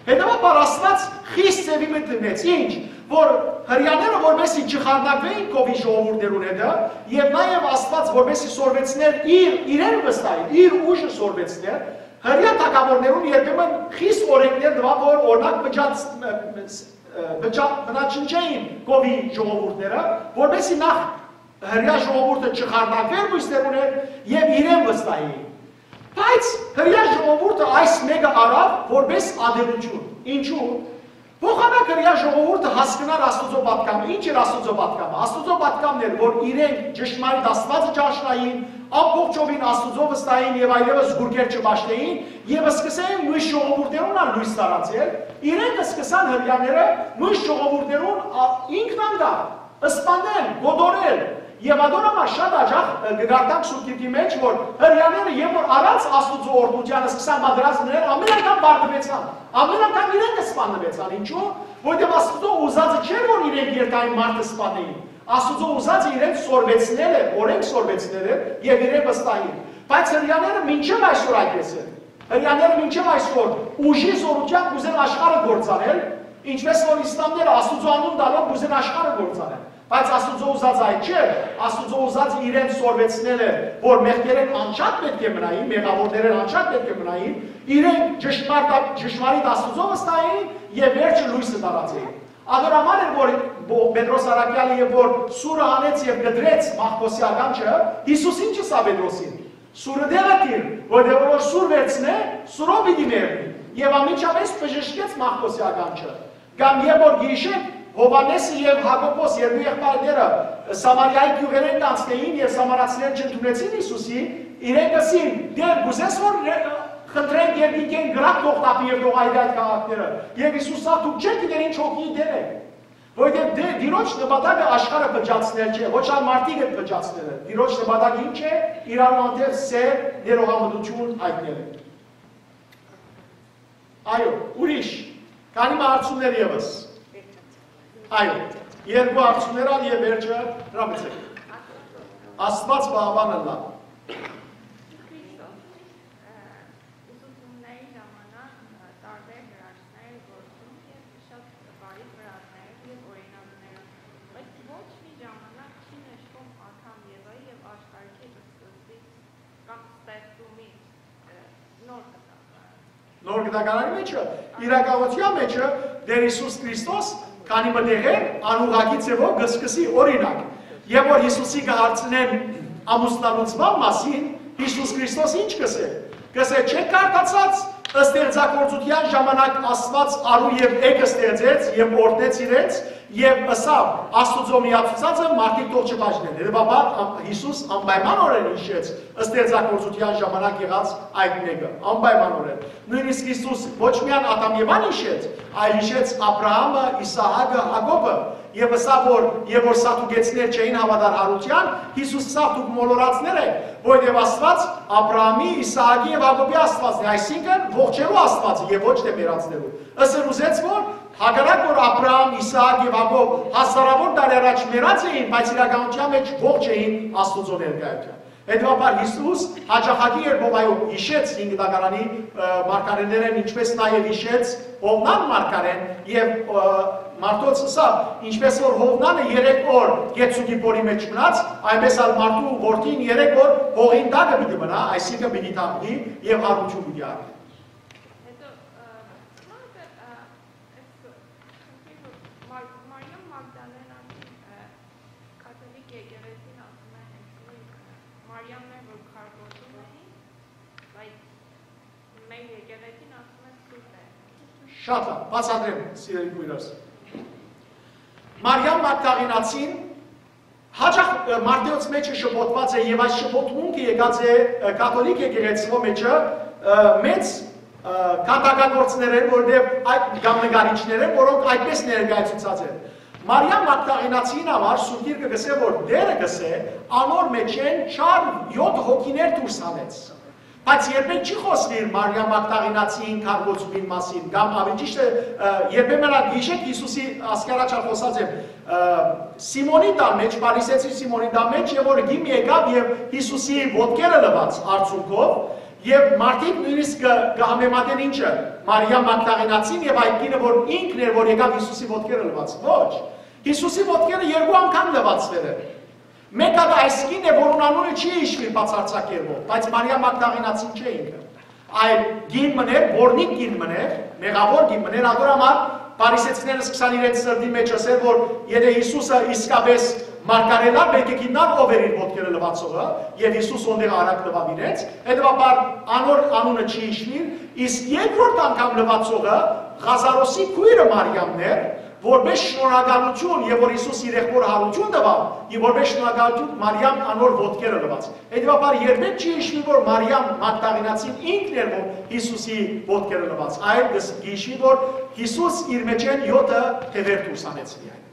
Հետեւաբար Աստուած խիստ ձեւի մը դնեց, ինչ, որ հրեաները որպեսզի չխարնակվէին քովի ժողովուրդներուն հետը, եւ նաեւ Աստուած որպեսզի սորվեցներ իր, իրեն վստահել, իր ուժը սորվեցներ, հրեայ թագաւորներուն երբեմն խիստ օրէնքներ տուաւ, որ օրինակ փճած-, փճա-, բնաջնջէին քովի ժողովուրդները, որպեսզի նախ հրեայ ժողովուրդը չխարնակվէր մյուսներուն հետ եւ իրեն վստահէին։ Բայց հրեայ ժողովուրդը այս մէկը առաւ որպէս ատելութիւն։ Ինչու՞։ Փոխանակ հրեայ ժողովուրդը հասկնար Աստուծոյ պատգամը։ Ինչ էր Աստուծոյ պատգամը։ Աստուծոյ պատգամն էր, որ իրենք ճշմարիտ Աստուածը ճանչնային, ամբողջովին Աստուծոյ վստահեին եւ այլեւս զուրկեր չպաշտէին եւ սկսեին մյուս ժողովուրդներուն ալ լոյս տարածել, իրենք սկսան, հրեաները, մյուս ժողովուրդներուն ա-, ինքնանկախ սպանել, կոտորել։ Եւ ատոր համար շատ յաճախ, ը, կը կարդանք Սուրբ Գիրքի մէջ, որ հրեաները, երբ որ առանց Աստուծոյ օրհնութեան սկսան պատերազմ ընել, ամէն անգամ պարտուեցան, ամէն անգամ իրենք սպաննուեցան։ Ինչու՞։ Որովհետեւ Աստուծոյ ուզածը չէր, որ իրենք երթային մարդը սպանէին։ Աստուծոյ ուզածը իրենց սորվեցնել էր, օրէնք սորվեցնել էր եւ իրեն վստահին։ Բայց հրեաները մինչեւ այսօր այդպես են։ Հրեաները մինչեւ այսօր ուժի զօրութեամբ կ'ուզեն աշխարհը կործանել, ինչպես որ իսլամները Աստուծոյ անուն տալով կ'ուզեն աշխարհը կործանել։ Բայց Աստուծոյ ուզածը այդ չէ, Աստուծոյ ուզածը իրեն սորվեցնել է, որ մեղքերէն անջատ պէտք է մնային, մեղաւորներէն անջատ պէտք է մնային, իրենք ճշմարտ-, ճշմարիտ Աստուծոյ վստահեին եւ վերջը լոյսը տարածեին։ Ատոր համար էր, որ Պո-, Պետրոս առաքեալը, երբ որ սուրը հանեց եւ կտրեց Մաղքոսի ականջը, Յիսուս ինչ ըսաւ Պետրոսին։ Սուրը տեղը դիր, որտեղ որ սուր վերցնէ, սուրով պիտի մեռնի։ Եւ անմիջապէս բժշկեց Մաղքոսի ականջը։ Կամ երբ որ գիշեր Յովհաննէսը եւ Յակոբոս, երկու եղբայրները, Սամարիայի գիւղերէն կանցնէին եւ սամարացիները չընդունեցին Յիսուսի, իրենք ըսին. «Տէր, կ'ուզես որ ը, խնդրենք երկնքէն կրակ թող տապի եւ թող այրի այդ քաղաքները»։ Եւ Յիսուս ըսաւ. «Դուք չէ՞ք գիտեր ինչ հոգիի տեր եք»։ Որովհետեւ Տէ-, Տիրոջ նպատակը աշխարհը փճացնել չէ, ոչ ալ մարդիկ հետ փճացնելը։ Տիրոջ նպատակը ինչ է։ Իրարու հանդերձ սեր, ներողամտություն հայտնելը։ Այո, ուրիշ, քանի մը հարցումներ եւս։ Այո, երկու հարցումներ ալ եւ վերջը հրամեցեք։ Աստուած պահապան ըլլայ։ Ուսուցումների ժամանակ, ը, տարբեր հրաշքներ գործում և շատ բարի վրատներ և օրինակները, բայց ոչ մի ժամանակ չի նշվում Ադամ Եվայի և աշխարհի սկզբից կամ ստեղծումից, ը, նոր կտակարան։ Նոր կտակարանի մեջը, իրականության մեջը, Տեր Յիսուս Քրիստոս քանի մը տեղեր անուղղակի ձևով կը սկսի, օրինակ, երբ որ Յիսուսի կը հարցնեն ամուսնալուծման մասին, Յիսուս Քրիստոս ինչ կ'ըսէ։ Կ'ըսէ. «Չէ՞ք կարդացած, ստեղծագործության ժամանակ Աստուած արու եւ էգ ստեղծեց եւ օրհնեց իրենց եւ ըսաւ. "Աստուծոյ միացուցածը մարդիկ թող չբաժնեն"»։ Հետեւաբար, ա-, Յիսուս անպայմանորեն հիշեց ստեղծագործության ժամանակ եղած այդ մէկը, անպայմանորեն։ Նոյնիսկ Յիսուս ոչ միայն Ադամ Եվան հիշեց, այլ հիշեց Աբրահամը, Իսահակը, Յակոբը, եւ ըսաւ, որ, եւ որ սադուկեցիներ չէին հաւատար յարութեան, Յիսուս ըսաւ. "Դուք մոլորածներ եք, որովհետեւ Աստուած Աբրահամի, Իսահակի եւ Յակոբի Աստուածն է", այսինքն՝ ողջերու Աստուածը եւ ոչ թէ մեռածներու։ Ըսել ուզեց, որ հակառակ որ Աբրահամ, Իսահակ եւ Յակոբ հազարավոր տարի առաջ մեռած էին, բայց իրականության մէջ ողջ էին Աստուծոյ ներկայութեան։ Հետեւաբար Յիսուս յաճախակի երբով, այո, հիշեց հին գտակարանի, ը, մարգարեներէն, ինչպես նաեւ հիշեց Յովնան մարգարեն եւ, ը, մարդոց ըսաւ, ինչպես որ Յովնանը երեք օր գեցուկի փորի մեջ մնաց, այնպես ալ մարդու որդին երեք օր հողին տակը պիտի մնայ, այսինքն՝ պիտի թաղուի եւ յարութիւն պիտի առնի։ Հետո, ը, մա-, ը, Ես խնդրեմ, որ Մար-, Մարիամ Մագդալենան, ը, կաթոլիկ եկեղեցին ասում է հենց նոյն, ը, Մարիամն է, որ քարկոծում էին, բայց մեր եկեղեցին ասում է սուրբ է։ Շատ լավ, բացատրեմ, սիրելի քույրս։ Մարիամ Մագդաղենացին հաճախ, ը, Մատթէոս մէջը շփոթուած է եւ այս շփոթմունքը եկած է, ը, կաթոլիկ եկեղեցւոյ մէջը, ը, մեծ, ը, քանդակագործներէն, որովհետեւ այդ կամ նկարիչներէն, որոնք այդպես ներկայացուցած են։ Մարիամ Մագդաղենացին համար Սուրբ Գիրքը կ'ըսէ, որ Տէրը կ'ըսէ, անոր մէջէն չար յոթ հոգիներ դուրս հանեց։ Բայց երբեք չի խօսուիր Մարիամ Մագդաղենացիին քարկոծումին մասին, կամ աւելի ճիշդ է, ը, երբեմն ալ գիշեր Յիսուսի, ասկի առաջ ալ խօսած եմ, ը, Սիմոնի տան մէջ, Փարիսեցի Սիմոնի տան մէջ, եւ որ գին եկաւ եւ Յիսուսի ոտքերը լուած արցունքով, եւ մարդիկ նոյնիսկ կը, կը համեմատեն ինչը, Մարիամ Մագդաղենացին եւ այդ կինը, որ ինքն էր, որ եկաւ Յիսուսի ոտքերը լուած։ Ոչ, Յիսուսի ոտքերը երկու անգամ լուածուեր են։ Մէկ հատ այս կինն է, որուն անունը չի հիշուիր բացարձակ կերպով, բայց Մարիամ Մագդաղենացին չէ ինքը։ Այլ կին մըն էր, բորնիկ կին մըն էր, մեղաւոր կին մըն էր, ատոր համար Փարիսեցիները սկսան իրենց սրտին մէջ ըսել, որ եթէ Յիսուսը իսկապէս մարգարէ ըլլար, պէտք է գիտնար ով էր իր ոտքերը լուացողը, եւ Յիսուս յոնդեղ արագ լուաւ իրենց, հետեւաբար անոր անունը չի հիշուիր, իսկ երկրորդ անգամ լուացողը Ղազարոսի քոյրը Մարիամն էր, որպէս շնորհակալութիւն, եւ որ Յիսուս իր եղբօրը յարութիւն տուաւ, եւ որպէս շնորհակալութիւն Մարիամ անոր ոտքերը լուաց։ Հետեւաբար երբեք չի հիշուի, որ Մարիամ Մագդաղենացին ինքն էր, որ Յիսուսի ոտքերը լուաց, այլ կը հիշուի, որ Յիսուս իր մէջէն յոթը թեւեր դուրս հանեց միայն։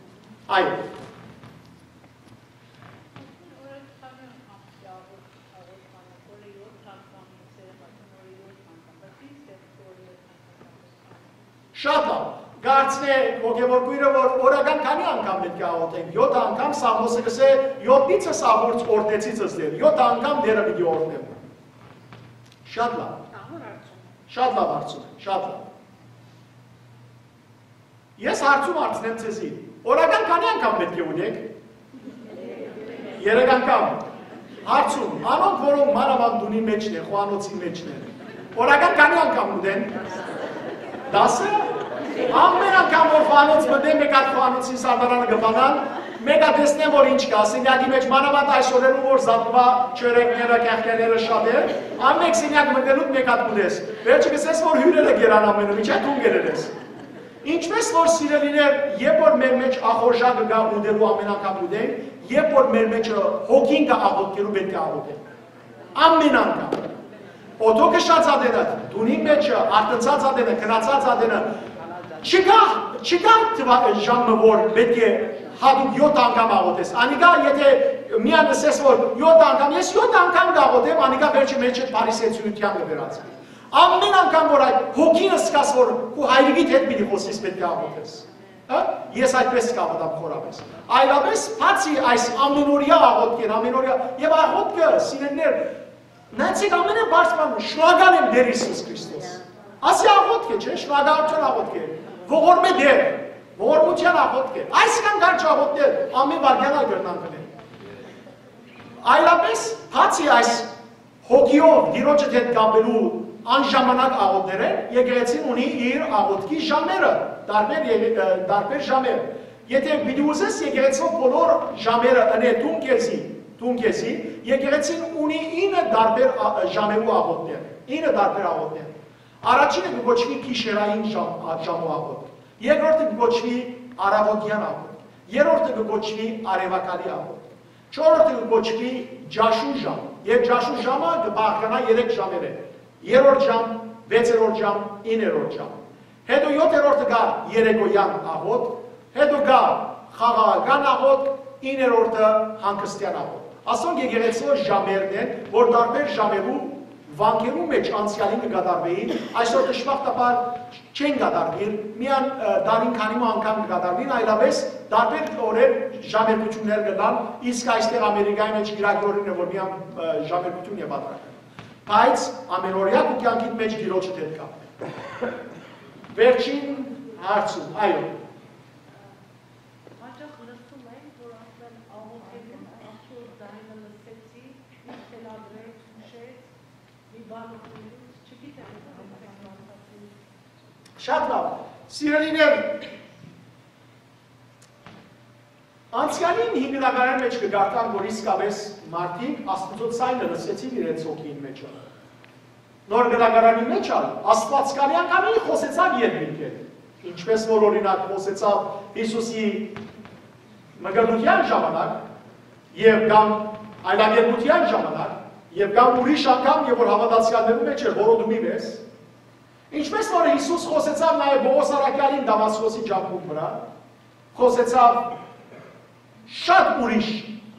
Այո։ Շատ լավ։ Կարծնէ հոգեվոր քոյրը, որ օրական քանի անգամ պէտք է աղօթենք։ Յոթ անգամ, Սաղմոսը կ'ըսէ, յոթնիցս աղուրց օրհնեցիցս Տէր։ Յոթ անգամ Տէրը պիտի օրհնեմ։ Շատ լավ։ Շատ լավ հարցում է, շատ լավ։ Ես հարցում հարցնեմ ձեզի։ Օրական քանի անգամ պէտք է ուտենք։ Երեք անգամ։ Հարցում, անոնք, որոնք մանաւանդ տունի մէջն են, խոհանոցի մէջն են, օրական քանի անգամ ուտեն։ Դասը։ Ամեն անգամ, որ խոհանոց մտնեն, մէկ հատ խոհանոցին սարդարանը կը բանան, մէկ հատ տեսնեն, որ ինչ կայ, սենյակի մէջ, մանաւանդ այս օրերուն, որ զատկուա չորեքները, կեղկեները շատ են, ամէն սենյակ մտնելուդ մէկ հատ կ'ուտես։ Վերջը կ'ըսես, որ հիւրերը կերան ամենը, մինչեւ դուն կ'երես։ Ինչպէս որ, սիրելիներ, երբ որ մեր մէջ ախորժակը կայ ուտելու, ամեն անգամ ուտենք, երբ որ մեր մէջը հոգին կայ աղօթքերու, պէտք է աղօթենք։ Ամեն անգամ։ Օդոքը շացած ատենը, տունին մէջը, արթնցած ատենը, քնացած ատենը, չկայ, չկայ թվա-, ժամը, որ պէտք է հատուկ յոթ անգամ աղօթես։ Անիկա, եթէ միան ըսես, որ յոթ անգամ, ես յոթ անգամ կ'աղօթեմ, անիկա վերջը մէջը Փարիսեցիութեան կը վերածուի։ Ամեն անգամ, որ այդ հոգին զգաս, որ քու հայրիկիդ հետ պիտի խօսես, պէտք է աղօթես։ Հա? Ես այդպես կ'աղօթեմ խորապես։ Այլապես, բացի այս ամենօրյա աղօթքէն, ամենօրյա, եւ աղօթքը, սիրելիներ, նայեցեք, ամենը բարձր բան, շնորհակալ եմ Տէր Յիսուս Քրիստոս։ Ասի աղօթք է, չէ՞, շնորհակալության աղօթք է, ողորմէ Տէր, ողորմության աղօթք է։ Այսքան կարճ աղօթքներ ամեն վայրկեան ալ կրնան գնել։ Այլապես, բացի այս հոգիով Տիրոջը հետ կապելու անժամանակ աղոթներէն, եկեղեցին ունի իր աղոթքի ժամերը, տարբեր եղե-, ը, տարբեր ժամեր։ Եթե պիտի ուզես եկեղեցու բոլոր ժամերը ընե դուն քեզի, դուն քեզի, եկեղեցին ունի ինը տարբեր ա-, ժամերու աղոթներ, ինը տարբեր աղոթներ։ Առաջինը կը կոչուի գիշերային ժամ, ա, ժամու աղոթք, երկրորդը կը կոչուի առավոտյան աղոթք, երրորդը կը կոչուի արեւակալի աղոթք, չորրորդը կը կոչուի ճաշու ժամ, եւ ճաշու ժամը կը բաղկանայ երեք ժամերէ, երրորդ ժամ, վեցերորդ ժամ, իններորդ ժամ։ Հետո յոթերորդը կայ երեկոյան աղոթք, հետո կայ խաղաղական աղոթք, իններորդը հանգստեան աղոթք։ Ասոնք եկեղեցու ժամերն են, որ տարբեր ժամերու վանքերու մէջ անցեալին կը կատարվէին, այսօր դժբախտաբար չեն կատարվիր, միան, ը, տարին քանի մը անգամ կը կատարվին, այլապես տարբեր օրեր ժամերգութիւններ կ'ըլլան, իսկ այստեղ Ամերիկայի մէջ կիրակի օրերն է, որ միան, ը, ժամերգութիւն է պատրաստում։ Բայց ամենօրյա քու կեանքիդ մէջ Տիրոջը դէպ կա։ Վերջին հարցում, այո։ Հաճախ լսում ենք, որ ասեն աղոթելուն Աստծո ձայնը լսեցի, ինձ թելադրեց, հուշեց, մի բան օգնելուց, չգիտեմ, շատ լավ։ Սիրելիներ, անցյալին հինգնականին մէջ կը կարդան, որ իսկապես մարդիկ Աստուծոյ ձայնը լսեցին իրենց հոգին մէջ։ Նոր Կտակարանի մէջ ալ Աստուած քանի անգամ խօսեցաւ երկնքէն, ինչպես որ, օրինակ, խօսեցաւ Յիսուսի մկրտության ժամանակ եւ կամ այլագերբության ժամանակ եւ կամ ուրիշ անգամ, երբ որ հաւատացեալներու մէջ էր որոտումի մեզ, ինչպես որ Յիսուս խօսեցաւ նաեւ Պողոս առաքեալին Դամասկոսի ճամբուն վրայ, խօսեցաւ շատ ուրիշ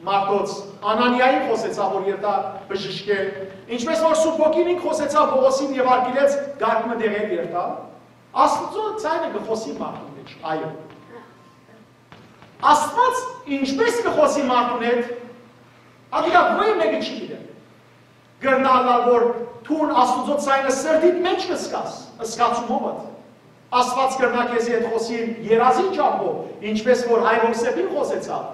մարդոց, Անանիային խօսեցաւ, որ երթայ բժշկէ, ինչպես որ Սուրբ Հոգին ինք խօսեցաւ Պողոսին եւ արգիլեց կարգ մը տեղեր երթալ, Աստուծոյ ձայնը կը խօսի մարդուն մէջ, այո։ Աստուած ինչպես կը խօսի մարդուն հետ, ատիկա ոյ մէկը չի գիտեր։ Կրնայ ըլլալ, որ դուն Աստուծոյ ձայնը սրտիդ մէջ կը զգաս, զգացումովդ։ Աստուած կրնայ քեզի հետ խօսիլ երազին ճամբով, ինչպես որ հայր Յովսէփին խօսեցաւ։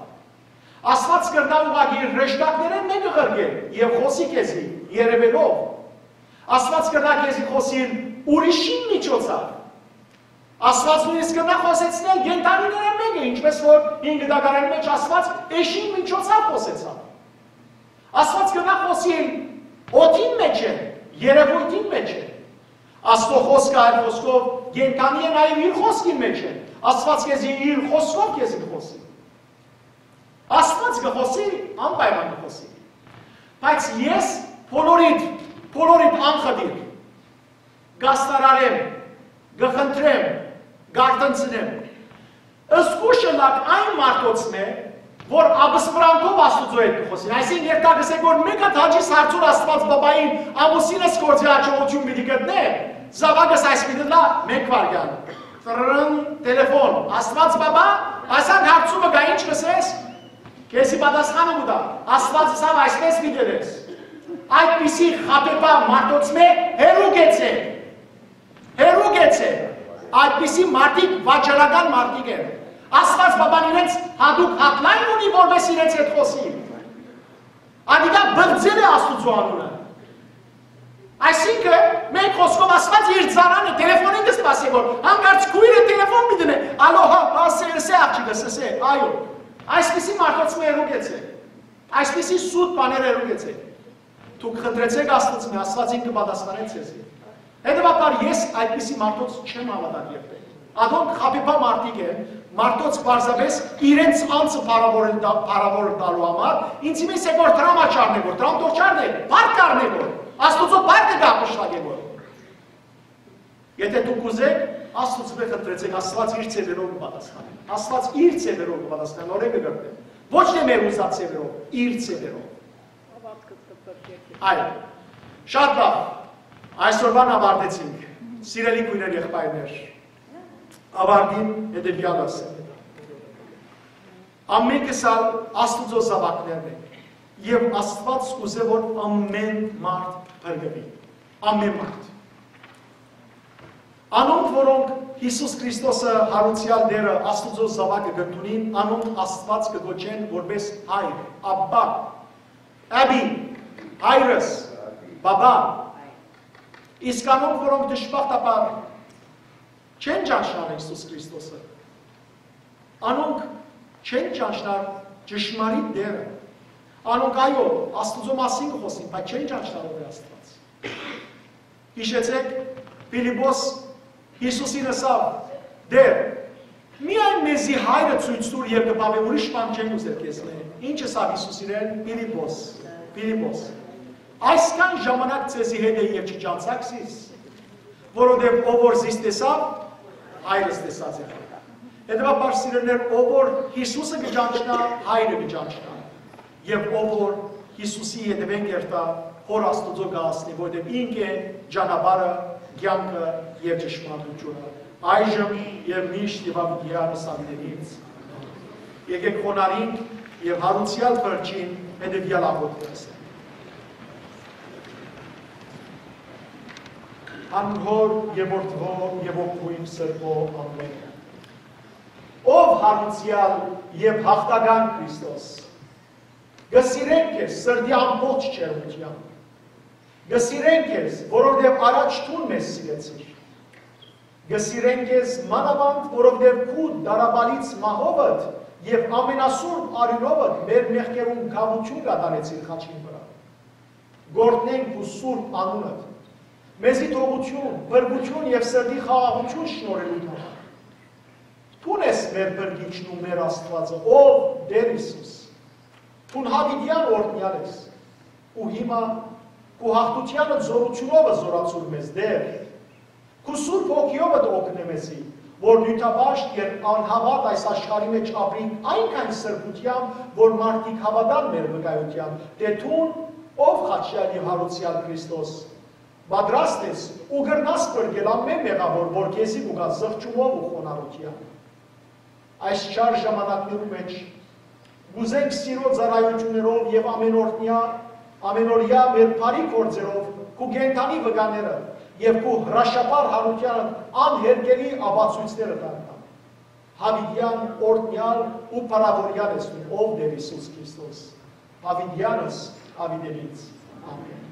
Աստուած կրնայ ուղղակի իր հրեշտակներէն մէկը ղրկել եւ խօսի քեզի երեւելով։ Աստուած կրնայ քեզի խօսիլ ուրիշին միջոցով։ Աստուած նոյնիսկ կրնայ խօսեցնել կենդանիներէն մէկը, ինչպես որ հին գիտակարանի մէջ Աստուած էշին միջոցով խօսեցաւ։ Աստուած կրնայ խօսիլ օդին մէջ է, երևույթին մէջ է։ Աստուծոյ խօսքը այլ խօսքով կենդանի է նաեւ իր խօսքին մէջ է։ Աստուած քեզի իր խօսքով քեզի կը խօսի։ Աստուած կը խօսի, անպայման կը խօսի։ Բայց ես բոլորիդ, բոլորիդ անխտիր կաստարարեմ, կը խնդրեմ, կարթնցնեմ։ Զգոյշ ըլլաք այն մարդոցմէ, որ ապսպրանքով Աստուծոյ հետ կը խօսին։ Այսինքն, երթայ կ'ըսէք, որ մէկ հատ հաճիս հարցուր Աստուած Պապային, ամուսինս գործի յաջողութիւն պիտի գտնէ, զաւակս այս պիտի լա, մէկ վայրկեան։ Տրըն, տելեֆոն, Աստուած Պապա, ասանկ հարցումը կայ, ինչ կ'ըսես, քեզի պատասխանը կու տայ, Աստուած ըսաւ, այսպես պիտի ըլես։ Այդպիսի խաբեբայ մարդոցմէ հեռու գեցէ։ Հեռու գեցէ, այդպիսի մարդիկ վաճառական մարդիկ են։ Աստուած Պապան իրենց հատուկ հատլայն ունի, որպէս իրենց հետ խօսի։ Ատիկա բղծել է Աստուծոյ անունը։ Այսինքն, մէկ խօսքով Աստուած իր ծառան է, տելեֆոնին կը սպասէ, որ հանկարծ քոյրը տելեֆոն պիտի դնէ, ալո, հա, հա, սե, սե, աղջիկը, սե, սե, այո։ Այսպիսի մարդոցմէ հեռու գեցէ, այսպիսի սուտ բաներ հեռու գեցէ։ Դուք խնդրեցէք Աստուծմէ, Աստուած ինքը պատասխանեց ձեզի։ Հետեւաբար ես այդպիսի մարդոց չեմ հաւատար երբեք։ Ադոնք խաբեբայ մարդիկ են, մարդոց պարզապէս իրենց անձը փառաւորել տա-, փառաւոր տալու համար, ինձի միս է որ դրամ աչառնե որ, դրամ թող չառնե, բարդ կառնե որ, Աստուծոյ բարդը կապշտակե որ։ Եթե դուք ուզէք, Աստուծմէ խնդրեցէք, Աստուած իր ձեւերով կը պատասխանէ։ Աստուած իր ձեւերով կը պատասխանէ, նորէ կը կրնէ։ Ոչ թէ մեր ուզած ձեւերով, իր ձեւերով։ Այո, շատ լավ։ Այսօրվան ավարտեցինք։ Սիրելի քոյրեր, եղբայրներ, ավարտին հետեւեալս։ Ամէնքս ալ Աստուծոյ զաւակներն ենք, եւ Աստուած կ'ուզէ որ ամէն մարդ փրկուի, ամէն մարդ։ Անոնք, որոնք Յիսուս Քրիստոսը, յարուցեալ Տէրը, Աստուծոյ զաւակը կ'ընդունին, անոնք Աստուած կը կոչեն որպէս Հայր, Աբբա, Աբի, Հայրս, Բաբա։ Իսկ անոնք, որոնք դժբախտաբար չեն ճանչնար Յիսուս Քրիստոսը, անոնք չեն ճանչնար ճշմարիտ Տէրը։ Անոնք, այո, Աստուծոյ մասին կը խօսին, բայց չեն ճանչնար ով է Աստուած։ Յիշեցէք, Փիլիպոս Յիսուսին ըսաւ. «Տէր, միայն մեզի Հայրը ցոյց տուր եւ կը բաւէ, ուրիշ բան չենք ուզեր քեզմէ»։ Ինչ ըսաւ Յիսուս իրեն, Փիլիպոս, Փիլիպոս, այսքան ժամանակ ձեզի հետ է եւ չճանչցաք զիս, որովհետեւ ով որ զիս տեսաւ, Հայրս տեսած է։ Հետեւաբար, սիրելիներ, ով որ Յիսուսը կը ճանչնայ, Հայրը կը ճանչնայ։ Եւ ով որ Յիսուսի ետեւէն կ'երթայ, Հօր Աստուծոյ կը հասնի, որովհետեւ ինք է ճանապարհը, կեանքը եւ ճշմարտությունը։ Այժմ եւ միշտ եւ աբիդեան սավիտենից։ Եկեք խոնարհինք եւ յարուցեալ Փրկչին հետեւեալ աղօթքը ասենք։ Անոր Հօր եւ Որդւոյ եւ Հոգիին Սրբոյ, ամէն։ Ով յարուցեալ եւ յաղթական Քրիստոս, կը սիրենք քեզ սրտի ամբողջ ջերմութեամբ։ Կը սիրենք քեզ, որովհետեւ առաջ դուն մեզ սիրեցիր։ Կը սիրենք քեզ մանաւանդ, որովհետեւ քու դարապալից մահովդ եւ ամենասուրբ արիւնովդ մեր մեղքերուն կաւութիւն կատարեցիր խաչին վրայ։ Գորտնենք քու սուրբ անունդ, մեզի թողութիւն, փրկութիւն եւ սրտի խաղաղութիւն շնորհելու համար։ Դուն ես մեր փրկիչն ու մեր Աստուածը, ով Տէր Յիսուս։ Դուն յաւիտեան օրհնեալ ես։ Ու հիմա քու յաղթութեանը զօրացուր մեզ, Տէր։ Քու Սուրբ Հոգիովդ օգնէ մեզի, որ նիւթապաշտ եւ անհաւատ այս աշխարհի մէջ ապրինք այնքան սրբութեամբ, որ մարդիկ հաւատան մեր վկայութեան, թէ դուն, ով խաչեալի յարուցեալ Քրիստոս, պատրաստ ես ու կրնաս փրկել ամէն մեղաւոր, որ քեզի կու գայ զղջումով ու խոնարհութեամբ։ Այս չար ժամանակներու մէջ կ'ուզենք սիրոյ ծառայութիւններով եւ ամենօրյա, ամենօրեայ մեր բարի գործերով քու կենդանի վկաները եւ քու հրաշափառ յարութեանդ անհերքելի ապացոյցները դառնալ։ Յաւիտեան օրհնեալ ու փառաւորեալ ես դուն, ով Տէր Յիսուս Քրիստոս, յաւիտեանս յաւիտենից։ Ամէն։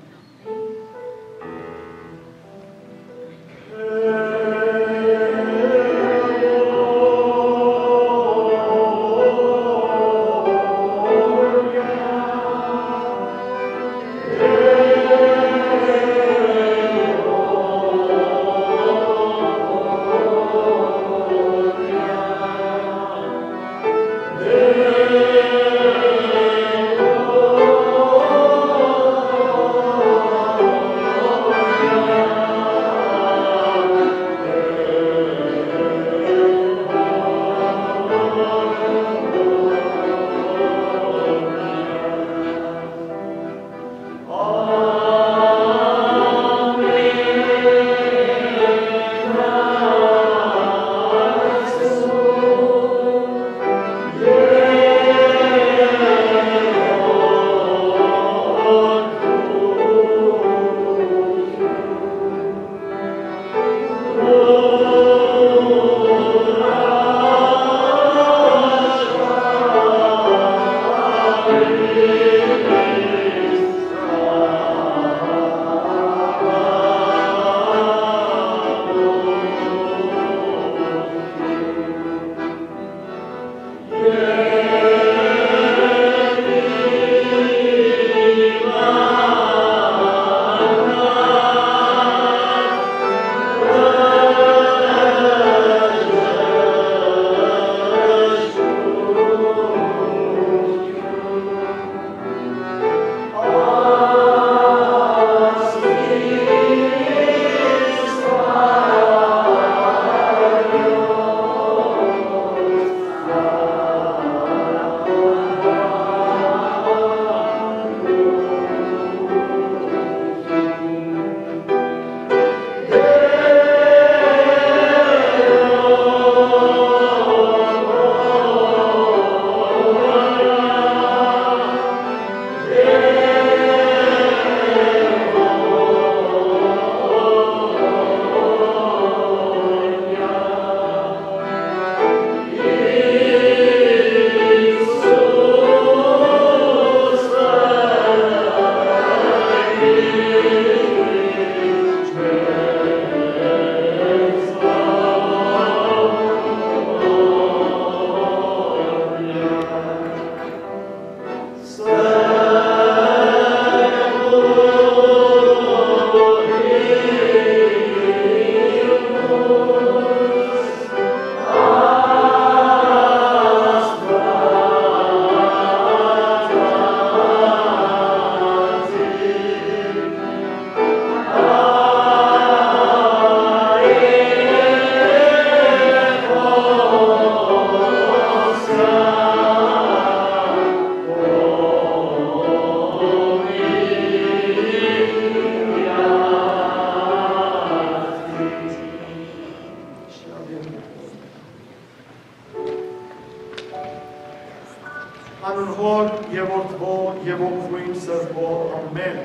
Անուն Հօր եւ Որդւոյ եւ Ոգւոյն Սրբոյ։ Ամէն։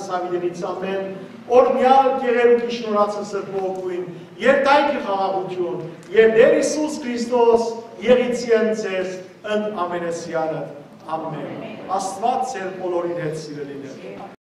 Սաւիտենից ամեն օրհնեալ գեղերուկի շնորհացը Սրբոյ Հոգիին, երթայքը խաղաղութիւն, եւ Տէր Յիսուս Քրիստոս եղիցի են ձեզ ընդ ամենեսեանը։ Ամեն։ Աստուած ձեր բոլորին հետ սիրելիներ։